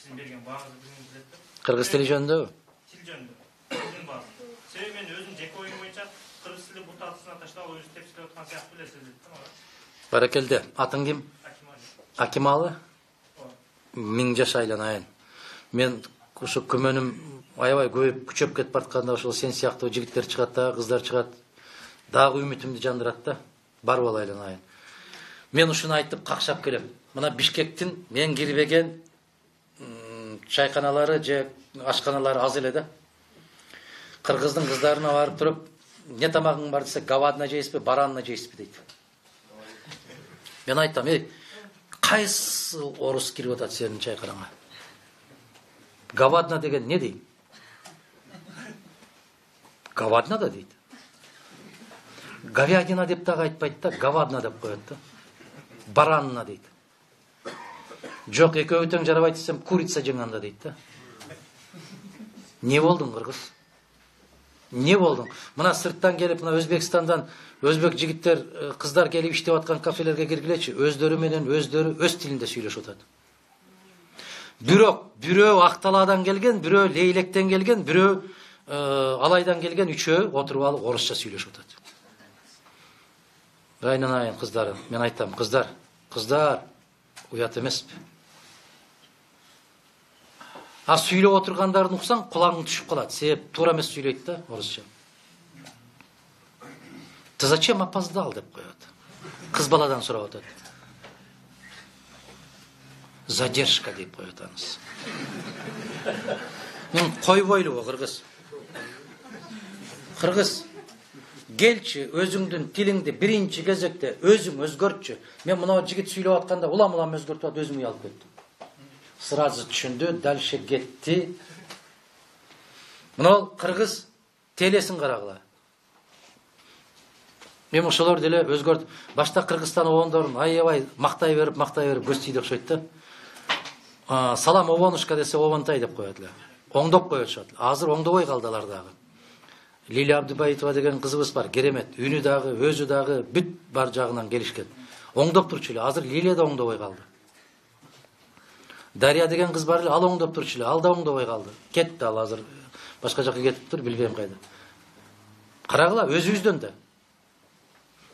сиздин берген бааңызды билгим келет да. Кыргыз тили жөнүндө? Тил жөнүндө. Тилдин баасы. Себеби мен өзүм жеке оюм боюнча кыргыз тили бут атысына таштап өзү тепсилеп аткан сыяктуу билесиз дейт да. Баракелде. Атың ким? Акималы? Миң жаш айланайын. Мен ошо күмөнүм аябай көбөйүп күчөп кетип баратканда ошол сен сыяктуу жигиттер чыгат да, кыздар чыгат. Дагы үмүтүмдү жандырат да. Бар бол айланайын. Мен ушуну айтып какшап келем. Мына Бишкектин мен кирбеген чайканалары же ашканалары аз эле да. Кыргыздын кыздарына барып туруп, не тамагың бар десе, говадина жейсизби, баранина жейсизби дейт. Мен айтам, эй, кайсы орус кирип атат сенин чайканаңа? Говадина деген не дейт? Говадина да дейт. Говядина деп дагы айтпайт да, говадина деп коет да. Баранина дейт. Жок, экөөбү тең жарабайт десем, курица жеңанда дейт да. Не болдуң, кыргыз? Не болдуң? Мына сырттан келип, мына Өзбекстандан өзбек жигиттер, кыздар келип иштеп аткан кафелерге киргилечи, өздөрү менен өздөрү өз тилинде сүйлөшүп атат. Бирок бирөө Акталаадан келген, бирөө Лейлектен келген, бирөө Алайдан келген, үчөө отуруп алып орусча сүйлөшүп атат. Айнанайын кыздары, мен айтам, кыздар, кыздар уят эмеспи? А сүйлөп отургандарын уксаң, кулагың түшүп калат. Себеп туура эмес сүйлөйт да орусча. Ты зачем опоздал деп коет. Кыз баладан сурап атат. Задержка деп коет анысы. Мен койбойлубу кыргыз? Кыргыз, келчи өзүңдүн тилиңди биринчи кезекте өзүң өзгөртчү. Мен мына жигит сүйлөп атканда улам-улам өзгөртүп атып өзүм уялып кеттим. Сразу түшүндү, дальше кетти. Мына кыргыз телесин карагыла. Мен ошолор деле өзгөрт. Башта Кыргызстан обондорун аябай мактай берип, мактай берип көз тийди окшойт да. Салам обонушка десе обонтай деп коет эле. Оңдоп коюшат. Азыр оңдобой калдылар дагы. Лилия Абдубаитова деген кызыбыз бар, керемет. Үнү дагы, өзү дагы бүт бар жагынан келишкен. Оңдоп турчу эле. Азыр Лилия да оңдобой калды. Дарья деген кыз бар эле, ал оңдоп турчу эле, ал да оңдобой калды. Кетти ал азыр. Башка жака кетиптир, билбейм кайда. Карагыла, өзүбүздөн да.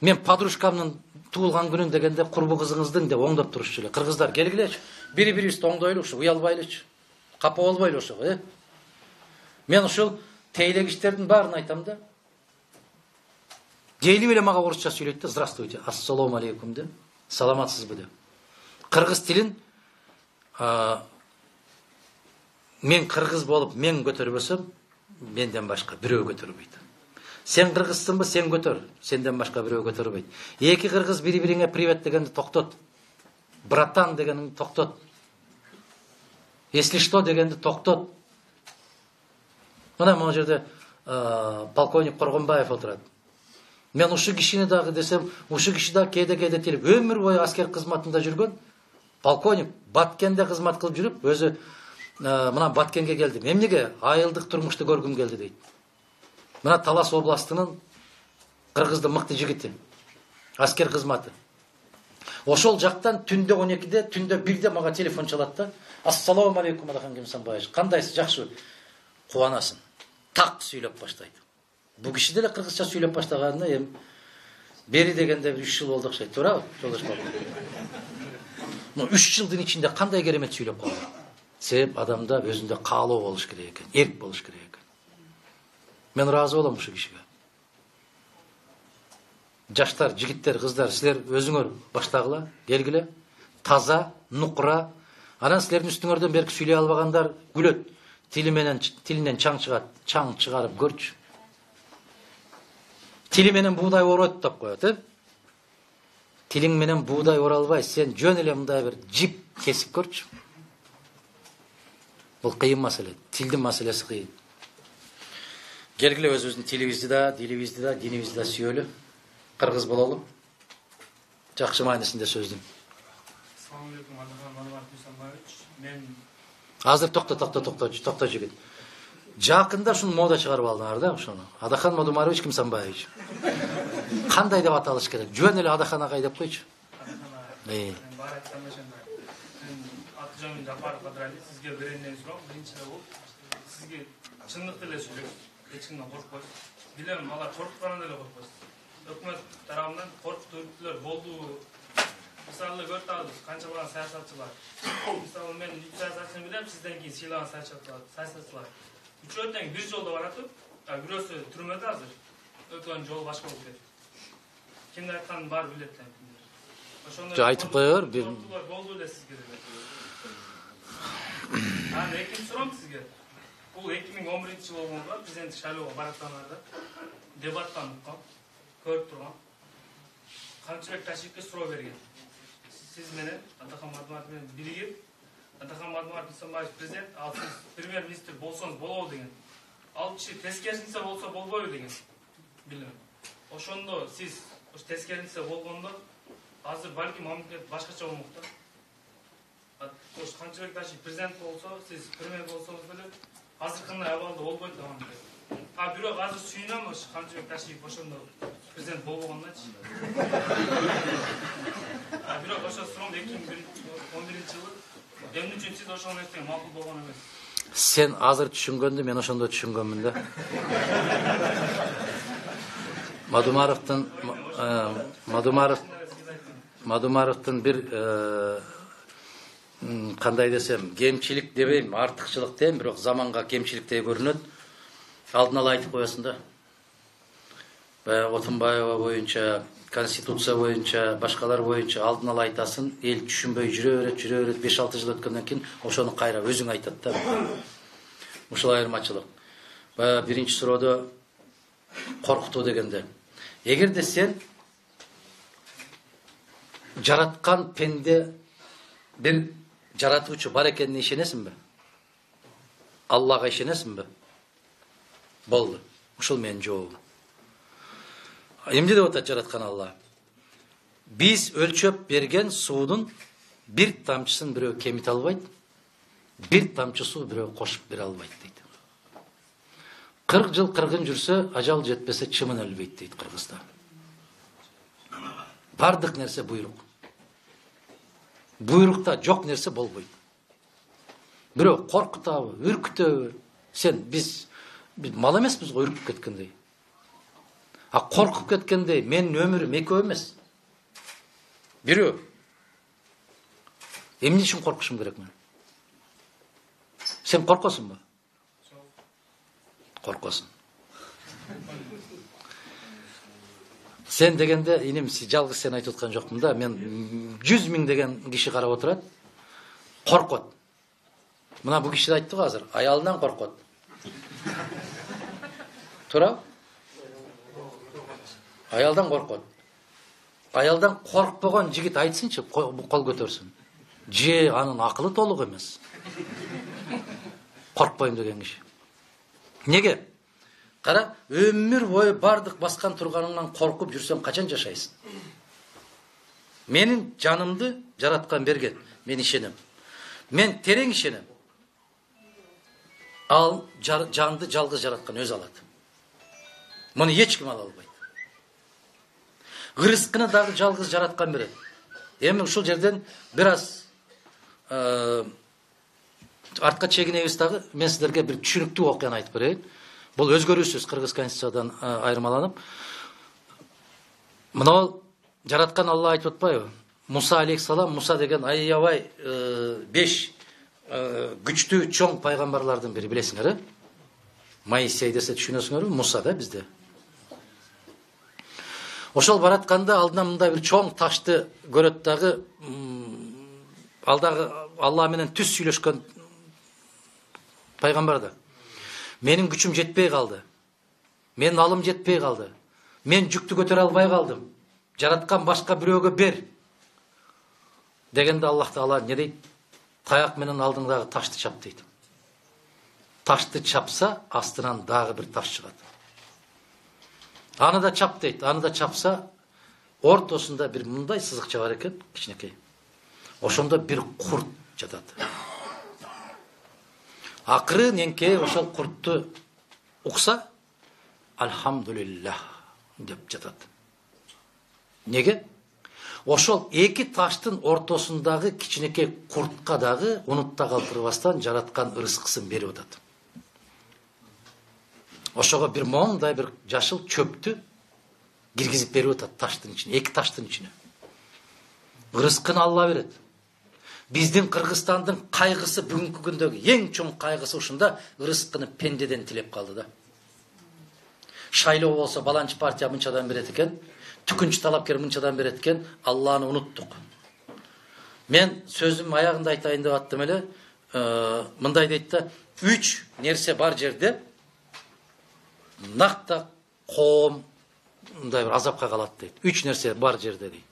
Мен подружкамдын туулган күнүн дегенде курбу кызыңыздын деп оңдоп турушчу эле. Кыргыздар келгилечи, бири-бирибизди оңдойлучу, уялбайлычы. Капа болбойлу ошого, э? Мен ушул тейлегичтердин баарын айтам да. Келип эле мага орусча сүйлөйт да, здравствуйте, ассалому алейкум деп, саламатсызбы деп. Кыргыз тилин мен кыргыз болуп мен көтөрбөсөм, менден башка бирөө көтөрбөйт. Сен кыргызсыңбы, сен көтөр, сенден башка бирөө көтөрбөйт. Эки кыргыз бири-бириңе привет дегенди токтот. Братан дегенди токтот. Если что дегенди токтот. Мына могу жерде полковник Коргонбаев отурат. Мен ушу кишини дагы десем, ушу киши да кээде-кээде телеп өмүр бою аскер кызматында жүргөн. Полковник Баткенде кызмат кылып жүрүп, өзү мына Баткенге келдим. Эмнеге айылдык турмушту көргүм келди дейт. Мына Талас областынын кыргыздын мыкты жигити. Аскер кызматы. Ошол жактан түндө он экиде, түндө бирде мага телефон чалат да. Ассалому алейкум Адахан Кемсанбаевич. Кандайсыз, жакшыбы? Кубанасың. Так сүйлөп баштайт. Бу киши деле кыргызча сүйлөп баштаганына эми бери дегенде үч жыл болду окшойт, туурабы? Жолдош балам. Но үч жылдын ичинде кандай керемет сүйлөп калды. Себеп адамда өзүндө каалоо болуш керек экен, эрк болуш керек экен. Мен ыраазы болом ушул кишиге. Жаштар, жигиттер, кыздар, силер өзүңөр баштагыла, келгиле. Таза, нукура. Анан силердин үстүңөрдөн берки сүйлөй албагандар күлөт. Тили менен тилинен чаң чыгат, чаң чыгарып көрчү. Тили менен буудай оройт деп коет, э? тилиң менен буудай оралбай, сен жөн эле мындай бир жип кесип көрчү. Бул кыйын маселе. Тилдин маселеси кыйын. Келгиле өзүбүздүн тилибизди да, дилибизди да, динибизди да сүйөлү. Кыргыз бололу. Жакшы маанисинде сөздүн. Assalamu alaikum, Adaхан Мадумаров Дүйсөнбаевич. Мен Азыр токто, токто, токто, токто жигит. Жакында ушуну мода чыгарып алдыңар да, ошону. Адахан Мадумарович Кимсанбаевич. Кандай деп аталыш керек? Жөн эле Адахан агай деп койчу. Э. бар айткан ошондой. Мен Атжан Жапаров Кадрали сизге беренден сурам. Биринчиден бул сизге чындыкты эле сүйлөйсүз. Эч кимден коркпойсуз. Билем, алар коркканын эле коркпойсуз. Өкмөт тарабынан коркуп үрүктүлөр болду. Мисалы көрүп атабыз, канча болгон саясатчылар. Мисалы мен үч саясатчыны билем, сизден кийин сыйлаган саясатчылар. Үчөө тең бир жолдо баратып, бирөөсү түрмөдө азыр. Өкөнүн жолу башка болуп кетти. Кимдин айтканын баары билет да. Ошондой айтып коёр, бир болду эле сизге деле. Анан экинчи сурам сизге. Бул эки миң он биринчи жылы болгонго президенттик шайлоого бараткандарда дебаттан уккан, көрүп турган. Камчыбек Ташиевке суроо берген. Сиз менен Адахан Мадумаров менен биригип, Адахан Мадумаров Дүйсөнбаев президент, ал сиз премьер-министр болсоңуз болобу деген. Ал киши тескерисинче болсо болбойбу деген. Билем. Ошондо сиз ош тескерисинче болгондо азыр балким мамлекет башкача болмок да. Ош Камчыбек Ташиев президент болсо, сиз премьер болсоңуз деле азыркындай абалда болбойт да мамлекет. А бирок азыр сүйүнөм ош Камчыбек Ташиев ошондо президент болбогондачы. А бирок ошо сурам эки миң он биринчи жылы эмне үчүн сиз ошол нерсеге макул болгон эмес? Сен азыр түшүнгөндү мен ошондо түшүнгөнмүн да. Мадумаровдун Мадумаров Мадумаровдун бир кандай десем, кемчилик дебейм, артыкчылык дейм, бирок заманга кемчиликтей көрүнөт. Алдын ала айтып коесуң да. Баягы Отунбаева боюнча, Конституция боюнча, башкалар боюнча алдын ала айтасың, эл түшүнбөй жүрө берет, жүрө берет, беш алты жыл өткөндөн кийин ошону кайра өзүң айтат да. Ушул айырмачылык. Баягы биринчи суроодо коркутуу дегенде, эгерде сен жараткан пенде бир жаратуучу бар экенине ишенесиңби? Аллага ишенесиңби? Болду. Ушул менин жообум. Эмне деп атат жараткан Алла? Биз өлчөп берген суудун бир тамчысын бирөө кемите албайт, бир тамчы суу бирөө кошуп бере албайт дейт. кырк жыл кыргын жүрсө, ажал жетпесе чымын өлбөйт дейт Кыргызда. Бардык нерсе буйрук. Буйрукта жок нерсе болбойт. Бирөө коркутабы, үркүтөбү? Сен биз биз мал эмеспиз го үркүп кеткендей. А коркуп кеткендей, менин өмүрүм экөө эмес. Бирөө. Эмне үчүн коркушум керек мен? Сен коркосуңбу? Коркосуң. Сен дегенде, иним, жалгыз сен айтып аткан жокмун да, мен жүз миң деген киши карап отурат, коркот. Мына бу киши айтты го азыр, аялынан коркот. Тура? Аялдан коркот. Аялдан коркпогон жигит айтсынчы, кол көтөрсүн. Же анын акылы толук эмес. Коркпойм деген киши. Неге? Кара, өмүр бою бардык баскан турганыңан коркуп жүрсөң качан жашайсың? Менин жанымды жараткан берген, мен ишенем. Мен терең ишенем. Ал жанды жалгыз жараткан өз алат. Муну эч ким ала албайт. Рызкыны дагы жалгыз жараткан берет. Эми ушул жерден бир аз артка чегинебиз дагы, мен сиздерге бир түшүнүктүү окуяны айтып берейин. Бул өзгөрүүсүз Кыргыз конституциядан айырмаланып. Мына жараткан Алла айтып атпайбы? Муса алейхиссалам, Муса деген аябай беш күчтүү чоң пайгамбарлардын бири, билесиңер, э? Моисей десе түшүнөсүңөрбү? Муса да бизде. Ошол баратканда алдынан мындай бир чоң ташты көрөт дагы, ал дагы Алла менен түз сүйлөшкөн пайгамбар да. Менин күчүм жетпей калды. Менин алым жетпей калды. Мен жүктү көтөрө албай калдым. жараткан башка бирөөгө бер дегенде Аллах Таала не дейт? Таяк менен алдыңдагы ташты чап дейт. Ташты чапса, астынан дагы бир таш чыгат. Аны да чап дейт. Аны да чапса, ортосунда бир мындай сызыкча бар экен, кичинекей. Ошондо бир курт жатат. Акырын эңке ошол куртту укса, альхамдулиллах деп жатат. Неге? Ошол эки таштын ортосундагы кичинекей куртка дагы унутта калтырбастан жараткан ырыскысын берип атат. Ошого бир моңдай бир жашыл чөптү киргизип берип атат таштын ичине, эки таштын ичине. Ырыскын Алла берет. Биздин Кыргызстандын кайгысы бүгүнкү күндөгү эң чоң кайгысы ушунда, ырыскыны пендеден тилеп калды да. Шайлоо болсо баланчы партия мынчадан берет экен, түкүнчү талапкер мынчадан берет экен, Алланы унуттук. Мен сөзүм аягында айтайын деп аттым эле, мындай дейт да, үч нерсе бар жерде накта коом мындай бир азапка калат дейт. Үч нерсе бар жерде дейт.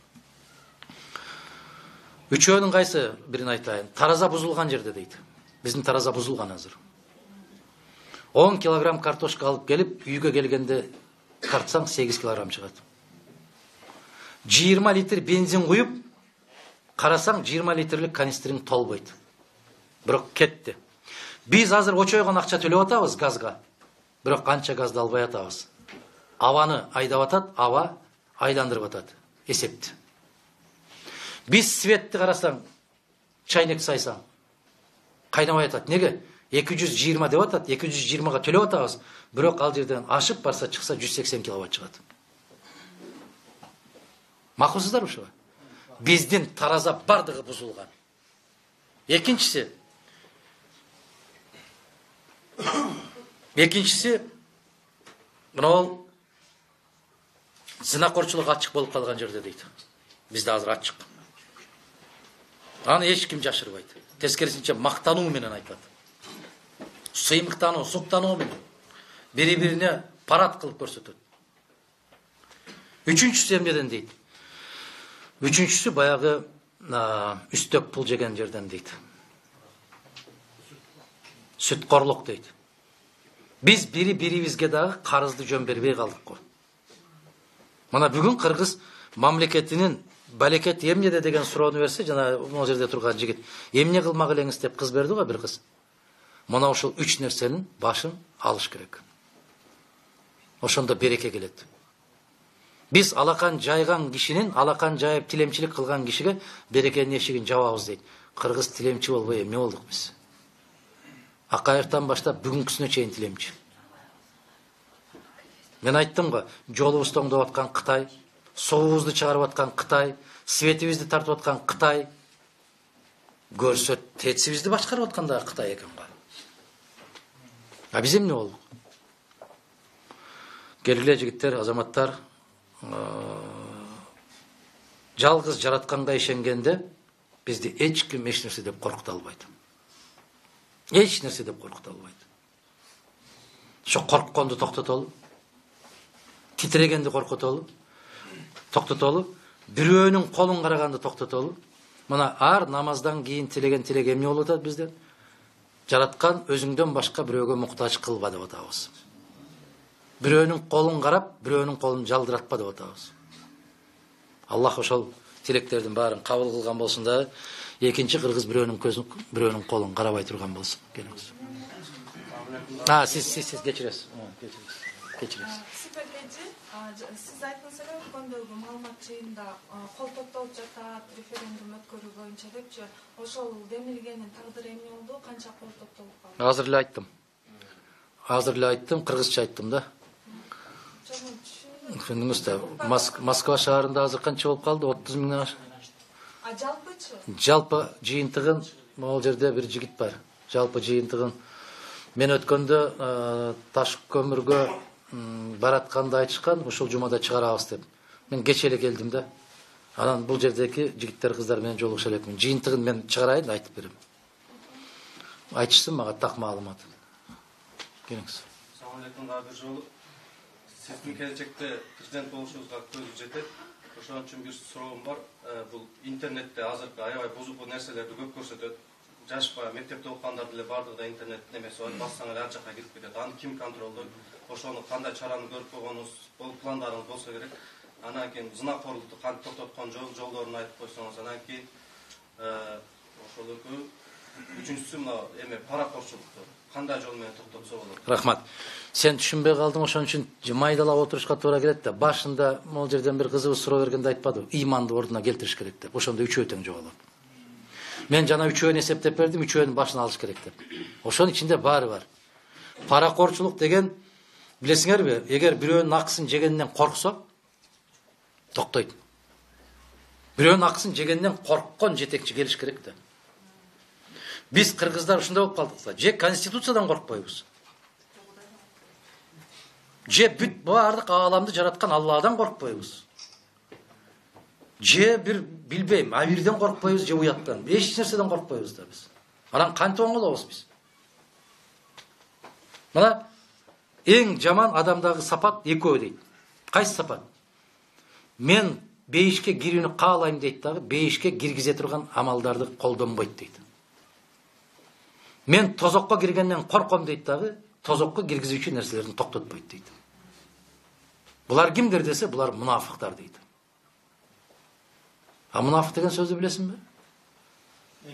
Үчөөнүн кайсы бирин айтайын? Тараза бузулган жерде дейт. Биздин тараза бузулган азыр. он килограмм картошка алып келип, үйгө келгенде тартсаң сегиз килограмм чыгат. жыйырма литр бензин куюп, карасаң жыйырма литрлик канистриң толбойт. Бирок кетти. Биз азыр очойгон акча төлөп атабыз газга. Бирок канча газды албай атабыз. Абаны айдап атат, аба айландырып атат. Эсепти. Биз светти карасаң, чайнек сайсаң, кайнабай атат. Неге? эки жүз жыйырма деп атат, эки жүз жыйырмага төлөп атабыз. Бирок ал жерден ашып барса чыкса жүз сексен киловатт чыгат. Макулсуздар ушуга? Биздин тараза бардыгы бузулган. Экинчиси Экинчиси мынау зинакорчулук ачык болуп калган жерде дейт. Бизде азыр ачык. Аны эч ким жашырбайт. Тескерисинче мактануу менен айтат. Сыймыктануу, суктануу менен бири-бирине парад кылып көрсөтөт. Үчүнчүсү эмнеден дейт? Үчүнчүсү баягы үстөк пул жеген жерден дейт. Сүткорлук дейт. Биз бири-бирибизге дагы карызды жөн бербей калдык го. Мына бүгүн Кыргыз мамлекетинин балекет эмнеде деген суроону берсе, жана могу жерде турган жигит, эмне кылмак элеңиз деп кыз берди го бир кыз. Мына ошол үч нерсенин башын алыш керек. Ошондо береке келет. Биз алакан жайган кишинин, алакан жайып тилемчилик кылган кишиге берекенин эшигин жабабыз дейт. Кыргыз тилемчи болбой эмне болдук биз? Акаевтан баштап бүгүнкүсүнө чейин тилемчи. Мен айттым го, жолубузду оңдоп аткан Кытай, суубузду чыгарып аткан Кытай, светибизди тартып аткан Кытай, көрсө тетсибизди башкарып аткан да Кытай экен го. А биз эмне болдук? Келгиле жигиттер, азаматтар, жалгыз жаратканга ишенгенде бизди эч ким эч нерсе деп коркута албайт. Эч нерсе деп коркута албайт. Ошо коркконду токтотолу. Титрегенди коркутолу. Токтотолу. Бирөөнүн колун караганды токтотолу. Мына ар намаздан кийин тилеген тилек эмне болуп атат бизден? Жараткан өзүңдөн башка бирөөгө муктаж кылба деп атабыз. Бирөөнүн колун карап, бирөөнүн колун жалдыратпа деп атабыз. Аллах ошол тилектердин баарын кабыл кылган болсун да, экинчи кыргыз бирөөнүн көзүн, бирөөнүн колун карабай турган болсун. Келиңиз. А, сиз сиз сиз кечиресиз. Кечиресиз. Кечиресиз. Сиз айттыңыз эле өткөндөгү маалымат жыйынында кол топтолуп жатат, референдум өткөрүү боюнча депчи, ошол демилгенин тагдыры эмне болду? Канча кол топтолуп калды? Азыр эле айттым. Азыр эле айттым, кыргызча айттым да. Түшүндүңүз да. Москва шаарында азыр канча болуп калды? отуз миңден ашык. А жалпычы? Жалпы жыйынтыгын могул жерде бир жигит бар. Жалпы жыйынтыгын мен өткөндө таш көмүргө баратканда айтышкан, ушул жумада чыгарабыз деп. Мен кече эле келдим да. Анан бул жердеги жигиттер кыздар менен жолугуша элекмин. Жыйынтыгын мен чыгарайын, айтып берем. Айтышсын мага так маалымат. Келиңиз. Assalomu alaykum, бир жолу. Сиздин келечекте президент болушуңузга көзү жетет. ошон үчүн бир суроом бар. Бул интернетте азыркы аябай бузук нерселерди көп көрсөтөт. Жаш баягы мектепте окугандар деле бардыгы да интернет немеси бар, бассаң эле ар жакка кирип кетет. Аны ким контролдойт? Ошону кандай чараны көрүп койгонуңуз, бул пландарыңыз болсо керек. Анан кийин зынакорлукту кантип токтоткон жолдорун айтып койсоңуз, анан кийин ошол экөө. Үчүнчүсү мына эме паракорчулукту кандай жол менен токтотсо болот? Рахмат. Сен түшүнбөй калдың, ошон үчүн майдалап отурушка туура келет да. Башында могул жерден бир кызыбыз суроо бергенде айтпадыбы? Ыйманды ордуна келтириш керек деп. Ошондо үчөө тең жоголот. Мен жана үчөөнү эсептеп бердим, үчөөнүн башын алыш керек деп. Ошонун ичинде баары бар. Паракорчулук деген билесиңерби, эгер бирөөнүн акысын жегенден корксо, токтойт. Бирөөнүн акысын жегенден корккон жетекчи келиш керек да. Биз кыргыздар ушундай болуп калдык да. Же конституциядан коркпойбуз. Же бүт баардык ааламды жараткан Алладан коркпойбуз. Же бир билбейм, абирден коркпойбуз, же уяттан. Эч нерседен коркпойбуз да биз. Анан кантип оңолобуз биз? Мына эң жаман адамдагы сапат экөө дейт. Кайсы сапат? Мен бейишке кирүүнү каалайм дейт дагы, бейишке киргизе турган амалдарды колдонбойт дейт. Мен тозокко киргенден корком дейт дагы, тозокко киргизүүчү нерселерди токтотпойт дейт. Булар кимдер десе, булар мунафыктар дейт. А мунафык деген сөздү билесиңби?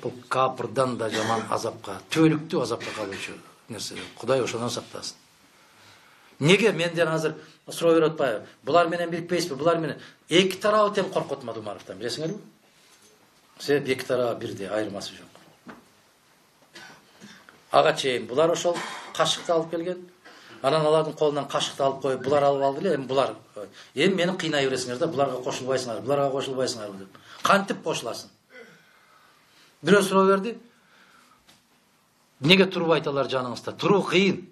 Бул капырдан да жаман азапка, түбөлүктүү азапка калуучу нерсе. Кудай ошондон сактасын. Неге менден азыр суроо берип атпайбы? Булар менен бирикпейсизби? Булар менен эки тарабы тең коркот Мадумаровдон, билесиңерби? Себеп эки тарабы бирдей, айырмасы жок. Ага чейин булар ошол кашыкты алып келген. Анан алардын колунан кашыкты алып коюп, булар алып алды эле, эми булар эми мени кыйнай бересиңер да, буларга кошулбайсыңар, буларга кошулбайсыңар деп. Кантип кошуласың? Бирөө суроо берди. Неге турбайт алар жаныңызда? Туруу кыйын.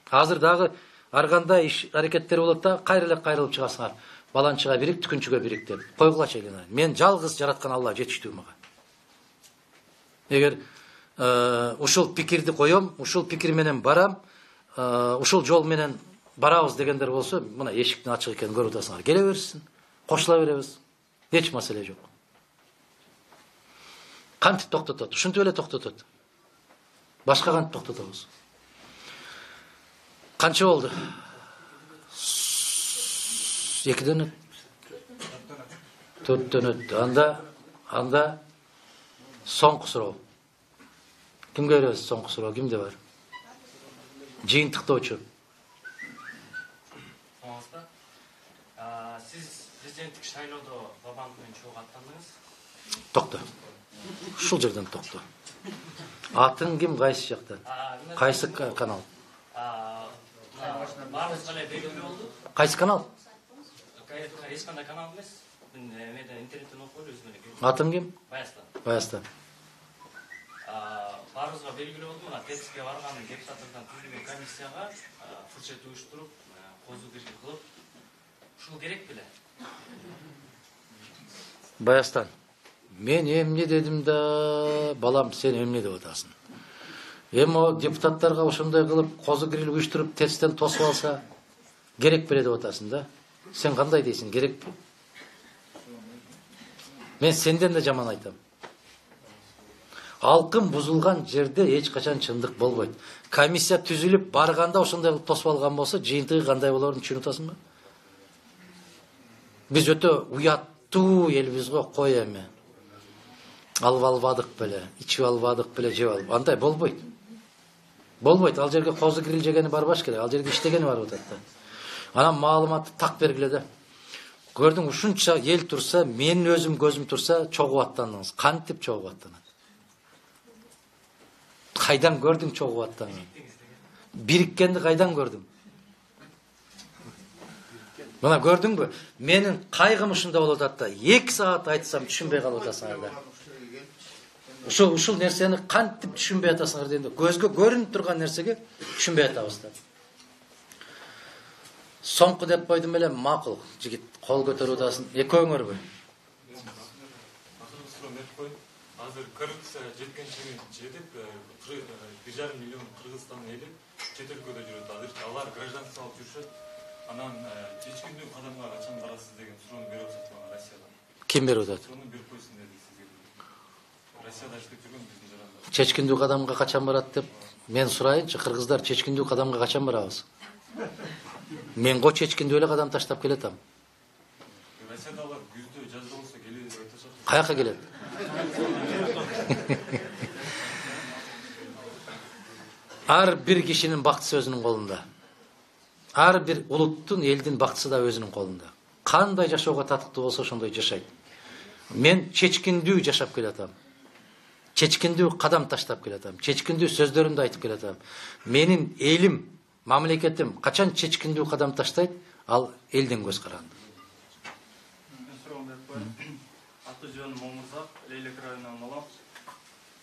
Азыр дагы ар кандай иш аракеттер болот да, кайра эле кайрылып чыгасыңар. Баланчыга бирик, түкүнчүгө бирик деп. Койгулачы эле. Мен жалгыз жараткан Алла жетиштүү мага. Эгер ушул пикирди коем, ушул пикир менен барам, ушул жол менен барабыз дегендер болсо, мына эшиктин ачык экенин көрүп атасыңар. Келе берсин, кошула беребиз. Эч маселе жок. Кантип токтотот? Ушинтип эле токтотот. Башка кантип токтотобуз? Канча болду? Экиден өт. Төрттөн өттү. Анда, анда соңку суроо. Кимге беребиз соңку суроо? Кимде бар? Жыйынтыктоочу. Оңозбу? Сиз президенттик шайлоодо Бабанов менен чогуу аттандыңыз. Токто. Ушул жерден токто. Атын ким, кайсы жактан? Кайсы канал? Баарыбызга эле белгилүү болду. Кайсы канал? Эч кандай канал эмес. Мен интернеттен окуп эле өзүм эле. Атын ким? Баястан. Баястан. Баарыбызга белгилүү болду, мына ТЭЦке барган депутаттардан түзүлгөн комиссияга фуршет уюштуруп, козу киргиз кылып, ушул керек беле? Баястан. Мен эмне дедим да, балам, сен эмне деп атасың? Эми депутаттарга ошондой кылып, козу кирил уюштуруп, ТЭЦтен тосуп алса, керек беле деп атасың да? Сен кандай дейсиң, керекпи? Мен сенден да жаман айтам. Алкын бузулган жерде эч качан чындык болбойт. Комиссия түзүлүп барганда ошондой кылып тосуп алган болсо, жыйынтыгы кандай болорун түшүнүп атасыңбы? Биз өтө уяттуу элбиз го, кой эми. Алып албадык беле, ичип албадык беле, жеп алып. Андай болбойт. Болбойт. Ал жерге козу кирил жегени барбаш керек. Ал жерге иштегени барып атат да. Анан маалыматты так бергиле да. Көрдүң, ушунча эл турса, менин өзүм көзүм турса, чогуу аттандыңыз. Кантип чогуу аттанат? Кайдан көрдүң чогуу аттанганын? Бириккенди кайдан көрдүң? Мына көрдүңбү? Менин кайгым ушунда болуп атат да. эки саат айтсам түшүнбөй калып атасыңар да. Ушул ушул нерсени кантип түшүнбөй атасыңар дегенде, көзгө көрүнүп турган нерсеге түшүнбөй атабыз да. Соңку деп койдум эле, макул. Жигит кол көтөрүп атасың. Экөөңөрбү? Азыр коррупция жеткенчилигин жетип, бир жарым миллион кыргызстандын эли чет өлкөдө жүрөт. Азыр алар гражданство алып жүрүшөт. Анан чеч күндүк кадамга качан барасыз деген суроону берип атат мага Россиядан. Ким берип атат? Суроonu берип койсун деди сизге. Россияда иштеп жүргөн биздин жарандар. Чечкиндүү кадамга качан барат деп мен сурайынчы, кыргыздар чечкиндүү кадамга качан барабыз? Мен го чечкиндүү эле кадам таштап келетам. Россияда алар күздө жазда болсо келеби деп айтышат. Каяка келет? Ар бир кишинин бактысы өзүнүн колунда. Ар бир улуттун, элдин бактысы да өзүнүн колунда. Кандай жашоого татыктуу болсо ошондой жашайт. Мен чечкиндүү жашап келатам. Чечкиндүү кадам таштап келатам. Чечкиндүү сөздөрүмдү айтып келатам. Менин элим, мамлекетим качан чечкиндүү кадам таштайт, ал элдин көз каранды. Аты жөнүм Момурзак, Лейлек районунан болом.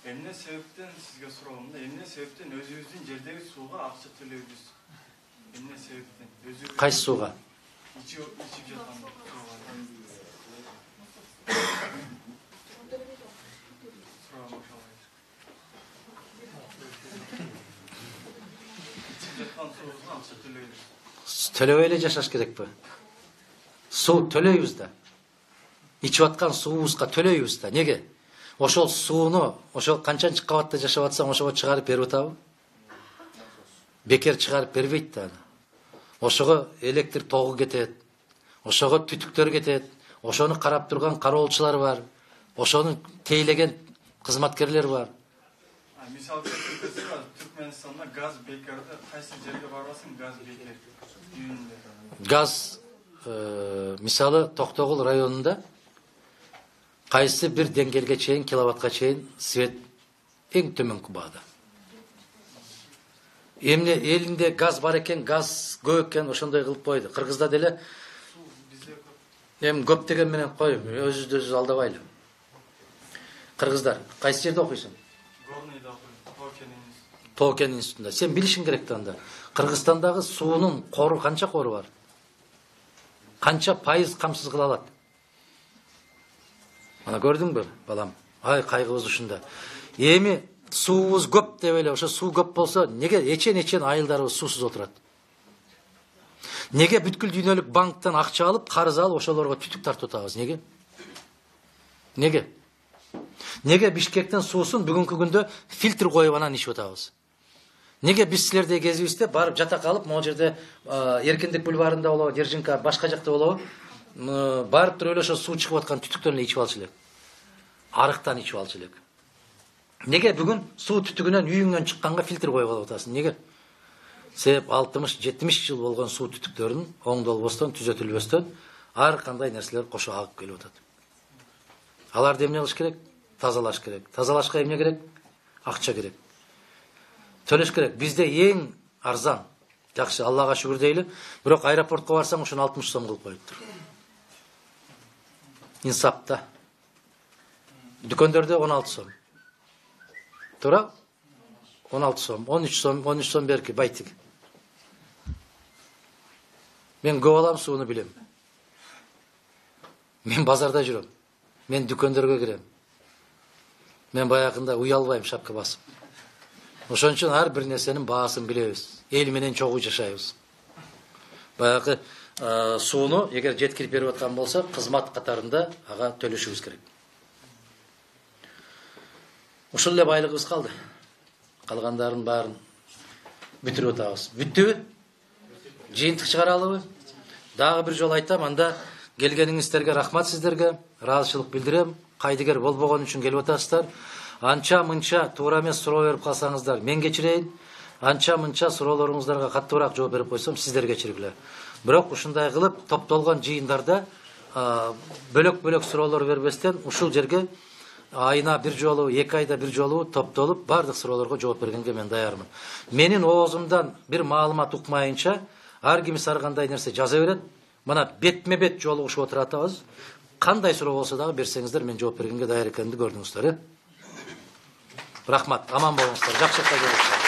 Эмне себептен сизге суроом да, эмне себептен өзүбүздүн жердеги сууга акча төлөйбүз? Эмне себептен? Өзүбүз Кайсы сууга? Ичип ичип жаткан сууга. Төлөбөй эле жашаш керекпи? Суу төлөйбүз да. Ичип аткан суубузга төлөйбүз да. Неге? Ошол сууну, ошол канчанчы кабатта жашап атсаң, ошого чыгарып берип атабы? Бекер чыгарып бербейт да. Ошого электр тогу кетет. Ошого түтүктөр кетет. Ошону карап турган кароолчулар бар. Ошону тейлеген кызматкерлер бар. Мисалы келтирсек, Түркмөнстанда газ бекерди кайсы жерге барасың, газ бекер. Газ мисалы Токтогул районунда кайсы бир деңгээлге чейин, киловаттка чейин свет эң төмөнкү баада. Эмне элинде газ бар экен, газ көп экен, ошондой кылып койду. Кыргызда деле эми көп деген менен кой, өзүбүздү өзүбүз алдабайлы. Кыргыздар, кайсы жерде окуйсуң? Горныйда окуйм, Тоокен институтунда. Сен билишиң керек да анда. Кыргызстандагы суунун кору канча кору бар? Канча пайыз камсыз кыла алат? Ана көрдүңбү, балам? Ай, кайгыбыз ушунда. Эми суубуз көп деп эле, ошо суу көп болсо, неге эчен-эчен айылдарыбыз суусуз отурат? Неге бүткүл дүйнөлүк банктан акча алып, карыз алып, ошолорго түтүк тартып атабыз? Неге? Неге? Неге Бишкектен суусун бүгүнкү күндө фильтр коюп анан ичип атабыз? Неге биз силердей кезибизде барып жата калып, могу жерде Эркиндик бульварында болобу, Держинка, башка жакта болобу, барып туруп эле ошо суу чыгып аткан түтүктөрүн ичип алчу элек. Арыктан ичип алчу элек. Неге бүгүн суу түтүгүнөн үйүңөн чыкканга фильтр коюп алып атасың? Неге? Себеп алтымыш жетимиш жыл болгон суу түтүктөрүн оңдолбостон, түзөтүлбөстөн ар кандай нерселер кошо агып келип атат. Аларды эмне кылыш керек? Тазалаш керек. Тазалашка эмне керек? Акча керек. Төлөш керек. Бизде эң арзан. Жакшы, Аллага шүгүр дейли. Бирок аэропортко барсаң, ушуну алтымыш сом кылып коюптур. Инсапта. Дүкөндөрдө он алты сом. Туура? он алты сом, он үч сом, он үч сом берки, байтик. Мен көп алам, сууну билем. Мен базарда жүрөм. Мен дүкөндөргө кирем. Мен баягында уялбайм шапка басып. Ошон үчүн ар бир нерсенин баасын билебиз. Эл менен чогуу жашайбыз. Баягы сууну эгер жеткирип берип аткан болсо, кызмат катарында ага төлөшүбүз керек. Ушул эле байлыгыбыз калды. Калгандарын баарын бүтүрүп атабыз. Бүттүбү? Жыйынтык чыгаралыбы? Дагы бир жолу айтам, анда келгениңиздерге рахмат сиздерге, ыраазычылык билдирем. Кайдыгер болбогон үчүн келип атасыздар. Анча мынча туура эмес суроо берип калсаңыздар, мен кечирейин. Анча мынча суроолоруңуздарга каттуураак жооп берип койсом, сиздер кечиргиле. Бирок ушундай кылып топтолгон жыйындарда бөлөк-бөлөк суроолор бербестен ушул жерге айына бир жолу, эки айда бир жолу топтолуп бардык суроолорго жооп бергенге мен даярмын. Менин оозумдан бир маалымат укмайынча ар кимиси ар кандай нерсе жаза берет. Мына бетме-бет жолугушуп отуратабыз. Кандай суроо болсо дагы берсеңиздер, мен жооп бергенге даяр экенимди көрдүңүздөр, э? Рахмат, аман болуңуздар. Жакшы жакка келиңиздер.